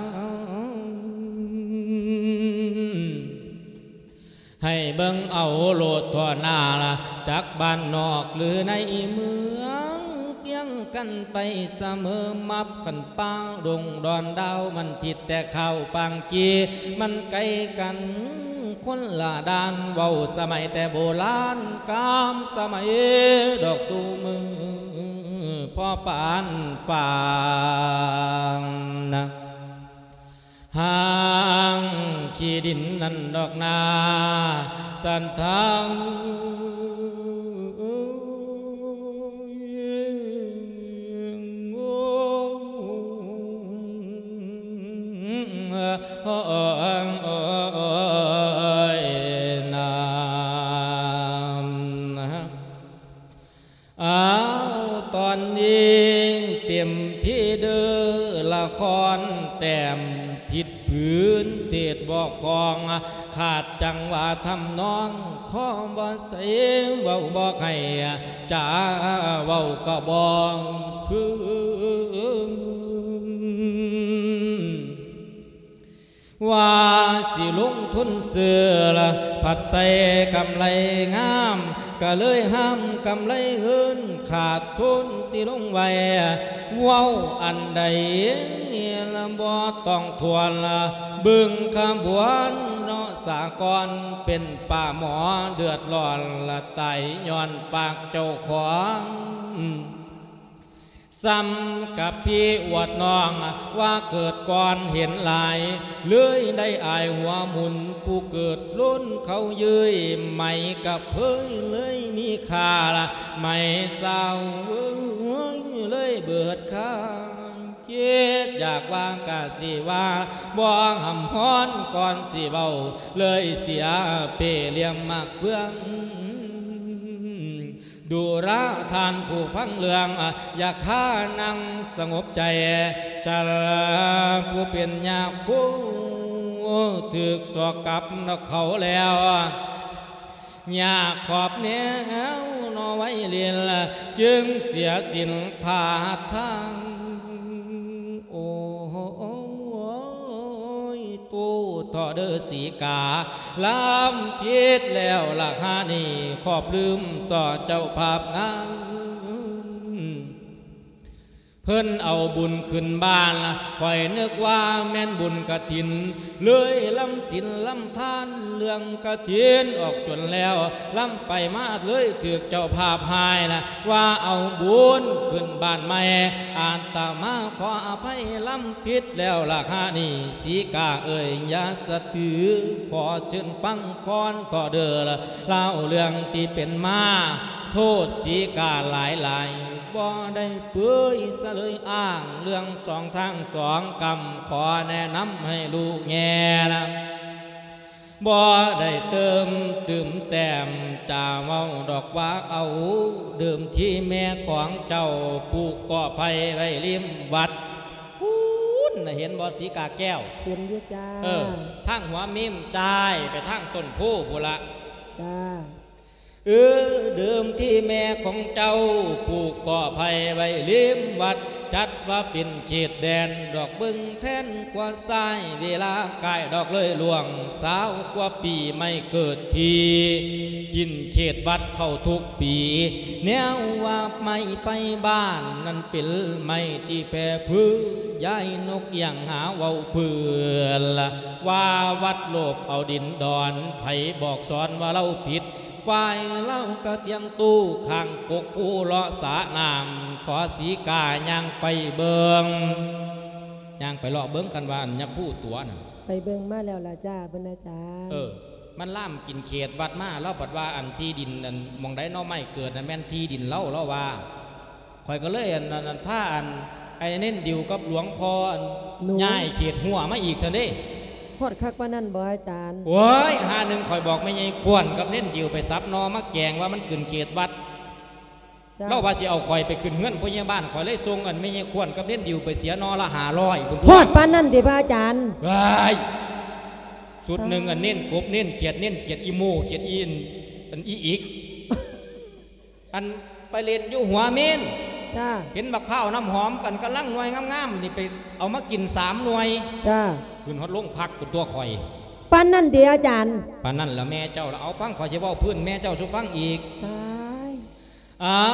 ໃຫ້ເບິ່ງເອົາໂລດທົ່ວໜ້າລະ ຈັກບ້ານນອກຫຼືໃນເມືອງ ພຽງກັນໄປສະເໝີ ມັບຂັນປ່າດົງດອນດາວ ມັນຜິດແຕ່ຂ່າວປາງກີ ມັນໄກກັນຄົນລະດ້ານ ເວົ້າສະໄໝແຕ່ໂບລານ ກາມສະໄໝດອກສູ່ມື້ ພໍປານປານນະ ຫາງຂີ້ດິນນັ້ນດອກນາ ສັນທາງ ໂອ້ຍນາ ອ້າວ ຕອນນີ້ເຕັມທີ່ເດີ ລະຄອນແຕ້ມຜິດຜືນ ເທດບໍ່ຄ່ອງ ຂາດຈັງຫວະທຳນອງ ຂໍບໍ່ໃສ່ເວົ້າບໍ່ໃຫ້ ຈາເວົ້າກໍບໍ່ຄືນ ວ່າຊິລົງທຶນຊື້ລະ ພັດໃສ່ກຳໄລງາມ ກະເລີຍຫ້າມກຳໄລເງິນ ຂາດທຶນທີ່ລົງໄວ້ ເວົ້າອັນໃດລະບໍ່ຕ້ອງທວນລະ ເບິ່ງຂະບວນເນາະສາກອນ ເປັນປາໝໍເດືອດຮ້ອນລະ ຕາຍຍ້ອນປາກເຈົ້າຂອງ. ສ່ຳກັບພີ່ອວດນ້ອງວ່າເກີດກ່ອນເຫັນຫຼາຍ ເລີຍໄດ້ອາຍຫົວໝຸນ ຜູ້ເກີດລົ້ນເຂົາເຍີ້ຍ ໄໝກະເພີຍເລີຍມີຄ່າ ໄໝສາວເອີຍເລີຍເບີດຄ່າ ຄິດຢາກວ່າກະຊິວ່າ ບໍ່ຮ່ຳຮ້ອນກ່ອນຊິເວົ້າ ເລີຍເສຍເປ້ຫຼ່ຽມໝາກເຟືອງ. ດູລະທ່ານຜູ້ຟັງເລື່ອງ ຢ່າຄານັ່ງສະຫງົບໃຈ ຊະລາຜູ້ເປັນຍາຄູ ຖືກສອກກັບນຳເຂົາແລ້ວ ຍາກຂອບແນວນອໄວເລນ ຈຶ່ງເສຍສິນພາທາງ ໂອ້ຍ ໂຕເຖາະເດີສີກາ ລຳຜິດແລ້ວລະຫານີ້ ຂອບລືມສໍ້ເຈົ້າພາບງາມ ເພິ່ນເອົາບຸນຂຶ້ນບ້ານ ຂ້ອຍນຶກວ່າແມ່ນບຸນກະຖິນ ເລີຍລຳສິນລຳທານເລື່ອງກະຖິນອອກຈົນແລ້ວ ລຳໄປມາເລີຍຖືກເຈົ້າພາບຮ້າຍລະ ວ່າເອົາບຸນຂຶ້ນບ້ານໃໝ່ ອາດຕະມາຂໍອະໄພລຳຜິດແລ້ວລະຫານີ້ ສີກາເອີຍຢ່າສະຖື ຂໍເຊີນຟັງກ່ອນເຖາະເດີ ລາວເລື່ອງທີ່ເປັນມາ ໂທດສີກາຫຼາຍໆ ບໍ່ໄດ້ເປີຍສະເລີຍອ້າງ ເລື່ອງສອງທາງສອງກຳ ຂໍແນະນຳໃຫ້ຮູ້ແງ່ນະ ບໍ່ໄດ້ເຕີມຕື່ມແຕ້ມ ຈະເວົ້າດອກວ່າເອົາ ເດີມທີ່ແມ່ຂອງເຈົ້າປູກກໍໄຜ່ໄວ້ລິມວັດ ພຸ້ນນະ ເຫັນບໍ່ສີກາແກ້ວ? ເຫັນຢູ່ຈ້າ ເອີ ທາງຫົວເມມຈ່າຍໄປທາງຕົ້ນໂພພຸ້ນລະ ຈ້າ. ເອີ ເດີມທີ່ແມ່ຂອງເຈົ້າປູກກໍໄຜ່ໄວ້ລິມວັດ ຈັດວ່າເປັນເຂດແດນ ດອກເບິ່ງແທນຂວາຊ້າຍ ເວລາກາຍດອກເລີຍລ່ວງ ຊາວກວ່າປີໄມ້ເກີດທີ່ ກິນເຂດວັດເຂົ້າທຸກປີ ແນວວ່າໄມ້ໄປບ້ານ ນັ້ນເປັນໄມ້ທີ່ແຜ່ພື້ ຍ້າຍນົກຢ່າງຫາເວົ້າເພື່ອນ ວ່າວັດໂລບເອົາດິນດອນ ໃຜບອກສອນວ່າເຮົາຜິດ ຝ່າຍລາວກະຕຽງຕູ້ ຂ້າງກົກກູເລາະສະນ້ຳ ຂໍສີກາຍ່າງໄປເບິ່ງ ຍ່າງໄປເລາະເບິ່ງ ຄັນວ່າອັນຍາຄູຕົວະນັ້ນ ໄປເບິ່ງມາແລ້ວລະຈ້າ ເພິ່ນອາຈານ ເອີ ມັນລາມກິນເຂດວັດມາ ລາວບັດວ່າອັນທີ່ດິນອັນໝ່ອງໃດໜໍ່ໄມ້ເກີດນັ້ນແມ່ນທີ່ດິນລາວ ລາວວ່າ ຂ້ອຍກໍເລີຍອັນ ອັນ ອັນ ພາອັນ ໄອ້ເນັ້ນດິວກັບຫຼວງພໍ່ອັນ ໜູ ຍ້າຍເຂດຮົ້ວມາອີກຊັ້ນເດ້ ຮອດຄັກປານນັ້ນບໍ່ອາຈານ? ໂອ້ຍ ຫາໜຶ່ງ ຂ້ອຍບອກແມ່ໃຫຍ່ຂວັນກັບເນັ້ນດິວໄປສັບໜໍ່ມາແກງວ່າມັນຂຶ້ນເຂດວັດ ເຈົ້າ ລາວວ່າຊິເອົາຂ້ອຍໄປຂຶ້ນເຮືອນພະຍາບານ ຂ້ອຍເລີຍສົ່ງອັນແມ່ໃຫຍ່ຂວັນກັບເນັ້ນດິວໄປເສຍໜໍ່ລະຫ້າຮ້ອຍພຸ້ນຕົວະ ຮອດປານນັ້ນຕິພະອາຈານ? ວ້າຍ ຊຸດໜຶ່ງ ອັນເນັ້ນກົບ ເນັ້ນຂຽດ ເນັ້ນຂຽດອີໂມ ຂຽດອີ ອັນອີອີກ ອັນໄປຫຼິ້ນຢູ່ຫົວເມນ ຈ້າ ເຫັນບັກພ້າວນ້ຳຫອມກັນກຳລັງໜ່ວຍງາມໆ ນີ້ໄປເອົາມາກິນສາມໜ່ວຍ ຈ້າ ຂຶ້ນຮອດໂລງພັກພຸ້ນຕົວະຂ້ອຍ ປານນັ້ນຕິອາຈານ? ປານນັ້ນລະແມ່ເຈົ້າລະ ເອົາຟັງຂ້ອຍຊິເວົ້າພື້ນແມ່ເຈົ້າສູ່ຟັງອີກ ຕາຍ ເອົ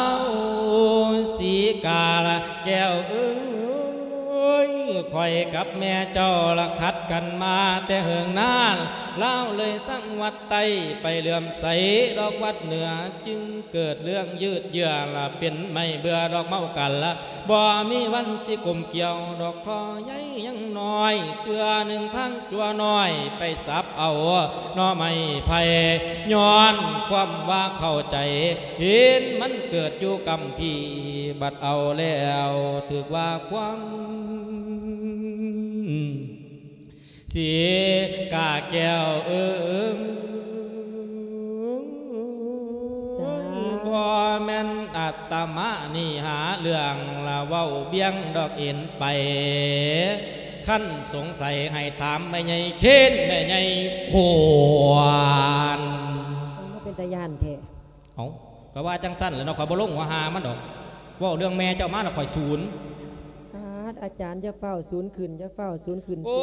າ ສີກາລະແກ້ວເອີຍ ຂ້ອຍກັບແມ່ເຈົ້າລະຂັດກັນມາແຕ່ເຫິງນານ ລາວເລີຍສັງວັດ ໄຕ້ໄປເຫຼື້ອມໃສດອກວັດເໜືອ ຈຶ່ງເກີດເລື່ອງຍືດເຍື້ອລະ ເປັນໄມ້ເບື່ອດອກເມົາກັນລະ ບໍ່ມີວັນຊິກົມກ່ຽວດອກທໍ່ໃຫຍ່ຍັງນ້ອຍ ເທື່ອໜຶ່ງທາງຈົວນ້ອຍໄປສັບເອົາໜໍ່ໄມ້ໄຜ່ ຍ້ອນຄວາມວ່າເຂົ້າໃຈ ເຫັນມັນເກີດຢູ່ກຳພີ ບັດເອົາແລ້ວຖືກວ່າຄວາມ ສີກາແກ້ວເອີຍ ບໍ່ແມ່ນອາດຕະມານີ້ຫາເລື່ອງລະເວົ້າບ່ຽງດອກເອັນໄປ ຄັນສົງໄສໃຫ້ຖາມແມ່ໃຫຍ່ເຄນ ແມ່ໃຫຍ່ຂວັນ ມັນບໍ່ເປັນຕາຢ້ານແທ້. ເອົ້າ ກໍວ່າຈັ່ງຊັ້ນແຫຼະເນາະ ຂ້ອຍບໍ່ລົງຫົວຫາມັນດອກ ເວົ້າເລື່ອງແມ່ເຈົ້າມາລະຂ້ອຍສູນ. ປາດ ອາຈານຢ່າຟ້າວສູນຂຶ້ນ ຢ່າຟ້າວສູນຂຶ້ນ ໂອ້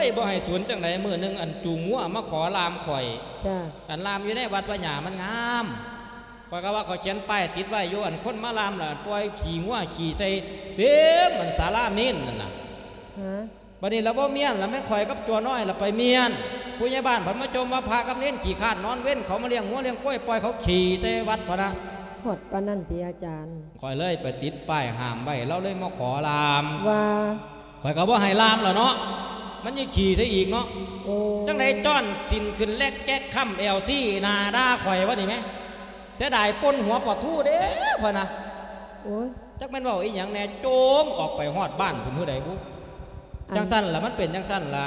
ຍ ສູນລົງ ບໍ່ໃຫ້ສູນຈັ່ງໃດ ມື້ໜຶ່ງອັນຈູງງົວມາຂໍລ່າມຂ້ອຍ ຈ້າ ອັນລ່າມຢູ່ໃນວັດວ່າຫຍ້າມັນງາມ ຂ້ອຍກໍວ່າຂ້ອຍຂຽນປ້າຍຕິດໄວ້ຢູ່ ອັນຄົນມາລ່າມລະປ່ອຍຂີ້ງົວຂີ້ໃສ່ເຕັມອັນສາລາເມນນັ້ນນະ ຮະ ບັດນີ້ລະບໍ່ມ້ຽນລະ ແມ່ນຂ້ອຍກັບຈົວນ້ອຍລະໄປມ້ຽນ ຜູ້ໃຫຍ່ບ້ານເພິ່ນມາຈົ່ມວ່າພະກັບເນນຂີ້ຄ້ານນອນເວັນ ເຂົາມາລ້ຽງງົວລ້ຽງຄວາຍ ປ່ອຍເຂົາຂີ້ໃສ່ວັດພຸ້ນນະ. ຮອດປານນັ້ນຕິອາຈານ? ຂ້ອຍເລີຍໄປຕິດປ້າຍຫ້າມໄວ້ ລາວເລີຍມາຂໍລາມ ວ່າ? ຂ້ອຍກໍບໍ່ໃຫ້ລາມແລ້ວເນາະ ມັນຍັງຂີ້ໃສ່ອີກເນາະ. ໂອ້ ຈັ່ງໃດຈ້ອນສິນຂຶ້ນແລັກແກັກຄ້ຳແອວຊີ້ໜ້າດ່າຂ້ອຍວະນີ້ແມ. ເສຍດາຍປົ່ນຫົວປາທູເດ້ພະນະ. ໂອ້ຍ ຈັກແມ່ນເວົ້າອີ່ຫຍັງແດ່ ໂຈມອອກໄປຮອດບ້ານພຸ້ນ ຜູ້ໃດບຸ. ອັນ ຈັ່ງຊັ້ນລະ ມັນເປັນຈັ່ງຊັ້ນລະ.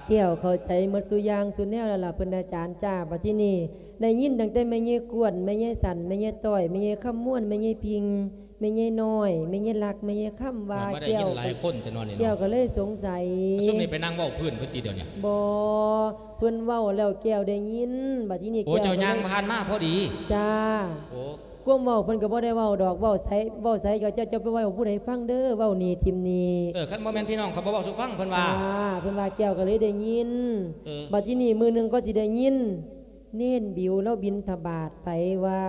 ແກ້ວເຂົ້າໃຈໝົດສູ່ຢ່າງສູ່ແນວແລ້ວລະ ເພິ່ນອາຈານຈ້າ. ບັດທີນີ້ໄດ້ຍິນຕັ້ງແຕ່ແມ່ຍາຍກວນ ແມ່ຍາຍສັນ ແມ່ຍາຍຕ້ອຍ ແມ່ຍາຍຄຳມ່ວນ ແມ່ຍາຍພິງ ແມ່ຍາຍນ້ອຍ ແມ່ຍາຍລັກ ແມ່ຍາຍຄຳວ່າ ມາໄດ້ຍິນຫຼາຍຄົນແຕ່ນ້ອຍນີ້ເນາະ. ແກ້ວກໍເລີຍສົງໄສ ຊຸມນີ້ໄປນັ່ງເວົ້າພື້ນເພິ່ນຕິດຽວນີ້? ບໍ່ ເພິ່ນເວົ້າແລ້ວແກ້ວໄດ້ຍິນ. ບັດທີນີ້ ໂອ້ ແກ້ວ ເຈົ້າຍ່າງຜ່ານມາພໍດີ. ຈ້າ. ໂອ້ ຄວາມເວົ້າເພິ່ນກໍບໍ່ໄດ້ເວົ້າດອກ ເວົ້າໃສ ເວົ້າໃສກໍເຈົ້າ ເຈົ້າໄປເວົ້າຜູ້ໃດຟັງເດີ ເວົ້ານີ້ຖິ້ມນີ້. ເອີ ຄັນບໍ່ແມ່ນພີ່ນ້ອງຂ້ອຍບໍ່ເວົ້າສູ່ຟັງ ເພິ່ນວ່າ. ຈ້າ ເພິ່ນວ່າແກ້ວກໍເລີຍໄດ້ຍິນ. ເອີ ບັດທີນີ້ມື້ໜຶ່ງກໍຊິໄດ້ຍິນ ເນນບິວລາວບິນທະບາດໄປວ່າ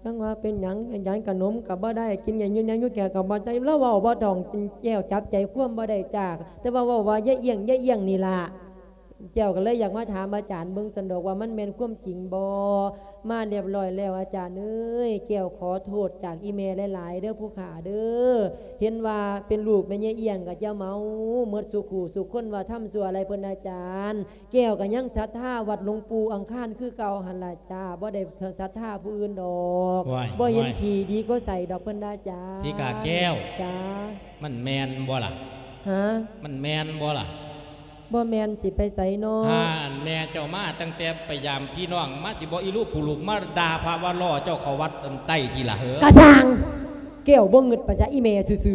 ຍັງວ່າເປັນຫຍັງ ຫຍັງຂະໜົມກໍບໍ່ໄດ້ ກິນຫຍັງຢູ່ ຫຍັງຢູ່ແກ້ວກໍບໍ່ໄດ້ ລາວເວົ້າບໍ່ທ່ອງແກ້ວ ຈັບໃຈຄວາມບໍ່ໄດ້ຈ້າ ແຕ່ວ່າເວົ້າວ່າຢ່າອຽງ ຢ່າອຽງນີ້ລະ. ແກ້ວກໍເລີຍຢາກມາຖາມອາຈານເບິ່ງຊັ້ນດອກວ່າມັນແມ່ນຄວາມຈິງບໍ່? ມາຮຽບຮ້ອຍແລ້ວ ອາຈານເອີຍ ແກ້ວຂໍໂທດຈາກອີ່ແມ່ຫຼາຍໆເດີຜູ້ຂ້າເດີ ເຫັນວ່າເປັນລູກແມ່ຍາຍອຽງກໍຢ່າເມົາ ໝົດສູ່ຄູ່ສູ່ຄົນວ່າທຳຊົ່ວຫຼາຍເພິ່ນອາຈານ. ແກ້ວກໍຍັງສັດທາວັດຫຼວງປູ່ອັງຄານຄືເກົ່າຫັ້ນລະຈ້າ ບໍ່ໄດ້ສັດທາຜູ້ອື່ນດອກ. ວ້າຍ ບໍ່ເຫັນ ວ້າຍ ຂີ້ດີກວ່າໃສດອກເພິ່ນວ່າຈ້າ. ສີກາແກ້ວ ຈ້າ ມັນແມ່ນບໍ່ລະ? ຫາ? ມັນແມ່ນບໍ່ລະ? ບໍ່ແມ່ນຊິໄປໃສເນາະ? ຫາ ອັນແມ່ເຈົ້າມາຕັ້ງແຕ່ໄປຢາມພີ່ນ້ອງ ມາຊິບໍ່ອີລູກປູລູກ ມາດ່າພະວ່າລໍ້ເຈົ້າເຂົ້າວັດອັນໃຕ້ຕິລະເຫີ? ກະຊ່າງ ແກ້ວບໍ່ງຶດປະຊະ ອີແມ່ຊື່ໆ.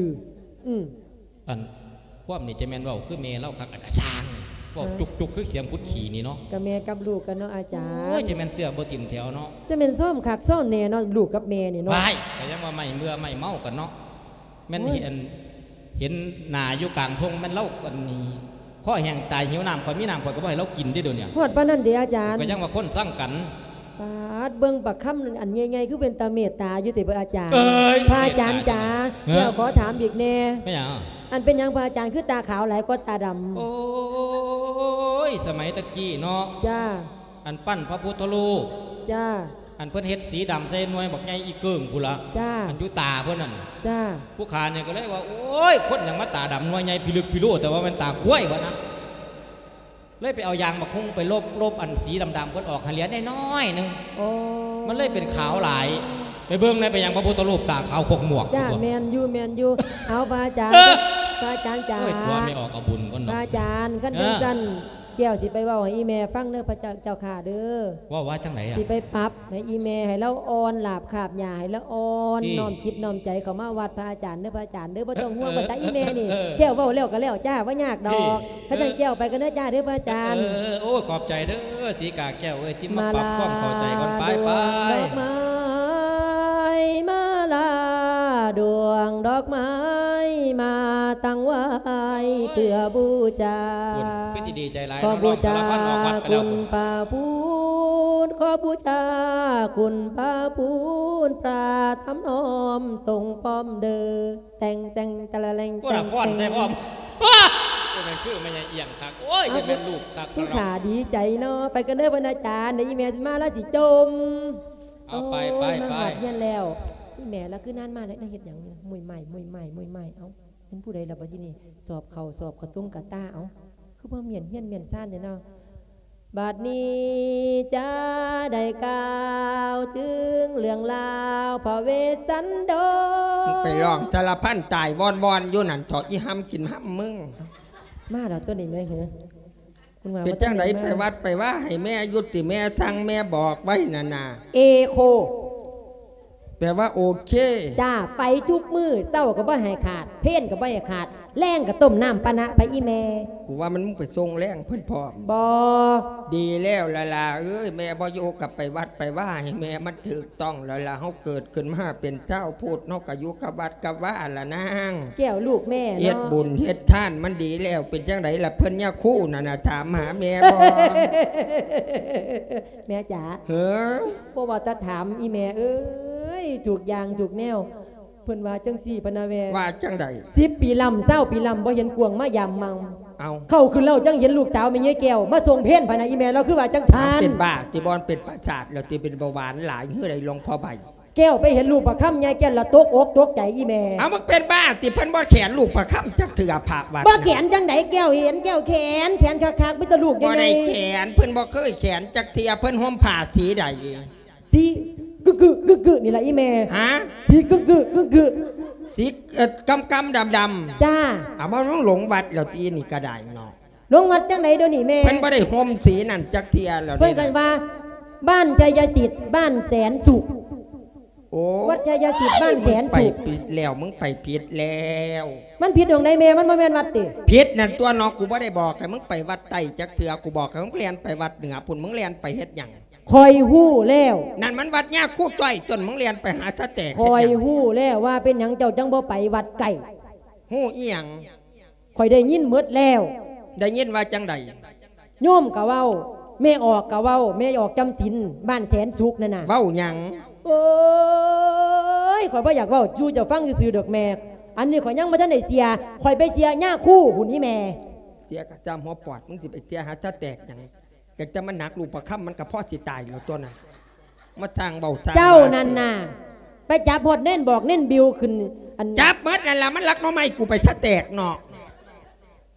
ອືມ ອັນ ຄວາມນີ້ຈະແມ່ນເວົ້າຄືແມ່ລາວຄັກ ອັນກະຊ່າງ ເວົ້າ ເອີ ຈຸກໆ ຄືສຽງຂຸດຂີ້ນີ້ເນາະ. ກະແມ່ກັບລູກກັນເນາະອາຈານ. ໂອ້ຍ ຈະແມ່ນເຊື່ອບໍ່ຕິ່ມແຖວເນາະ. ຈະແມ່ນຊອມຄັກຊອມແນ່ເນາະ ລູກກັບແມ່ນີ້ເນາະ. ວ້າຍ ກະຍັງວ່າໄມ້ເມື່ອໄມ້ເມົາກັນເນາະ. ແມ່ນ ໂອ້ຍ ເຫັນ ເຫັນໜ້າຢູ່ກາງທົ່ງ ແມ່ນລາວ ອັນນີ້ ຄໍແຫ້ງຕາຍຫິວນ້ຳ ຂ້ອຍມີນ້ຳ ຂ້ອຍກໍບໍ່ໃຫ້ລາວກິນເດ້ດຽວນີ້. ຮອດປານນັ້ນເດອາຈານ? ກໍຍັງວ່າຄົນຊັງກັນ. ປາດ ເບິ່ງປາກຄຳອັນໃຫຍ່ໆ ຄືເປັນຕາເມດຕາຢູ່ຕິອາຈານ? ເອີຍ ພະອາຈານຈ໋າ ເມດຕາຈັ່ງໃດ? ແລ້ວຂໍຖາມອີກແດ່. ແມ່ນຫຍັງ? ອັນເປັນຫຍັງພະອາຈານຄືຕາຂາວຫຼາຍກວ່າຕາດຳ? ໂອ້ຍ ສະໄໝຕະກີ້ເນາະ. ຈ້າ. ອັນປັ້ນພະພຸດທະຮູບ. ຈ້າ. ອັນເພິ່ນເຮັດສີດຳໃສ່ໜ່ວຍບັກໃຫຍ່ອີເກີ້ງພຸ້ນລະ. ຈ້າ. ອັນຢູ່ຕາເພິ່ນນັ້ນ. ຈ້າ. ຜູ້ຂ້ານີ້ກໍເລີຍວ່າ ໂອ້ຍ ຄົນຫຍັງມາຕາດຳໜ່ວຍໃຫຍ່ພິລຶກພິໂລ ແຕ່ວ່າແມ່ນຕາຄວາຍວ່ານະ. ເລີຍໄປເອົາຢາງບັກຮຸ່ງໄປລົບ ລົບອັນສີດຳໆເພິ່ນອອກໃຫ້ເຫຼືອນ້ອຍໆໜຶ່ງ. ໂອ້ ມັນເລີຍເປັນຂາວຫຼາຍ. ໄປເບິ່ງແດ່ ເປັນຫຍັງພະພຸດທະຮູບຕາຂາວຄົກໝວກ. ຈ້າ ແມ່ນຢູ່ ແມ່ນຢູ່. ເອົາ ພະອາຈານ ເອີ ພະອາຈານຈ໋າ. ໂອ້ຍ ຕົວະແມ່ອອກເອົາບຸນກ່ອນດອກ. ພະອາຈານ ຄັນ ເອີ ຈັ່ງຊັ້ນ ແກ້ວຊິໄປເວົ້າໃຫ້ອີແມ່ຟັງເດີ ພະເຈົ້າ ເຈົ້າຂ້າເດີ. ເວົ້າວ່າຈັ່ງໃດອະ? ຊິໄປປັບໃຫ້ອີແມ່ ໃຫ້ລາວອ່ອນລາບຄາບຫຍ້າ ໃຫ້ລາວອ່ອນ ຕິ ນ້ອມຈິດນ້ອມໃຈເຂົ້າມາວັດພະອາຈານເດີ ພະອາຈານເດີ. ບໍ່ຕ້ອງຫ່ວງ ເອີ ພາສາອີແມ່ນີ້ ເອີ ແກ້ວເວົ້າແລ້ວກໍແລ້ວຈ້າ ບໍ່ຍາກດອກ. ຄັນຊັ້ນແກ້ວໄປກ່ອນເດີຈ້າເດີ ພະອາຈານ. ເອີ ໂອ້ ຂອບໃຈເດີ ສີກາແກ້ວເອີຍ ຕິມາປັບຄວາມເຂົ້າໃຈກ່ອນ. ໄປ ໄປ ດອກໄມ້ ມາລາດວງດອກໄມ້ ມາຕັ້ງໄວ້ເພື່ອບູຊາ ພຸ້ນ ຄືຊິດີໃຈຫຼາຍ ເນາະ ລອງສາລະພັນອອກວັດໄປແລ້ວ ຄຸນພະພຸດ ຂໍບູຊາຄຸນພະພຸດ ພະທຳນ້ອມຊົງພ້ອມເດີ ແຕ່ງ ແຕ່ງ ຕະລະແລງ ໂອ້ ແຕ່ງ ຟ້ອນໃສ່ພ້ອມ. ໂອ້ຍ ແມ່ນຄືແມ່ຍາຍອຽງຄັກ ໂອ້ຍ ເອົ້າ ແມ່ນລູກຄັກ ຜູ້ຂ້າດີໃຈເນາະ. ໄປກັນເດີເພິ່ນອາຈານ ດຽວອີແມ່ຊິມາລາວຊິຈົ່ມ. ເອົາ ໄປ ໂອ້ຍ ໄປ ໄປ ມາຮອດເຮືອນແລ້ວ. ອີແມ່ລາວຄືນານມາແລ້ວ ເຮັດຫຍັງນີ້ ມຸ້ຍໄມ້ ມຸ້ຍໄມ້ ມຸ້ຍໄມ້. ເອົ້າ ແມ່ນຜູ້ໃດລະບັດທີນີ້ ສອບເຂົ້າ ສອບກະຕຸງກະຕາ. ເອົ້າ ຄືບໍ່ມ້ຽນເຮືອນມ້ຽນຊານແທ້ເນາະ. ບັດນີ້ຈະໄດ້ກ່າວເຖິງເລື່ອງລາວພະເວດສັນດົນ. ມຶງໄປຮ້ອງສາລະພັນຕາຍວອນໆຢູ່ນັ້ນເຖາະ ອີຫຳກິນຫຳມຶງ. ມາແລ້ວຕົວນີ້ແມ່ເຫີ. ເປັນຈັ່ງໃດ ໄປວັດໄປວາໃຫ້ແມ່ຢູ່ຕິ ແມ່ສັ່ງແມ່ບອກໄວ້ນັ້ນນະ? ເອໂຄ ແປວ່າໂອເຄ. ຈ້າ ໄປທຸກມື້ ເຊົ້າກໍບໍ່ໃຫ້ຂາດ ເພນກໍບໍ່ໃຫ້ຂາດ ແລງກໍຕົ້ມນ້ຳປານະໄປອີແມ່. ກູວ່າມັນ ມຶງໄປສົ່ງແລງເພິ່ນພ້ອມ. ບໍ່ ດີແລ້ວລະຫຼ້າເອີຍ ແມ່ບໍ່ຢູ່ກໍໄປວັດໄປວາໃຫ້ແມ່ ມັນຖືກຕ້ອງແລ້ວລະ. ເຮົາເກີດຂຶ້ນມາເປັນຊາວພຸດ ເຮົາກໍຢູ່ກັບວັດກັບວາລະນາງ. ແກ້ວລູກແມ່ເນາະ ເຮັດບຸນເຮັດທານມັນດີແລ້ວ. ເປັນຈັ່ງໃດລະ ເພິ່ນຍາຄູນັ້ນນະ ຖາມຫາແມ່ບໍ່? ແມ່ຈ໋າ ເອີ ບໍ່ວ່າແຕ່ຖາມ ອີແມ່ເອີຍ ທຸກຢ່າງທຸກແນວ. ເພິ່ນວ່າຈັ່ງຊີ້ ພະນະແວ່ ວ່າຈັ່ງໃດ? ສິບປີລຳ ຊາວປີລຳ ບໍ່ເຫັນກວງມາຢາມມັງ. ເອົ້າ ເຂົ້າຄືນເລົ່າຈັ່ງເຫັນລູກສາວແມ່ຍາຍແກ້ວມາສົ່ງເພນ ພະນະ ອີແມ່ລາວຄືວ່າຈັ່ງຊັ້ນ. ເປັນບ້າຕິ ບໍ່ ເປັນປະສາດແລ້ວຕິ ເປັນເບົາຫວານຫຼາຍ ເຮີໃດ ຫຼວງພໍ່ໃບ? ແກ້ວໄປເຫັນລູກປະຄຳໃຫຍ່ ແກ້ວລະຕົກອົກຕົກໃຈອີ່ແມ່. ເອົາ ມຶງເປັນບ້າຕິ? ເພິ່ນບໍ່ແຂນລູກປະຄຳຈັກເທື່ອ ພະວັດ ບໍ່ແຂນຈັ່ງໃດ? ແກ້ວເຫັນ ແກ້ວແຂນ ແຂນຄັກໆ ມີແຕ່ລູກໃຫຍ່ໆ. ບໍ່ໄດ້ແຂນ ເພິ່ນບໍ່ເຄີຍແຂນຈັກເທື່ອ. ເພິ່ນຫົ່ມຜ້າສີໃດ? ສີກຶກໆ ກຶກໆ ນີ້ລະອີ່ແມ່. ຮະ? ສີກຶກໆ ກຶກໆ ສີ ເອີ ກຳໆ ດຳໆ. ຈ້າ. ເອົາ ມາລົງວັດແລ້ວຕິ ນີ້ກະໄດ້ເນາະ. ລົງວັດຈັ່ງໃດດຽວນີ້ແມ່? ເພິ່ນບໍ່ໄດ້ຫົ່ມສີນັ້ນຈັກເທື່ອແລ້ວ. ເພິ່ນກໍວ່າ ບ້ານໄຊຍະສິດ ບ້ານແສນສຸກ. ໂອ້ຍ ວັດໄຊຍະສິດ ບ້ານແສນສຸກ. ໄປຜິດແລ້ວ ມຶງໄປຜິດແລ້ວ. ມັນຜິດໝ່ອງໃດແມ່? ມັນບໍ່ແມ່ນວັດຕິ? ຜິດນັ້ນຕົວະເນາະ. ກູບໍ່ໄດ້ບອກໃຫ້ມຶງໄປວັດໃຕ້ຈັກເທື່ອ ກູບອກໃຫ້ມຶງແລ່ນໄປວັດເໜືອພຸ້ນ. ມຶງແລ່ນໄປເຮັດຫຍັງ? ຂ້ອຍຮູ້ແລ້ວ. ນັ້ນມັນວັດຍາຄູຈ້ອຍຕົວະ ມຶງແລ່ນໄປຫາສະແຕກເຮັດຫຍັງ? ຂ້ອຍຮູ້ແລ້ວວ່າເປັນຫຍັງເຈົ້າຈັ່ງບໍ່ໄປວັດໃກ້. ຮູ້ອີ່ຫຍັງ? ຂ້ອຍໄດ້ຍິນໝົດແລ້ວ. ໄດ້ຍິນວ່າຈັ່ງໃດ? ໂຍມກໍເວົ້າ ແມ່ອອກກໍເວົ້າ ແມ່ອອກຈຳສິນ ບ້ານແສນສຸກນັ້ນນະ. ເວົ້າຫຍັງ? ໂອ້ຍ ຂ້ອຍບໍ່ຢາກເວົ້າສູ່ເຈົ້າຟັງຊື່ໆ ດອກແມ່. ອັນນີ້ຂ້ອຍຍັງບໍ່ທັນໄດ້ເຊື່ອ ຂ້ອຍໄປເຊື່ອຍາຄູພຸ້ນນີ້ແມ່. ເຊື່ອກະຊ່າງຫົວປອດ ມຶງຊິໄປເຊື່ອຫາສະແຕກຫຍັງ? ຈັກຈະມາໜັກລູກປະຄຳ ມັນກະພໍຊິຕາຍແລ້ວຕົວະນັ້ນ. ມາສ້າງເວົ້າສ້າງວ່າ. ເຈົ້ານັ້ນນະ ໄປຈັບຮອດເນນບອກເນນບິວຂຶ້ນ ອັນ ຈັບໝົດນັ້ນລະ ມັນລັກໜໍ່ໄມ້ກູໄປສະແຕກເນາະ.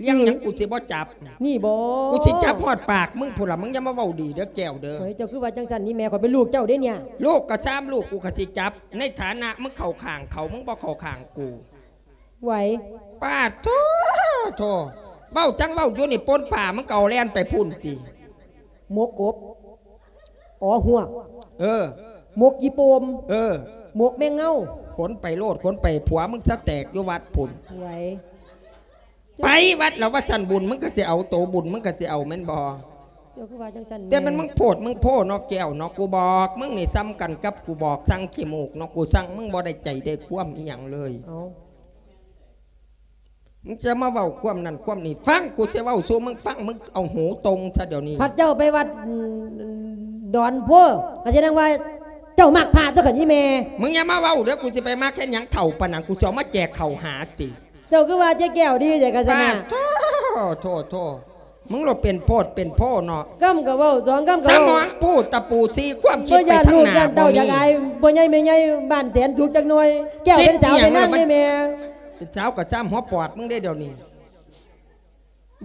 ລ້ຽງຫຍັງ ອືມ ກູຊິບໍ່ຈັບ. ນີ້ບໍ? ກູຊິຈັບຮອດປາກມຶງພຸ້ນລະ. ມຶງຢ່າມາເວົ້າດີເດີແກ້ວເດີ. ເຮີ້ຍ ເຈົ້າຄືວ່າຈັ່ງຊັ້ນນີ້ແມ່? ຂ້ອຍເປັນລູກເຈົ້າເດ້ເນຍ. ລູກກະຊ່າງລູກ ກູກະຊິຈັບ. ໃນຖານະມຶງເຂົ້າຂ້າງເຂົາ ມຶງບໍ່ເຂົ້າຂ້າງກູ. ໄຫວ. ປາດໂທ້ ໂທ້ ເວົ້າຈັ່ງເວົ້າຢູ່ນີ້ ປົ່ນປາ ມຶງກໍເອົາແລ່ນໄປພຸ້ນຕິ. ໝົກກົບ ອໍ ຮວກ. ເອີ ໝົກຂີ້ໂປ່ມ. ເອີ ໝົກແມງເງົາ. ຂົນໄປໂລດ ຂົນໄປ ຜົວມຶງສະແຕກຢູ່ວັດພຸ້ນ. ໄຫວ. ໄປວັດລະວ່າຊັ້ນ ບຸນມຶງກໍຊິເອົາ ໂຕບຸນມຶງກໍຊິເອົາ ແມ່ນບໍ່? ເຈົ້າຄືວ່າຈັ່ງຊັ້ນແມ່? ແຕ່ມັນມຶງໂພດມຶງໂພເນາະແກ້ວເນາະ. ກູບອກມຶງນີ້ສ່ຳກັນກັບກູບອກສັງຂີ້ມູກເນາະ. ກູສັ່ງມຶງບໍ່ໄດ້ໃຈໄດ້ຄວາມອີ່ຫຍັງເລີຍ. ເອົ້າ ມຶງຈະມາເວົ້າຄວາມນັ້ນຄວາມນີ້. ຟັງ ກູຊິເວົ້າສູ່ມຶງຟັງ ມຶງເອົາຫູຕົງຊະດຽວນີ້. ພັດເຈົ້າໄປວັດ ອືມ ດອນໂພ ກະສະແດງວ່າເຈົ້າມັກພະຕົວະຄັນອີ່ແມ່. ມຶງຢ່າມາເວົ້າເດີ ກູຊິໄປມັກເຮັດຫຍັງເຖົ້າປານນັ້ນ ກູຊິເອົາມາແຈກເຂົ້າຫາຕິ. ເຈົ້າຄືວ່າເຈົ້າແກ້ວດີແທ້ກະຊັ້ນນະ. ປາດໂທ້ ໂທ້ ໂທ້ ມຶງໂລດເປັນໂພດເປັນໂພເນາະ. ຄຳກະເວົ້າ ສອງຄຳກະເວົ້າ. ສະໝອງປູຕະປູ ສີ່ຄວາມຄິດໄປທາງໜ້າບໍ່ມີ. ບໍ່ຢ້ານລູກຢ້ານເຕົ້າຢາກອາຍ ບໍ່ໃຫຍ່ແມ່ໃຫຍ່ບ້ານແສນສຸກຈັກໜ່ອຍ. ແກ້ວເປັນສາວເປັນນາງເດ້ແມ່. ເປັນສາວກະຊ່າງຫົວປອດມຶງເດ້ດຽວນີ້.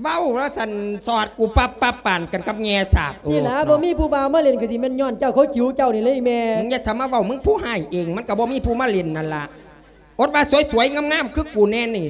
ເວົ້າລະຊັ້ນສອດກູປັບປັບປານກັນກັບແງ່ສາບ. ນີ້ລະ ໂອ້ ບໍ່ມີຜູ້ບ່າວມາຫຼິ້ນກະຊິແມ່ນຍ້ອນເຈົ້າ ເຂົາຈິ້ວເຈົ້ານີ້ເລີຍແມ່. ມຶງຢ່າທຳມາເວົ້າ ມຶງຜູ້ຮ້າຍເອງ ມັນກະບໍ່ມີຜູ້ມາຫຼິ້ນນັ້ນລະ. ອົດວ່າສວຍໆງາມໆຄືກູແນ່ນີ້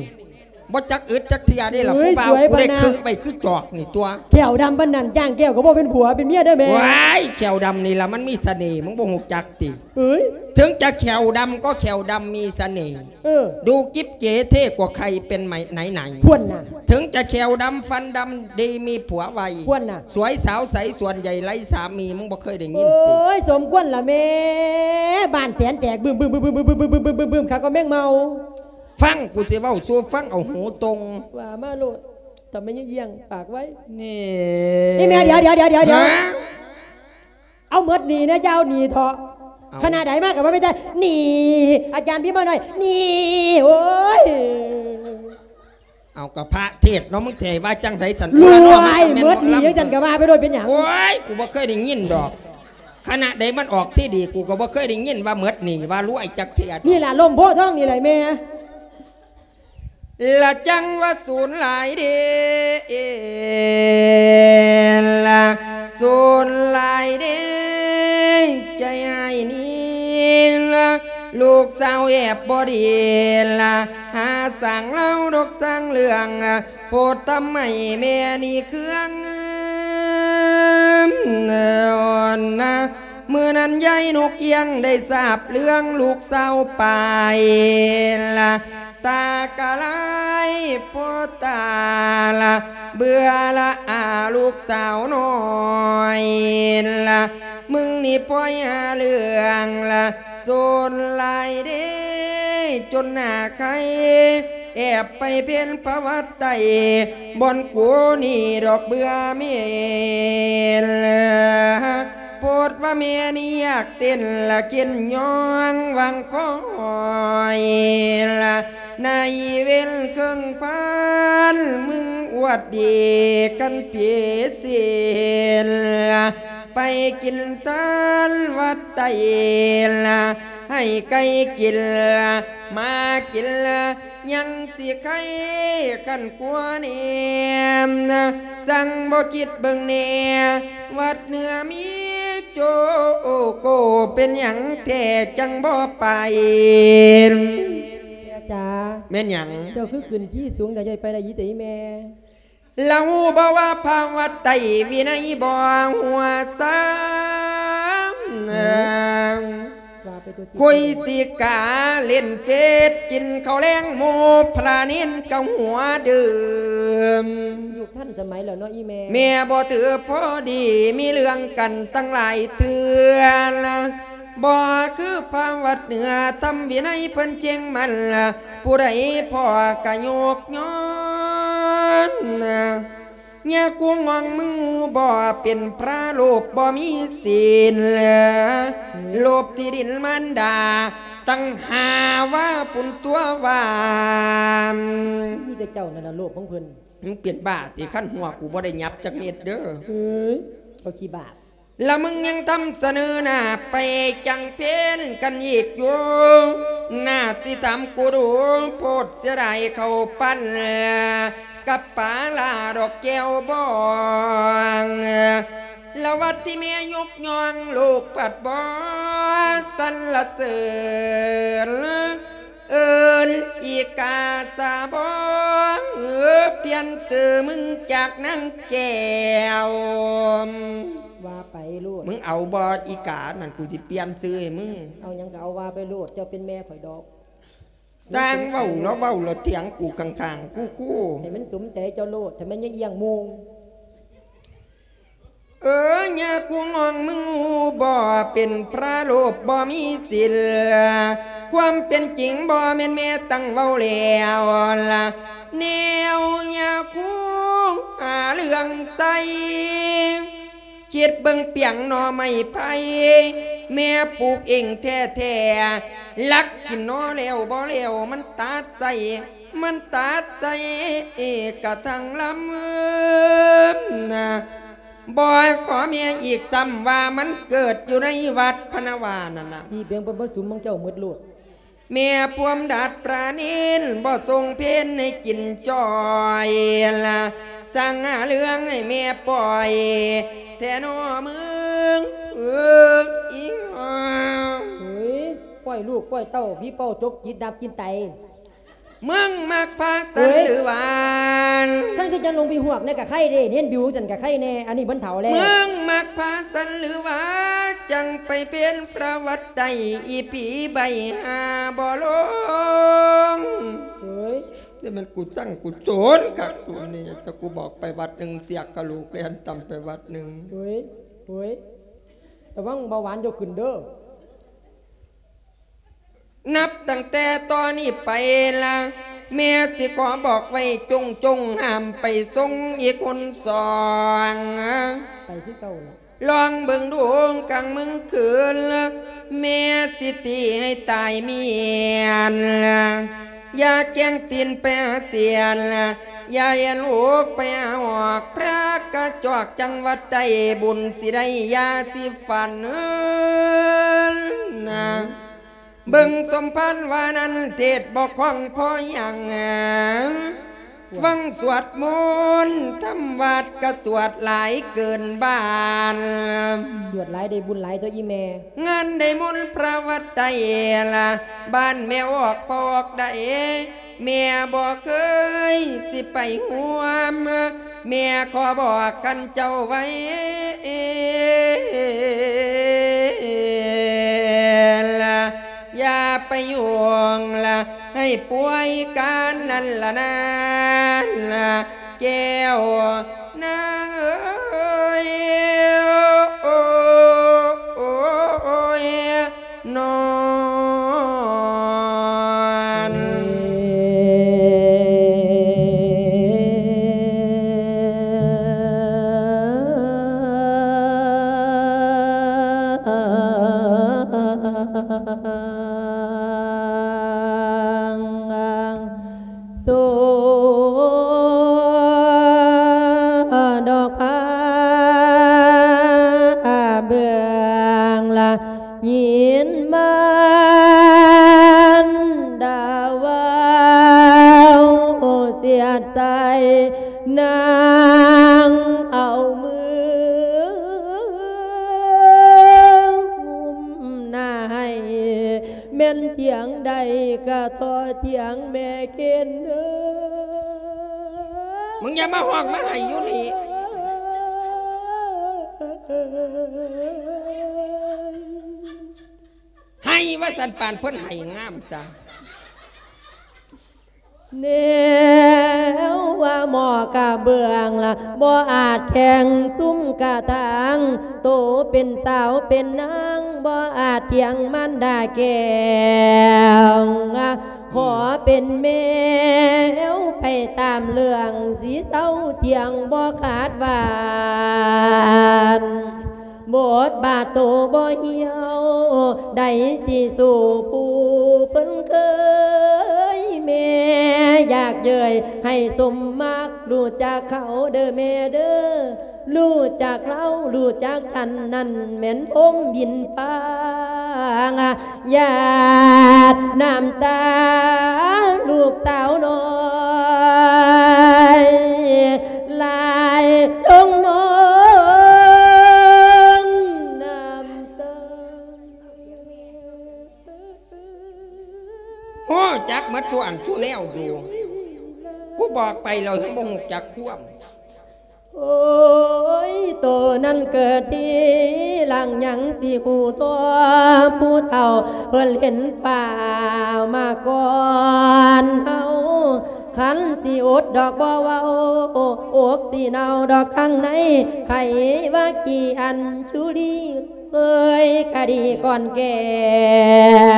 ບໍ່ຈັກອຶດຈັກເທື່ອເດ້ລະ. ເອີຍ ຜູ້ບ່າວ ສວຍປານນັ້ນ ກູໄດ້ຄຶໄວ້ຄືຈອກນີ້ຕົວະ. ແຂ້ວດຳປານນັ້ນ ຈ້າງແກ້ວກະບໍ່ເປັນຜົວເປັນເມຍເດີແມ່. ວ້າຍ ແຂ້ວດຳນີ້ລະມັນມີສະເໜ່ ມຶງບໍ່ຮູ້ຈັກຕິ? ເອີຍ ເຖິງຈະແຂ້ວດຳກໍແຂ້ວດຳມີສະເໜ່. ເອີ ດູກິບເຈເທ່ກວ່າໃຄເປັນໄໝໄໜໄໜ. ພວນນະ ເຖິງຈະແຂ້ວດຳຟັນດຳ ດີມີຜົວໄວ ພວນນະ ສວຍສາວໃສສ່ວນໃຫຍ່ໄຮ້ສາມີ. ມຶງບໍ່ເຄີຍໄດ້ຍິນຕິ? ໂອ້ຍ ສົມຄວນລະແມ່ ບ້ານແສນແຕກບຶມບຶມບຶມບຶມບຶມບຶມບຶມບຶມບຶມບຶມ ຂາກໍແມງເມົາ. ຟັງ ກູຊິເວົ້າສູ່ຟັງ ເອົາຫູຕົງ. ວ່າມາໂລດ ທຳໄມຍັງຢ້ຽງປາກໄວ. ນີ້ ນີ້ແມ່ ດຽວ ດຽວ ດຽວ ດຽວ ຮະ? ເອົາໝົດໜີ້ແນ່ ຢ່າເອົາໜີ້ເທາະ. ເອົາ ຄະນະໃດມາກະວ່າມີແຕ່ໜີ້ ອາຈານພິມມາໜ້ອຍ ໜີ້ ໂອ້ຍ. ເອົາ ກະພະເທດເນາະ ມຶງຊິໃຫ້ວ່າຈັ່ງໃດຊັ້ນ? ລວຍ ໝົດໜີ້ຈັ່ງຊັ້ນກະວ່າໄປໂລດ ເປັນຫຍັງ? ໂອ້ຍ ກູບໍ່ເຄີຍໄດ້ຍິນດອກ ຄະນະໃດມັນອອກທີ່ດີ ກູກະບໍ່ເຄີຍໄດ້ຍິນວ່າໝົດໜີ້ ວ່າລວຍຈັກເທື່ອ. ນີ້ລະ ລົມໂພທອງນີ້ແຫຼະແມ່. ລະຈັ່ງວ່າສູນຫຼາຍເດ້ ລະສູນຫຼາຍເດ້ ໃຈອ້າຍນີ້ລະ ລູກສາວແອບບໍ່ດີລະ ຫາສ້າງລາວດອກສ້າງເລື່ອງ ໂພດທຳໃຫ້ແມ່ນີ້ເຄືອງ. ມື້ນັ້ນຍາຍນົກກຽງໄດ້ຊາບເລື່ອງລູກສາວໄປລະ ຕາກະລາຍໂພດຕາລະ ເບື່ອລະອາລູກສາວນ້ອຍລະ ມຶງນີ້ປ່ອຍຫາເລື່ອງລະ ໂຈນຫຼາຍເດ້ ຈົນໜ້າໄຄ ແອບໄປເພັນພະວັດໃຕ້ ບ່ອນກູນີ້ດອກເບື່ອເມນລະ ໂພດວ່າແມ່ນີ້ຢາກເຕັ້ນລະ ເຄັນຍ່ອງວັງຄອຍລະ ໃນເວນເຄິ່ງພັນ ມຶງອວດດີກັນເປເຊນລະ ໄປກິນທານວັດໃຕ້ລະ ໃຫ້ໄກ່ກິນ ໝາກິນ ຍັງຊິໄຄຄັນກວ່າແນ່ ສັ່ງບໍ່ຄິດເບິ່ງແນ່ ວັດເໜືອມີໂຈໂກ ເປັນຫຍັງແທ້ຈັ່ງບໍ່ໄປ? ແມ່ນຫຍັງ? ເຈົ້າຄືຂຶ້ນທີ່ສູງແຕ່ຢ່າໄປລະອີແຕ່ອີແມ່. ລາວຮູ້ບໍ່ວ່າພະວັດໄຕວິໄນບໍ່ຫົວຊ້ຳ? ວ່າໄປຕົວຈິດ ຄຸຍຊິກາເລ່ນເຟດ ກິນເຂົ້າແລງໝູ່ພະເນນກໍຫົວດື່ມ. ຍຸກທັນສະໄໝແລ້ວເນາະອີແມ່. ແມ່ບໍ່ຖືພໍດີ ມີເລື່ອງກັນຕັ້ງຫຼາຍເທື່ອ ບໍ່ຄືພະວັດເໜືອ ທຳວິໄນເພິ່ນເຄັ່ງໝັ້ນ ຜູ້ໃດພໍ້ກະຍົກຍ້ອນ. ຍາກູງອງ ມຶງຮູ້ບໍ່ ເປັນພະໂລບບໍ່ມີສິນ ໂລບທີ່ດິນມານດາ ຕັ້ງຫ້າວາພຸ້ນຕົວະວ່າ. ມີແຕ່ເຈົ້ານັ້ນລະໂລບຂອງເພິ່ນ. ມຶງເປັນບ້າຕິ? ຄັນຫົວກູບໍ່ໄດ້ຫຍັບຈັກເມັດເດີ. ເອີຍ ເຈົ້າຂີ້ບາບ. ລະມຶງຍັງທຳສະເໜີໜ້າໄປຈັງເພນກັນອີກຢູ່ ໜ້າຊິຖາມກູດູ ໂພດເສຍດາຍເຂົ້າປັ້ນ ກັບປາຫຼ້າດອກແກ້ວບອງ ລະວັດທີ່ແມ່ຍົກຍ້ອງ ລູກພັດບໍ່ສັນລະເສີນ ເອີ້ນອີກາສາບອງ ປ່ຽນຊື່ມຶງຈາກນາງແກ້ວ. ວ່າໄປໂລດ. ມຶງເອົາບໍ່ອີການັ້ນ ກູຊິປ່ຽນຊື່ໃຫ້ມຶງ. ເອົາຫຍັງກໍເອົາ ວ່າໄປໂລດ ເຈົ້າເປັນແມ່ຂ້ອຍດອກ. ຊ່າງເວົ້າ ລາວເວົ້າລະຖຽງກູຂ້າງໆ ຄູໆ. ໃຫ້ມັນສົມໃຈເຈົ້າໂລດ ຖ້າແມ່ນຢ່າອ່ຽງໂມງ. ເອີ ຍາກູງອງ ມຶງຮູ້ບໍ່ ເປັນພະໂລບບໍ່ມີສິນ ຄວາມເປັນຈິງບໍ່ແມ່ນແມ່ຕັ້ງເວົ້າແລ້ວລະ ແນວຍາຄູຫາເລື່ອງໃສ່ ຄິດເບິ່ງປຽງໜໍ່ໄມ້ໄຜ່ ແມ່ປູກເອງແທ້ໆ ລັກກິນໜໍ່ແລ້ວບໍ່ແລ້ວ ມັນຕັດໃສ່ ມັນຕັດໃສ່ກະທັງລຳນະ ບໍ່ຂໍແມ່ອີກຊ້ຳວ່າມັນເກີດຢູ່ໃນວັດພະນະວານັ້ນນະ. ອີ່ເບງເບິ່ງບໍ່ສຸມຂອງເຈົ້າໝົດໂລດ. ແມ່ພວມດັດປານິນ ບໍ່ສົ່ງເພນໃຫ້ກິນຈ່ອຍລະ ສ້າງຫາເລື່ອງໃຫ້ແມ່ປ່ອຍແທ້ນໍມຶງ ເອີ ອີ່ຫ່າ. ເຮີ້ຍ ປ່ອຍລູກປ່ອຍເຕົ້າ ຜີເປົ່າຈົກຈິດດັບກິນໄຕ. ມຶງມັກພາສັນ ເຮີ້ຍ ຫຼືຫວາ? ຄັນຄືຈັ່ງລົງໄປຫວກແນ່ກະໄຄເດ້ ເຫັນບິວຊັ້ນກະໄຄແນ່ ອັນນີ້ມັນເຖົ້າແລ້ວ. ມຶງມັກພາສັນ ຫຼືຫວາ? ຈັ່ງໄປເປັນພະວັດໄຕ ອີ່ຜີໃບຫາບໍ່ລົງ. ເຮີ້ຍ ນີ້ມັນກູຊັງກູໂຈນຄັກໂຕນີ້ ຈະກູບອກໄປວັດໜຶ່ງ ສຽກກະໂຫຼກແລ່ນຕຳໄປວັດໜຶ່ງ. ເຮີ້ຍ ເຮີ້ຍ ລະວັງເບົາຫວານເຈົ້າຂຶ້ນເດີ. ນັບຕັ້ງແຕ່ຕອນນີ້ໄປລະ ແມ່ຊິຂໍບອກໄວ້ຈົງໆ ຫ້າມໄປສົ່ງອີກຄົນສອງ. ໄປຄືເກົ່າລະ ລອງເບິ່ງດູກາງມື້ຄືນລະ ແມ່ຊິຕີໃຫ້ຕາຍເມຍນລະ ຢ່າແກ້ງຕີນໄປຫາເສຍນລະ ຢ່າເອັນອົກໄປຫາຫອກ ພະກະຈອກຈັງຫວັດໄດ້ ບຸນຊິໄດ້ຢາຊິຝັນນະ. ເບິ່ງສົມພານວ່ານັ້ນ ເທດບໍ່ຄ່ອງພໍຫຍັງ ຟັງສວດມົນທຳວັດກະສວດຫຼາຍເກີນບ້ານ. ສວດຫຼາຍໄດ້ບຸນຫຼາຍຕົວະອີ່ແມ່. ງານໄດ້ມົນພະວັດໄຕລະ ບ້ານແມ່ອອກພອກໄດ້ ແມ່ບໍ່ເຄີຍຊິໄປຮ່ວມ ແມ່ຂໍບອກຄັນເຈົ້າໄວ້ລະ ຢ່າໄປຫຍຸ້ງລະ ໃຫ້ປ່ວຍການນັ້ນລະນາ ແກ້ວນາງເອີຍ ໂອ້ຍ ໂອ້ຍ ໂອ້ຍ ນອນ. ສວດດອກຜ້າເບື້ອງລະຍິນມາ ໃສ່ນາງເອົາມືງຸ້ມໜ້າໃຫ້ ແມ່ນຖຽງໃດກະທໍ່ຖຽງແມ່ເກນເດີ. ມຶງຢ່າມາຮ້ອງມາໄຫ້ຢູ່ນີ້ ໄຫ້ວ່າຊັ້ນ ປານເພິ່ນໄຫ້ງາມຊະ. ແນວວ່າໝໍ້ກະເບື້ອງລະ ບໍ່ອາດແຂ່ງຊຸມກະທາງ ໂຕເປັນສາວເປັນນາງ ບໍ່ອາດຖຽງມານດາແກ້ວ ຂໍເປັນແມວໄປຕາມເລື່ອງ ຊິເຊົາຖຽງບໍ່ຂາດຫວ່ານ. ບົດບາດໂຕບໍ່ຫ່ຽວ ໃດຊິສູ້ຜູ້ເພິ່ນເຄີຍ ແມ່ຢາກເຍີ້ຍໃຫ້ສົມມັກ ຮູ້ຈັກເຂົາເດີແມ່ເດີ ຮູ້ຈັກລາວ ຮູ້ຈັກທ່ານ ນັ້ນແມ່ນພົມບິນຟ້າ ຢາດນ້ຳຕາລູກສາວນ້ອຍ ຫຼາຍລົງນອງນ້ຳຕາ. ຮູ້ຈັກໝົດສູ່ອັນສູ່ແນວຢູ່ ກູບອກໄປແລ້ວຍັງບໍ່ຮູ້ຈັກຄວາມ. ໂອ້ຍ ໂຕນັ້ນເກີດທີຫຼັງ ຍັງຊິຮູ້ຕົວຜູ້ເຖົ້າ ເພິ່ນເຫັນຟ້າວມາກ່ອນເຮົາ ຄັນຊິອົດດອກບໍ່ເວົ້າ ອົກຊິເນົ່າດອກທາງໃນ ໃຜວ່າກີ່ອັນຊຸລີ ເອີຍ ຄະດີກ່ອນແກ່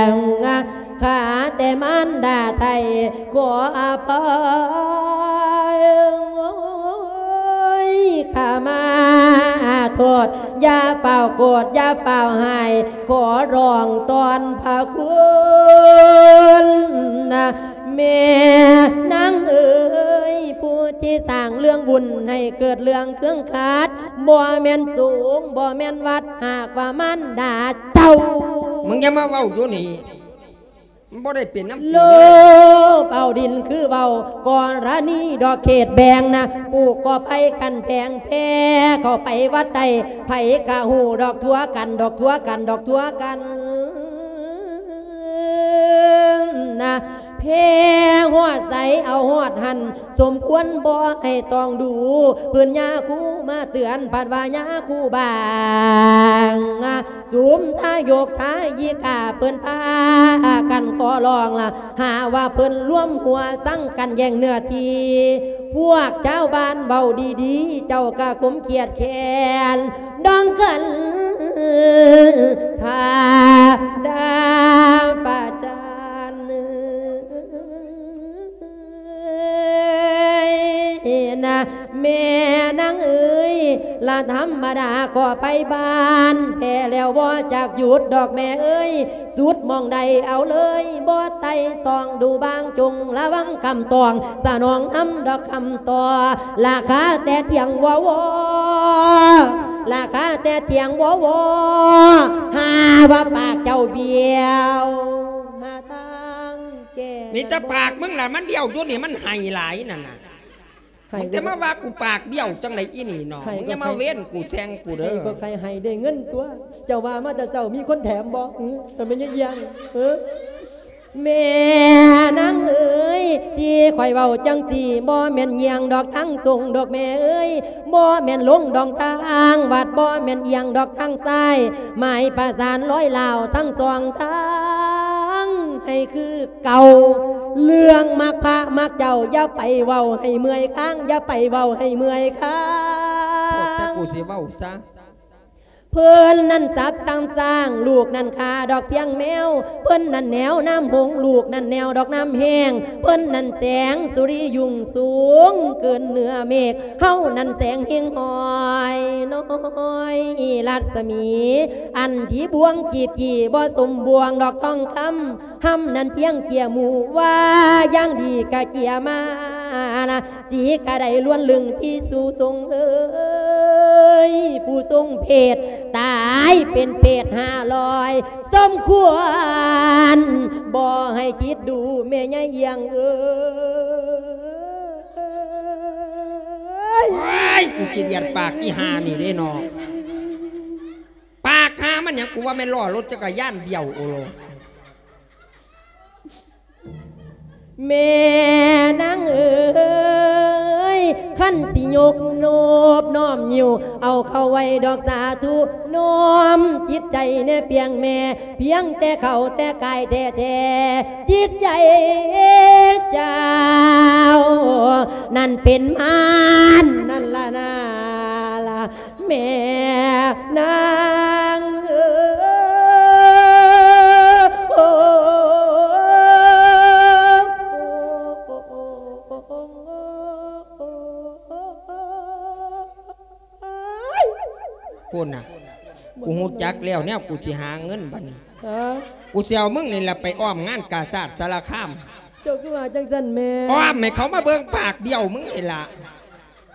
ງ ຂ້າແຕ່ມານດາໄທ ຂໍອະໄພ ໂອ້ຍ ຂ້າມາໂທດ ຢ່າຟ້າວໂກດ ຢ່າຟ້າວຮ້າຍ ຂໍຮ້ອງຕອນພະຄຸນ ແມ່ນາງເອີຍ ຜູ້ທີ່ສ້າງເລື່ອງບຸນໃຫ້ເກີດເລື່ອງເຄືອງຂັດ ບໍ່ແມ່ນສົງ ບໍ່ແມ່ນວັດ ຫາກວ່າມານດາເຈົ້າ. ມຶງຢ່າມາເວົ້າຢູ່ນີ້ ມັນບໍ່ໄດ້ເປັນນຳກູເດີ. ໂລບເອົາດິນຄືເວົ້າ ກໍລະນີດອກເຂດແບ່ງນະ ປູກກໍໄປກັນແພງແພເຂົ້າໄປວັດໃຕ້ ໃຜກະຮູ້ດອກທົ່ວກັນ ດອກທົ່ວກັນ ດອກທົ່ວກັນ. ນະ ແຜ່ຮອດໃສເອົາຮອດຫັ້ນ ສົມຄວນບໍ່ໃຫ້ຕ້ອງດູ ເພິ່ນຍາຄູມາເຕືອນ ພັດວ່າຍາຄູບາງ ສຸມທາຍົກທາຍິກາ ເພິ່ນພາກັນຂໍຮ້ອງລະ ຫາວ່າເພິ່ນລວມຫົວສັງກັນແຍ່ງເນື້ອທີ່ ພວກຊາວບ້ານເວົ້າດີໆ ເຈົ້າກະຄົມຄຽດແຄ້ນ ດອງກັນ ຖ້າດາປະຈານເອີຍນະ ແມ່ນາງເອີຍ ລະທຳມະດາກໍໄປບ້ານ ແພ້ແລ້ວບໍ່ຈັກຢຸດດອກແມ່ເອີຍ ສຸດໝ່ອງໃດເອົາເລີຍ ບໍ່ໄຕ່ຕອງດູບາງ ຈົ່ງລະວັງຄຳຕອງ ສະໜອງນຳດອກຄຳຕໍ່ ລາຄາແຕ່ທ່ຽງວໍວໍ ລາຄາແຕ່ທ່ຽງວໍວໍ ຫາວ່າປາກເຈົ້າບ້ຽວ ຫາທາງແກ້ ມີແຕ່ປາກມຶງລະມັນບ້ຽວຢູ່ນີ້ ມັນໄຫ້ຫຼາຍນັ້ນນະ. ໃຫ້ ມຶງຈະມາວ່າກູປາກບ້ຽວຈັ່ງໃດອີ່ນີ້ເນາະ ໃຫ້ ມຶງຢ່າມາເວັ້ນກູແຊ່ງກູເດີ ໃຫ້ບໍ່ໃຄ່ໃຫ້ໄດ້ເງິນຕົວະ ເຈົ້າວ່າມາແຕ່ເຊົ້າມີຄົນແຖມບໍ່? ຫື ມັນແມ່ນຍາຍອຽງ ເອີ ແມ່ນາງເອີຍ ທີ່ຂ້ອຍເວົ້າຈັ່ງຊີ້ ບໍ່ແມ່ນຍ່ຽງດອກທາງຊົງດອກແມ່ເອີຍ ບໍ່ແມ່ນລົງດອກທາງວັດ ບໍ່ແມ່ນອຽງດອກທາງຊ້າຍ ໝາຍປະສານລອຍລາວທັງສອງທາງ ໃຫ້ຄື ເກົ່າ ເລື່ອງມັກພະມັກເຈົ້າ ຢ່າໄປເວົ້າໃຫ້ເມື່ອຍຄາງ ຢ່າໄປເວົ້າໃຫ້ເມື່ອຍຄາງ ໂອ້ ແຕ່ກູຊິເວົ້າຊະ ເພິ່ນນັ້ນສັບທັງຊ້າງ ລູກນັ້ນຂ້າດອກພຽງແມວ ເພິ່ນນັ້ນແນວນ້ຳຫົງ ລູກນັ້ນແນວດອກນ້ຳແຫ້ງ ເພິ່ນນັ້ນແສງສຸລິຮຸ່ງສູງເກີນເໜືອເມກ ເຮົານັ້ນແສງເຮງຫ້ອຍນ້ອຍລັດສະໝີ ອັນທີ່ບວງຈີບຈີ່ບໍ່ສົມບວງດອກທອງຄຳ ຫຳນັ້ນພຽງເຈ້ຍໝູ່ວ່າຢ່າງດີກະເຈ້ຍມານະ ສີກະໄດ້ລ້ວນລຶງພີ່ສູ່ຊົງເອີຍ ຜູ້ຊົງເພດຕາຍເປັນເປດຫ້າຮ້ອຍ ສົມຄວນບໍ່ໃຫ້ຄິດດູແມ່ຍາຍອຽງເອີຍ. ອ້າຍ ກູຂີ້ດຽດປາກອີຫ່ານີ້ເດ້ເນາະ. ປາກຫາມັນຫຍັງ ກູວ່າແມ່ນລໍ້ລົດຈັກກະຍານດ່ຽວໂອໂລ. ແມ່ນາງເອີຍ ຄັນຊິຍົກໂນບນ້ອມຍິ້ວ ເອົາເຂົ້າໄວ້ດອກສາທຸ ນ້ອມຈິດໃຈແດ່ປຽງແມ່ ພຽງແຕ່ເຂົ້າແຕ່ກາຍແທ້ໆ ຈິດໃຈເຈົ້ານັ້ນເປັນມານນັ້ນລະນາລະ ແມ່ນາງເອີຍ. ພຸ້ນນະ ກູຮູ້ຈັກແລ້ວແນວກູຊິຫາເງິນບັດນີ້. ຮະ? ກູຊິເອົາມຶງນີ້ລະໄປອ້ອມງານກາຊາດສາລະຄາມ. ເຈົ້າຄືວ່າຈັ່ງຊັ້ນແມ່? ອ້ອມໃຫ້ເຂົາມາເບິ່ງປາກບ້ຽວມຶງນີ້ລະ.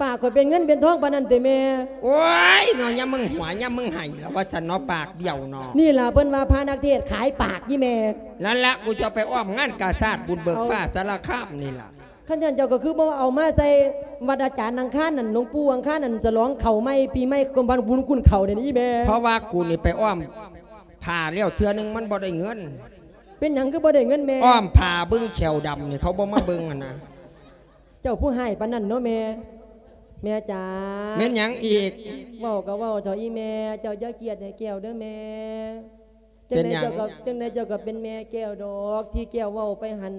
ປາກຂ້ອຍເປັນເງິນເປັນທອງປານນັ້ນຕິແມ່? ໂອ້ຍເນາະ ຍາມມຶງຫົວຍາມມຶງໄຫ້ລະວ່າຊັ້ນເນາະ ປາກບ້ຽວເນາະ. ນີ້ລະເພິ່ນວ່າພະນັກເທດຂາຍປາກອີ່ແມ່. ນັ້ນລະ ກູຈະໄປອ້ອມງານກາຊາດບຸນເບີກຟ້າສາລະຄາມນີ້ລະ. ຄັນຊັ້ນເຈົ້າກໍຄືບໍ່ເອົາມາໃສ່ວັດອາຈານອັງຄານນັ້ນ ຫຼວງປູ່ອັງຄານນັ້ນ ສະຫຼອງເຂົ້າໃໝ່ ປີໃໝ່ ຄວາມບັນບຸນຄຸນເຂົ້ານີ້ອີ່ແມ່. ເພາະວ່າກູນີ້ໄປອ້ອມຜ້າແລ້ວເທື່ອໜຶ່ງມັນບໍ່ໄດ້ເງິນ. ເປັນຫຍັງຄືບໍ່ໄດ້ເງິນແມ່? ອ້ອມຜ້າເບິ່ງແຂ້ວດຳນີ້ ເຂົາບໍ່ມາເບິ່ງຫັ້ນນະ. ເຈົ້າຜູ້ຮ້າຍປານນັ້ນເນາະແມ່. ແມ່ຈ໋າ. ແມ່ນຫຍັງອີກ? ເວົ້າກໍເວົ້າເຖາະອີ່ແມ່ ເຈົ້າຢ່າຄຽດໃຫ້ແກ້ວເດີແມ່. ເປັນຫຍັງ? ຈັ່ງໃດເຈົ້າກໍ ຈັ່ງໃດເຈົ້າກໍເປັນແມ່ແກ້ວດອກ ທີ່ແກ້ວເວົ້າໄປຫັ້ນ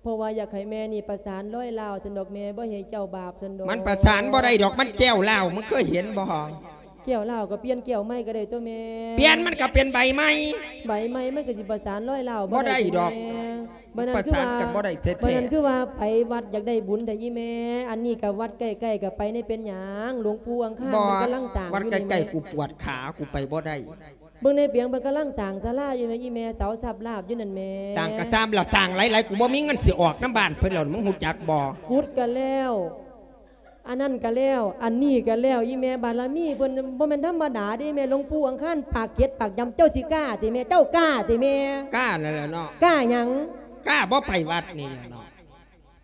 ເພາະວ່າຢາກໃຫ້ແມ່ນີ້ປະສານລອຍລາວຊັ້ນດອກ ແມ່ບໍ່ໃຫ້ເຈົ້າບາບຊັ້ນດອກ. ມັນປະສານບໍ່ໄດ້ດອກ ມັນແກ້ວລາວ ມຶງເຄີຍເຫັນບໍ່? ແກ້ວລາວກໍປ່ຽນແກ້ວໃໝ່ກໍໄດ້ຕົວະແມ່. ປ່ຽນມັນກໍເປັນໃບໃໝ່. ໃບໃໝ່ມັນກໍຊິປະສານລອຍລາວບໍ່ໄດ້ດອກ. ບໍ່ໄດ້ດອກແມ່. ປະສານກັນບໍ່ໄດ້ແທ້ໆ. ບັດນັ້ນຄືວ່າໄປວັດຢາກໄດ້ບຸນແທ້ອີ່ແມ່. ອັນນີ້ກໍວັດໃກ້ໆ ກໍໄປແດ່ ເປັນຫຍັງ? ຫຼວງປູ່ອັງຄານເພິ່ນກຳລັງສ້າງຢູ່ນີ້ແມ່. ວັດໃກ້ໆ ກູປວດຂາ ກູໄປບໍ່ໄດ້. ເບິ່ງໃນປຽງເພິ່ນກຳລັງສ້າງສາລາຢູ່ແມ່ ອີ່ແມ່ເສົາຊັບລາບຢູ່ນັ້ນແມ່. ສ້າງກະຊ່າງລະ ສ້າງຫຼາຍໆ ກູບໍ່ມີເງິນຊິອອກນຳບ້ານເພິ່ນແລ້ວ ມຶງຮູ້ຈັກບໍ່? ຂຸດກະແລ້ວ ອັນນັ້ນກະແລ້ວ ອັນນີ້ກະແລ້ວ ອີ່ແມ່ ບາລະມີເພິ່ນບໍ່ແມ່ນທຳມະດາເດ້ແມ່. ຫຼວງປູ່ອັງຄານປາກເຈັດປາກຢຳ ເຈົ້າຊິກ້າຕິແມ່? ເຈົ້າກ້າຕິແມ່? ກ້ານັ້ນແຫຼະເນາະ. ກ້າຫຍັງ? ກ້າບໍ່ໄປວັດນີ້ແຫຼະເນາະ.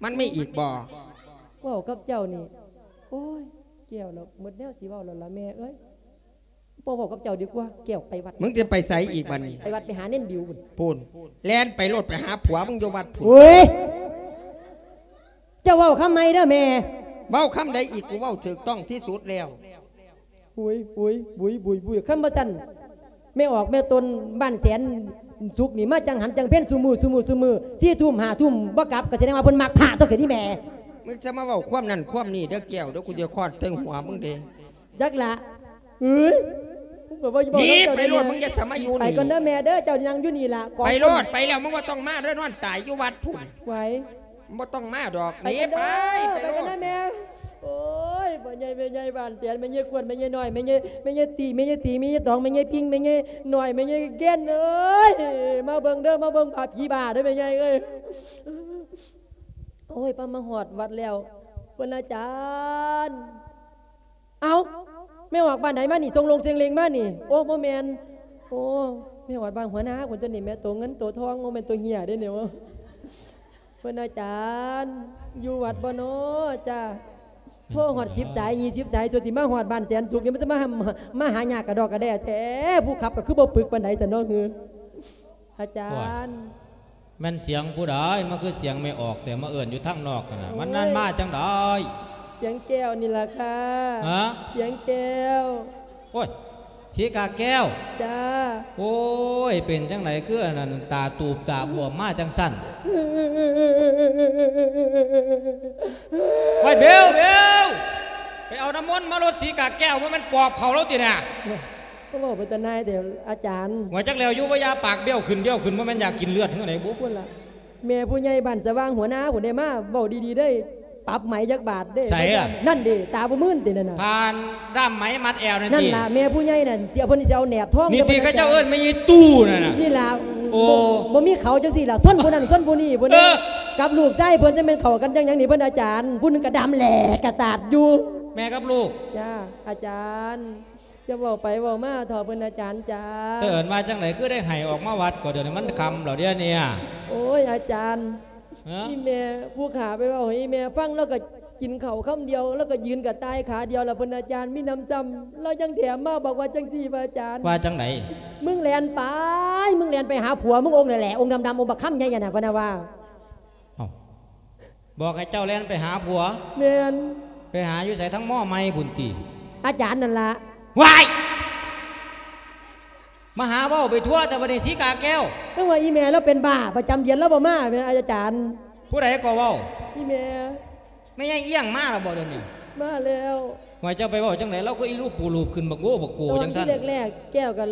ມັນມີອີກບໍ່? ເວົ້າກັບເຈົ້ານີ້ ໂອ້ຍ ແກ້ວລະ ໝົດແນວຊິເວົ້າແລ້ວລະແມ່ເອີຍ. ບໍ່ເວົ້າກັບເຈົ້າດີກວ່າ ແກ້ວ ໄປວັດ. ມຶງຈະໄປໃສອີກບັດນີ້? ໄປວັດໄປຫາເນນບິວພຸ້ນ. ພຸ້ນ ແລ່ນໄປໂລດ ໄປຫາຜົວມຶງຢູ່ວັດພຸ້ນ. ໂອ້ຍ ເຈົ້າເວົ້າຄຳໃໝ່ເດີແມ່. ເວົ້າຄຳໃດອີກ? ກູເວົ້າຖືກຕ້ອງທີ່ສຸດແລ້ວ. ໂອ້ຍ ໂອ້ຍ ບຸຍ ບຸຍ ບຸຍ ຄັນບໍ່ຊັ້ນ ແມ່ອອກແມ່ຕົນບ້ານແສນສຸກນີ້ ມາຈັງຫັນຈັງເພັນ ຊຸມື້ ຊຸມື້ ຊຸມື້ ສີ່ທຸ່ມ ຫ້າທຸ່ມ ບໍ່ກັບ ກໍສະແດງວ່າເພິ່ນມັກພະຕົວະ ຄືນີ້ແມ່. ມຶງຈະມາເວົ້າຄວາມນັ້ນຄວາມນີ້ເດີແກ້ວເດີ ກູຈະຄອດໃສ່ຫົວມຶງເດ້. ຈັກລະ ເອີຍ ມຶງກໍບໍ່ຢູ່ ໜີໄປໂລດ ມຶງຢ່າສະມາຢູ່ນີ້. ໄປກ່ອນເດີແມ່ເດີ ເຈົ້ານັ່ງຢູ່ນີ້ລະ ໄປໂລດ ໄປແລ້ວ ມຶງບໍ່ຕ້ອງມາເດີ ນອນຕາຍຢູ່ວັດພຸ້ນ. ໄຫວ ບໍ່ຕ້ອງມາດອກ ໜີໄປ ໄປໂລດ ໄປກ່ອນເດີແມ່. ໂອ້ຍ ພໍ່ໃຫຍ່ແມ່ໃຫຍ່ ບ້ານແສນ ແມ່ໃຫຍ່ກວນ ແມ່ໃຫຍ່ນ້ອຍ ແມ່ໃຫຍ່ ແມ່ໃຫຍ່ຕີ ແມ່ໃຫຍ່ຕີ ແມ່ໃຫຍ່ຕອງ ແມ່ໃຫຍ່ປິງ ແມ່ໃຫຍ່ນ້ອຍ ແມ່ໃຫຍ່ແກ່ນເອີຍ ມາເບິ່ງເດີ ມາເບິ່ງພະຜີບ້າເດີແມ່ໃຫຍ່ເອີຍ. ໂອ້ຍ ປາມາຮອດວັດແລ້ວ ເພິ່ນ ອາຈານ ເອົ້າ ແມ່ອອກບ້ານໃດມານີ້ ສົ່ງລົງເສັງເລັງມານີ້? ໂອ້ ບໍ່ແມ່ນ ໂອ້ ແມ່ຮອດບ້ານຫົວໜ້າພຸ້ນຕົວະນີ້ ແມ່ໂຕເງິນໂຕທອງ ບໍ່ແມ່ນໂຕເຫ້ຍເດ້ນີ້. ເພິ່ນ ອາຈານ ຢູ່ວັດບໍ່ນໍ? ຈ້າ ໂທຮອດສິບສາຍ ຍີ່ສິບສາຍ ສ່ວນຊິມາຮອດບ້ານແສນສຸກນີ້ ມັນຈະມາ ມາຫາຍາກກະດອກກະແດ່ແທ້. ຜູ້ຂັບກໍຄືບໍ່ປຶກປານໃດແທ້ເນາະ ອາຈານ. ໂອ້ຍ ແມ່ນສຽງຜູ້ໃດ ມັນຄືສຽງແມ່ອອກແຕ່ມາເອີ້ນຢູ່ທາງນອກຫັ້ນນະ. ໂອ້ຍ ມັນນັ້ນມາຈັ່ງໃດ? ສຽງແກ້ວນີ້ລະຄ່ະ. ຮະ? ສຽງແກ້ວ. ໂອ້ຍ ສີກາແກ້ວ. ຈ້າ. ໂອ້ຍ ເປັນຈັ່ງໃດຄືອັນນັ້ນ ຕາຕູບຕາບວມມາຈັ່ງຊັ້ນ? ໂອ້ຍ ເບວ ເບວ ໄປເອົານ້ຳມົນມາລົດສີກາແກ້ວ ບໍ່ແມ່ນປອບເຂົ້າລາວຕິນະ? ກໍເວົ້າໄປຕານາຍແຕ່ອາຈານ. ວ່າຈັກແລ້ວຢູ່ບໍ່ຢາ ປາກບ້ຽວຂຶ້ນບ້ຽວຂຶ້ນ ບໍ່ແມ່ນຢາກກິນເລືອດເຮືອໃດບຸ? ພຸ້ນລະ ແມ່ຜູ້ໃຫຍ່ບ້ານສະຫວ່າງຫົວໜ້າພຸ້ນເດ້ ມາເວົ້າດີໆເດ້ ປັບໃໝຈັກບາດເດ້. ໃສລະ? ນັ້ນເດ້ ຕາບໍ່ມື່ນຕິນັ້ນນະ ຜ່ານດ້າມໄໝມັດແອວນັ້ນ. ນັ້ນລະ ແມ່ຜູ້ໃຫຍ່ນັ້ນ ຊິເອົາ ເພິ່ນຊິເອົາແໜບທອງ ນີ້ຕິ ເຂົາເຈົ້າເອີ້ນແມ່ຍາຍຕູ້ນັ້ນນະ. ນີ້ລະ ໂອ້ ບໍ່ ບໍ່ມີເຂົາຈັ່ງຊີ້ລະ ຊົນຜູ້ນັ້ນຊົນຜູ້ນີ້ພຸ້ນເດ້. ເອີ ກັບລູກຊາຍເພິ່ນ ຈະແມ່ນເຂົ້າກັນຈັ່ງຫຍັງນີ້ ເພິ່ນອາຈານ ຜູ້ໜຶ່ງກະດຳແຫຼກກະຕາດຢູ່. ແມ່ກັບລູກ. ຈ້າ ອາຈານ. ຈະເວົ້າໄປເວົ້າມາເຖາະເພິ່ນ ອາຈານຈ໋າ. ເອີ້ນວ່າຈັ່ງໃດ ຄືໄດ້ໃຫ້ອອກມາວັດ ກໍດຽວນີ້ມັນຄ່ຳແລ້ວເດນີ້. ໂອ້ຍ ອາຈານ ຮະ? ອີ່ແມ່ຜູ້ຂ້າໄປເວົ້າໃຫ້ອີ່ແມ່ຟັງ ລາວກໍ ກິນເຂົ້າຄຳດຽວ ລາວກໍຢືນກະຕ່າຍຂາດຽວລະ ເພິ່ນອາຈານ ມີໜຳຊ້ຳ ລາວຍັງແຖມມາບອກວ່າຈັ່ງຊີ້ ພະອາຈານ ວ່າຈັ່ງໃດ? ມຶງແລ່ນໄປ ມຶງແລ່ນໄປຫາຜົວມຶງອົງນັ້ນແຫຼະ ອົງດຳໆ ອົງບັກຄຳໃຫຍ່ຫັ້ນນະ ເພິ່ນວ່າ. ເອົ້າ ບອກໃຫ້ເຈົ້າແລ່ນໄປຫາຜົວ? ແມ່ນ. ໄປຫາຢູ່ໃສ? ທາງມໍໃໝ່ພຸ້ນຕິ? ອາຈານນັ້ນລະ. ວ້າຍ! ມາຫາເວົ້າໄປທົ່ວແຕ່ບັດນີ້ ສີກາແກ້ວ. ເພາະວ່າອີ່ແມ່ລາວເປັນບ້າ ປະຈຳເດືອນລາວບໍ່ມາແມ່ນອາຈານ. ຜູ້ໃດກໍເວົ້າ? ອີ່ແມ່. ແມ່ໃຫຍ່ອຽງມາແລ້ວບໍ່ດຽວນີ້? ມາແລ້ວ. ວ່າເຈົ້າໄປເວົ້າຈັ່ງໃດ? ລາວຄືອີລູບປູລູບຂຶ້ນບັກໂອ້ບັກໂກຈັ່ງຊັ້ນ. ຕອນທີ່ແລກໆ ແກ້ວກໍ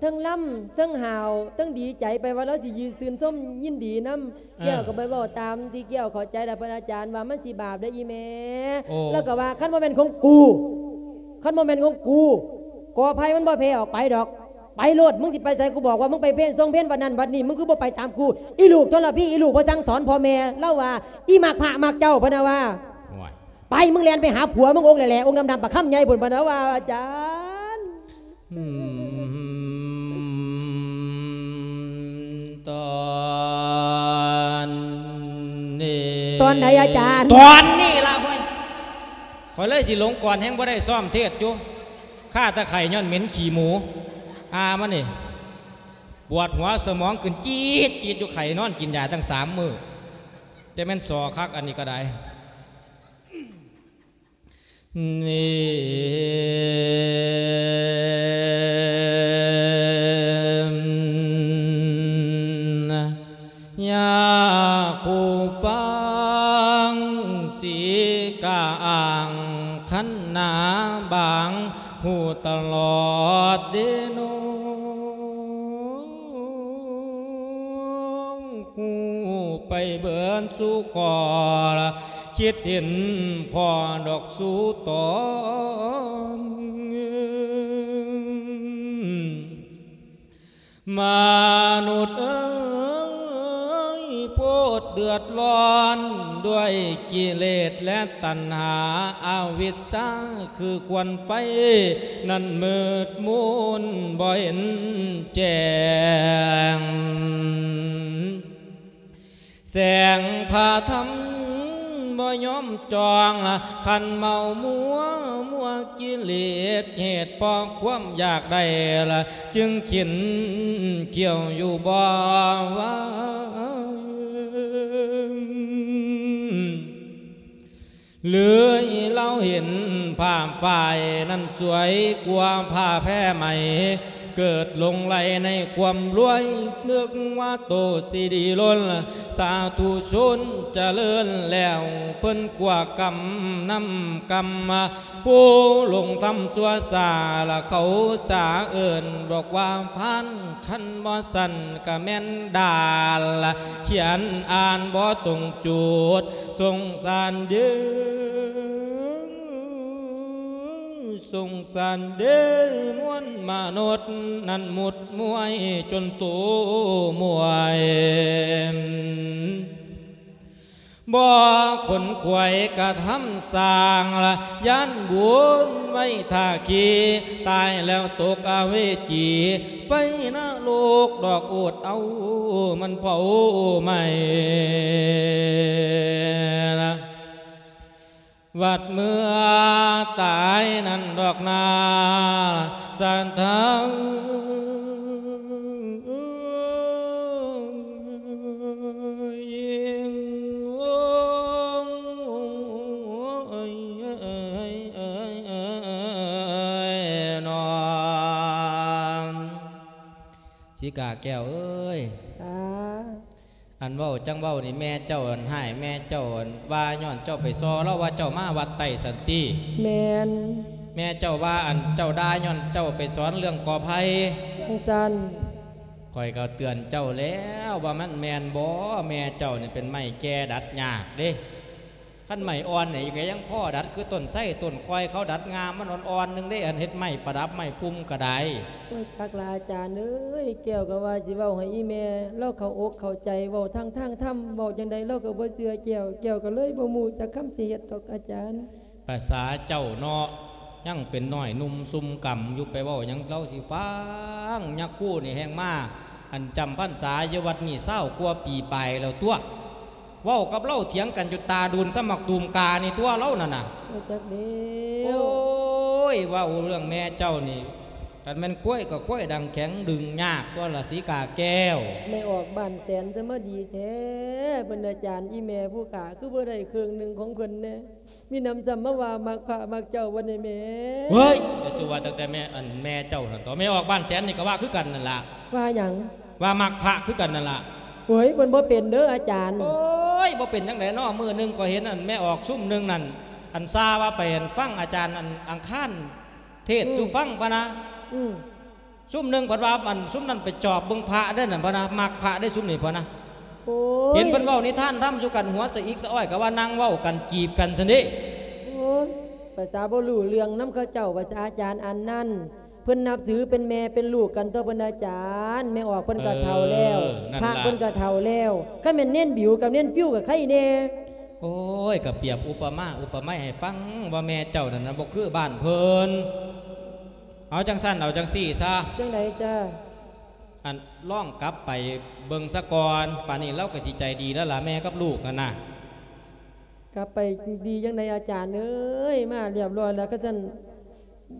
ເທິງລຳ ເທິງຫ້າວ ເທິງດີໃຈ ໄປວ່າລາວຊິຢືນຊື່ນຊົມຍິນດີນຳ. ເອີ ແກ້ວກໍໄປເວົ້າຕາມທີ່ແກ້ວເຂົ້າໃຈ ແລ້ວເພິ່ນອາຈານວ່າມັນຊິບາບເດີອີ່ແມ່. ໂອ້ ລາວກໍວ່າ ຄັນບໍ່ແມ່ນຂອງກູ ຄັນບໍ່ແມ່ນຂອງກູ ກໍໄຜມັນບໍ່ແຜ່ອອກໄປດອກ. ໄປໂລດ ມຶງຊິໄປໃສ ກູບອກວ່າມຶງໄປເພນ ຊົງເພນວັດນັ້ນວັດນີ້ ມຶງຄືບໍ່ໄປຕາມກູ? ອີລູກທໍລະພີ ອີລູກບໍ່ສັ່ງສອນພໍ່ແມ່. ລາວວ່າ ອີມັກພະມັກເຈົ້າ ເພິ່ນນະວ່າ. ໂອ້ຍ ໄປ ມຶງແລ່ນໄປຫາຜົວມຶງອົງແຫຼະໆ ອົງດຳໆ ປາກຄຳໃຫຍ່ພຸ້ນ ເພິ່ນນະວ່າ ອາຈານ. ອືມ ຕອນນີ້ ຕອນໃດອາຈານ? ຕອນນີ້ລະ ໂອ້ຍ ຂ້ອຍເລີຍຊິລົງກ່ອນ ແຮງບໍ່ໄດ້ຊ້ອມເທດຢູ່ ຄາແຕ່ໄຂ້ຍ້ອນເໝັນຂີ້ໝູ. ອາ ມັນນີ້ ປວດຫົວສະໝອງຂຶ້ນຈີດໆຢູ່ ໄຂ້ນອນກິນຢາຕັ້ງສາມມື້ ຈະແມ່ນສໍຄັກອັນນີ້ກໍໄດ້. ນີ້ ຢາກຮູ້ຟັງ ສີກາອ່າງ ຄັນນາບາງ ຮູ້ຕະຫຼອດເດນ້ອງ ຮູ້ໄປເບິດສູ່ຂໍ້ລະ ຄິດເຫັນພໍດອກສູ່ຕອນ. ມະນຸດເອີຍ ໂພດເດືອດຮ້ອນດ້ວຍກິເລດ ແລະ ຕັນຫາ ອະວິດຊາ ຄືຄວັນໄຟນັ້ນມືດມົນບໍ່ເຫັນແຈ້ງ. ແສງພະທຳບໍ່ຍອມຈອງລະ ຄັນເມົາມົວ ມົວກິເລດ ເຫດເພາະຄວາມຢາກໄດ້ລະ ຈຶ່ງເຂັນຂ້ຽວຢູ່ບໍ່ວ່າງ. ເລີຍລາວເຫັນຜ້າຝ້າຍນັ້ນສວຍກວ່າຜ້າແພໄໝ ເກີດຫຼົງໄຫຼໃນຄວາມລວຍ ນຶກວ່າໂຕຊິດີລົ້ນ ສາທຸຊົນຈະເລີນແລ້ວ ເພິ່ນກວ່າກຳນຳກຳມາ ຜູ້ຫຼົງທຳຊົ່ວຊ້າລະເຂົາຈະເອີ້ນບອກວ່າພານ ຄັນບໍ່ຊັ້ນກະແມ່ນດາລ ຂຽນອ່ານບໍ່ຕົງຈຸດ ສົງສານເດີ ສົງສານເດີ ມວນມະນຸດນັ້ນໝຸດມວຍຈົນໂຕມວຍ ບໍ່ຂົນຂວາຍກະທຳສ້າງລະ ຢ້ານບຸນໄວ້ຖ້າຂີ້ ຕາຍແລ້ວຕົກອະເວຈີ ໄຟນະລົກດອກໂອດເອົາ ມັນເຜົາໄໝ້ລະ ວັດເມື່ອຕາຍນັ້ນດອກນາ ສະເທີງ ສີກາແກ້ວເອີຍ ອາ ອັນເວົ້າຈັ່ງເວົ້ານີ້ ແມ່ເຈົ້າອັນຮ້າຍ ແມ່ເຈົ້າອັນວ່າຍ້ອນເຈົ້າໄປສໍ້ລາວວ່າເຈົ້າມາວັດໃຕ້ຊັ້ນຕິ? ແມ່ນ. ແມ່ເຈົ້າວ່າອັນເຈົ້າດ່າຍ້ອນເຈົ້າໄປສອນເລື່ອງກໍໄຜ່? ຈັ່ງຊັ້ນ. ຂ້ອຍກໍເຕືອນເຈົ້າແລ້ວວ່າມັນແມ່ນບໍ່? ແມ່ເຈົ້ານີ້ເປັນໄມ້ແກ່ດັດຍາກເດ້. ຄັນໄມ້ອ່ອນນີ້ກໍຍັງພໍດັດ ຄືຕົ້ນໄຊຕົ້ນຄອຍ ເຂົາດັດງ່າມມັນອ່ອນໆໜຶ່ງເດ້ ອັນເຮັດໄມ້ປະດັບໄມ້ພຸ່ມກໍໄດ້. ໂອ້ຍ ຈັກລະອາຈານເອີຍ ແກ້ວກໍວ່າຊິເວົ້າໃຫ້ອີ່ແມ່ລາວເຂົ້າອົກເຂົ້າໃຈ ເວົ້າທັງທາງທຳ ເວົ້າຈັ່ງໃດລາວກໍບໍ່ເຊື່ອແກ້ວ ແກ້ວກໍເລີຍບໍ່ຮູ້ຈັກຄຳຊິເຮັດດອກອາຈານ. ພາສາເຈົ້າເນາະ ຍັງເປັນນ້ອຍໜຸ່ມຊຸ່ມກຳຢູ່ ໄປເວົ້າຫຍັງລາວຊິຟັງ. ຍາຄູນີ້ແຮ່ງມາ ອັນຈຳພັນສາຢູ່ວັດນີ້ຊາວກວ່າປີປາຍແລ້ວຕົວະ. ເວົ້າກັບລາວຖຽງກັນຢູ່ຕາດູນ ສ່ຳບັກຕູມການີ້ຕົວະລາວນັ້ນນະ. ບໍ່ຈັກແລ້ວ. ໂອ້ຍ ເວົ້າເລື່ອງແມ່ເຈົ້ານີ້ ຄັນແມ່ນຄວາຍກໍຄວາຍດັງແຂງດຶງຍາກຕົວະລະສີກາແກ້ວ. ແມ່ອອກບ້ານແສນສະມາດີແທ້ ເພິ່ນອາຈານ ອີ່ແມ່ຜູ້ຂ້າຄືບໍ່ໄດ້ເຄິ່ງໜຶ່ງຂອງເພິ່ນແດ່. ມີໜຳຊ້ຳມາວ່າມັກພະມັກເຈົ້າບໍ່ນີ້ແມ່. ເຮີ້ຍ ຢ່າສູ່ວ່າຕັ້ງແຕ່ແມ່ ອັນແມ່ເຈົ້າຫັ້ນເຖາະ ແມ່ອອກບ້ານແສນນີ້ກໍວ່າຄືກັນນັ້ນລະ. ວ່າຫຍັງ? ວ່າມັກພະຄືກັນນັ້ນລະ. ໂອ້ຍ ເພິ່ນບໍ່ເປັນເດີອາຈານ. ໂອ້ຍ ບໍ່ເປັນຈັ່ງໃດເນາະ ມື້ໜຶ່ງຂ້ອຍເຫັນອັນແມ່ອອກຊຸມໜຶ່ງນັ້ນ ອັນຊາວ່າໄປອັນຟັງອາຈານອັນອັງຄານເທດ ອືມ ສູ່ຟັງພະນະ. ອືມ. ຊຸມໜຶ່ງເພິ່ນວ່າ ອັນຊຸມນັ້ນໄປຈອບເບິ່ງພະເດ້ນັ້ນພະນະ ມັກພະເດ້ຊຸມນີ້ພະນະ. ໂອ້ຍ ເຫັນເພິ່ນເວົ້ານິທານທຳສູ່ກັນ ຫົວສະອິກສະອ້ອຍ ກໍວ່ານັ່ງເວົ້າກັນຈີບກັນຊັ້ນເດ້. ໂອ້ຍ ພາສາບໍ່ຮູ້ເລື່ອງນຳເຂົາເຈົ້າ ພາສາອາຈານອັນນັ້ນ ເພິ່ນນັບຖືເປັນແມ່ເປັນລູກກັນຕົວະເພິ່ນອາຈານ. ແມ່ອອກເພິ່ນກໍເຖົ້າແລ້ວ ເອີ ນັ້ນລະ ພະເພິ່ນກໍເຖົ້າແລ້ວ. ຄັນແມ່ນເນນບິວກັບເນນປິວກໍໄຄແດ່. ໂອ້ຍ ກໍປຽບອຸປະມາອຸປະໄມໃຫ້ຟັງວ່າແມ່ເຈົ້ານັ້ນນະ ບໍ່ຄືບ້ານເພິ່ນ. ເອົາຈັ່ງຊັ້ນ ເອົາຈັ່ງຊີ້ຊະ. ຈັ່ງໃດຈ້າ? ອັນ ລອງກັບໄປເບິ່ງສາກ່ອນ ປານນີ້ລາວກໍຊິໃຈດີແລ້ວລະ ແມ່ກັບລູກນັ້ນນະ. ກັບໄປດີຈັ່ງໃດອາຈານເອີຍ ມາລຽບຮ້ອຍແລ້ວ ຄັນຊັ້ນ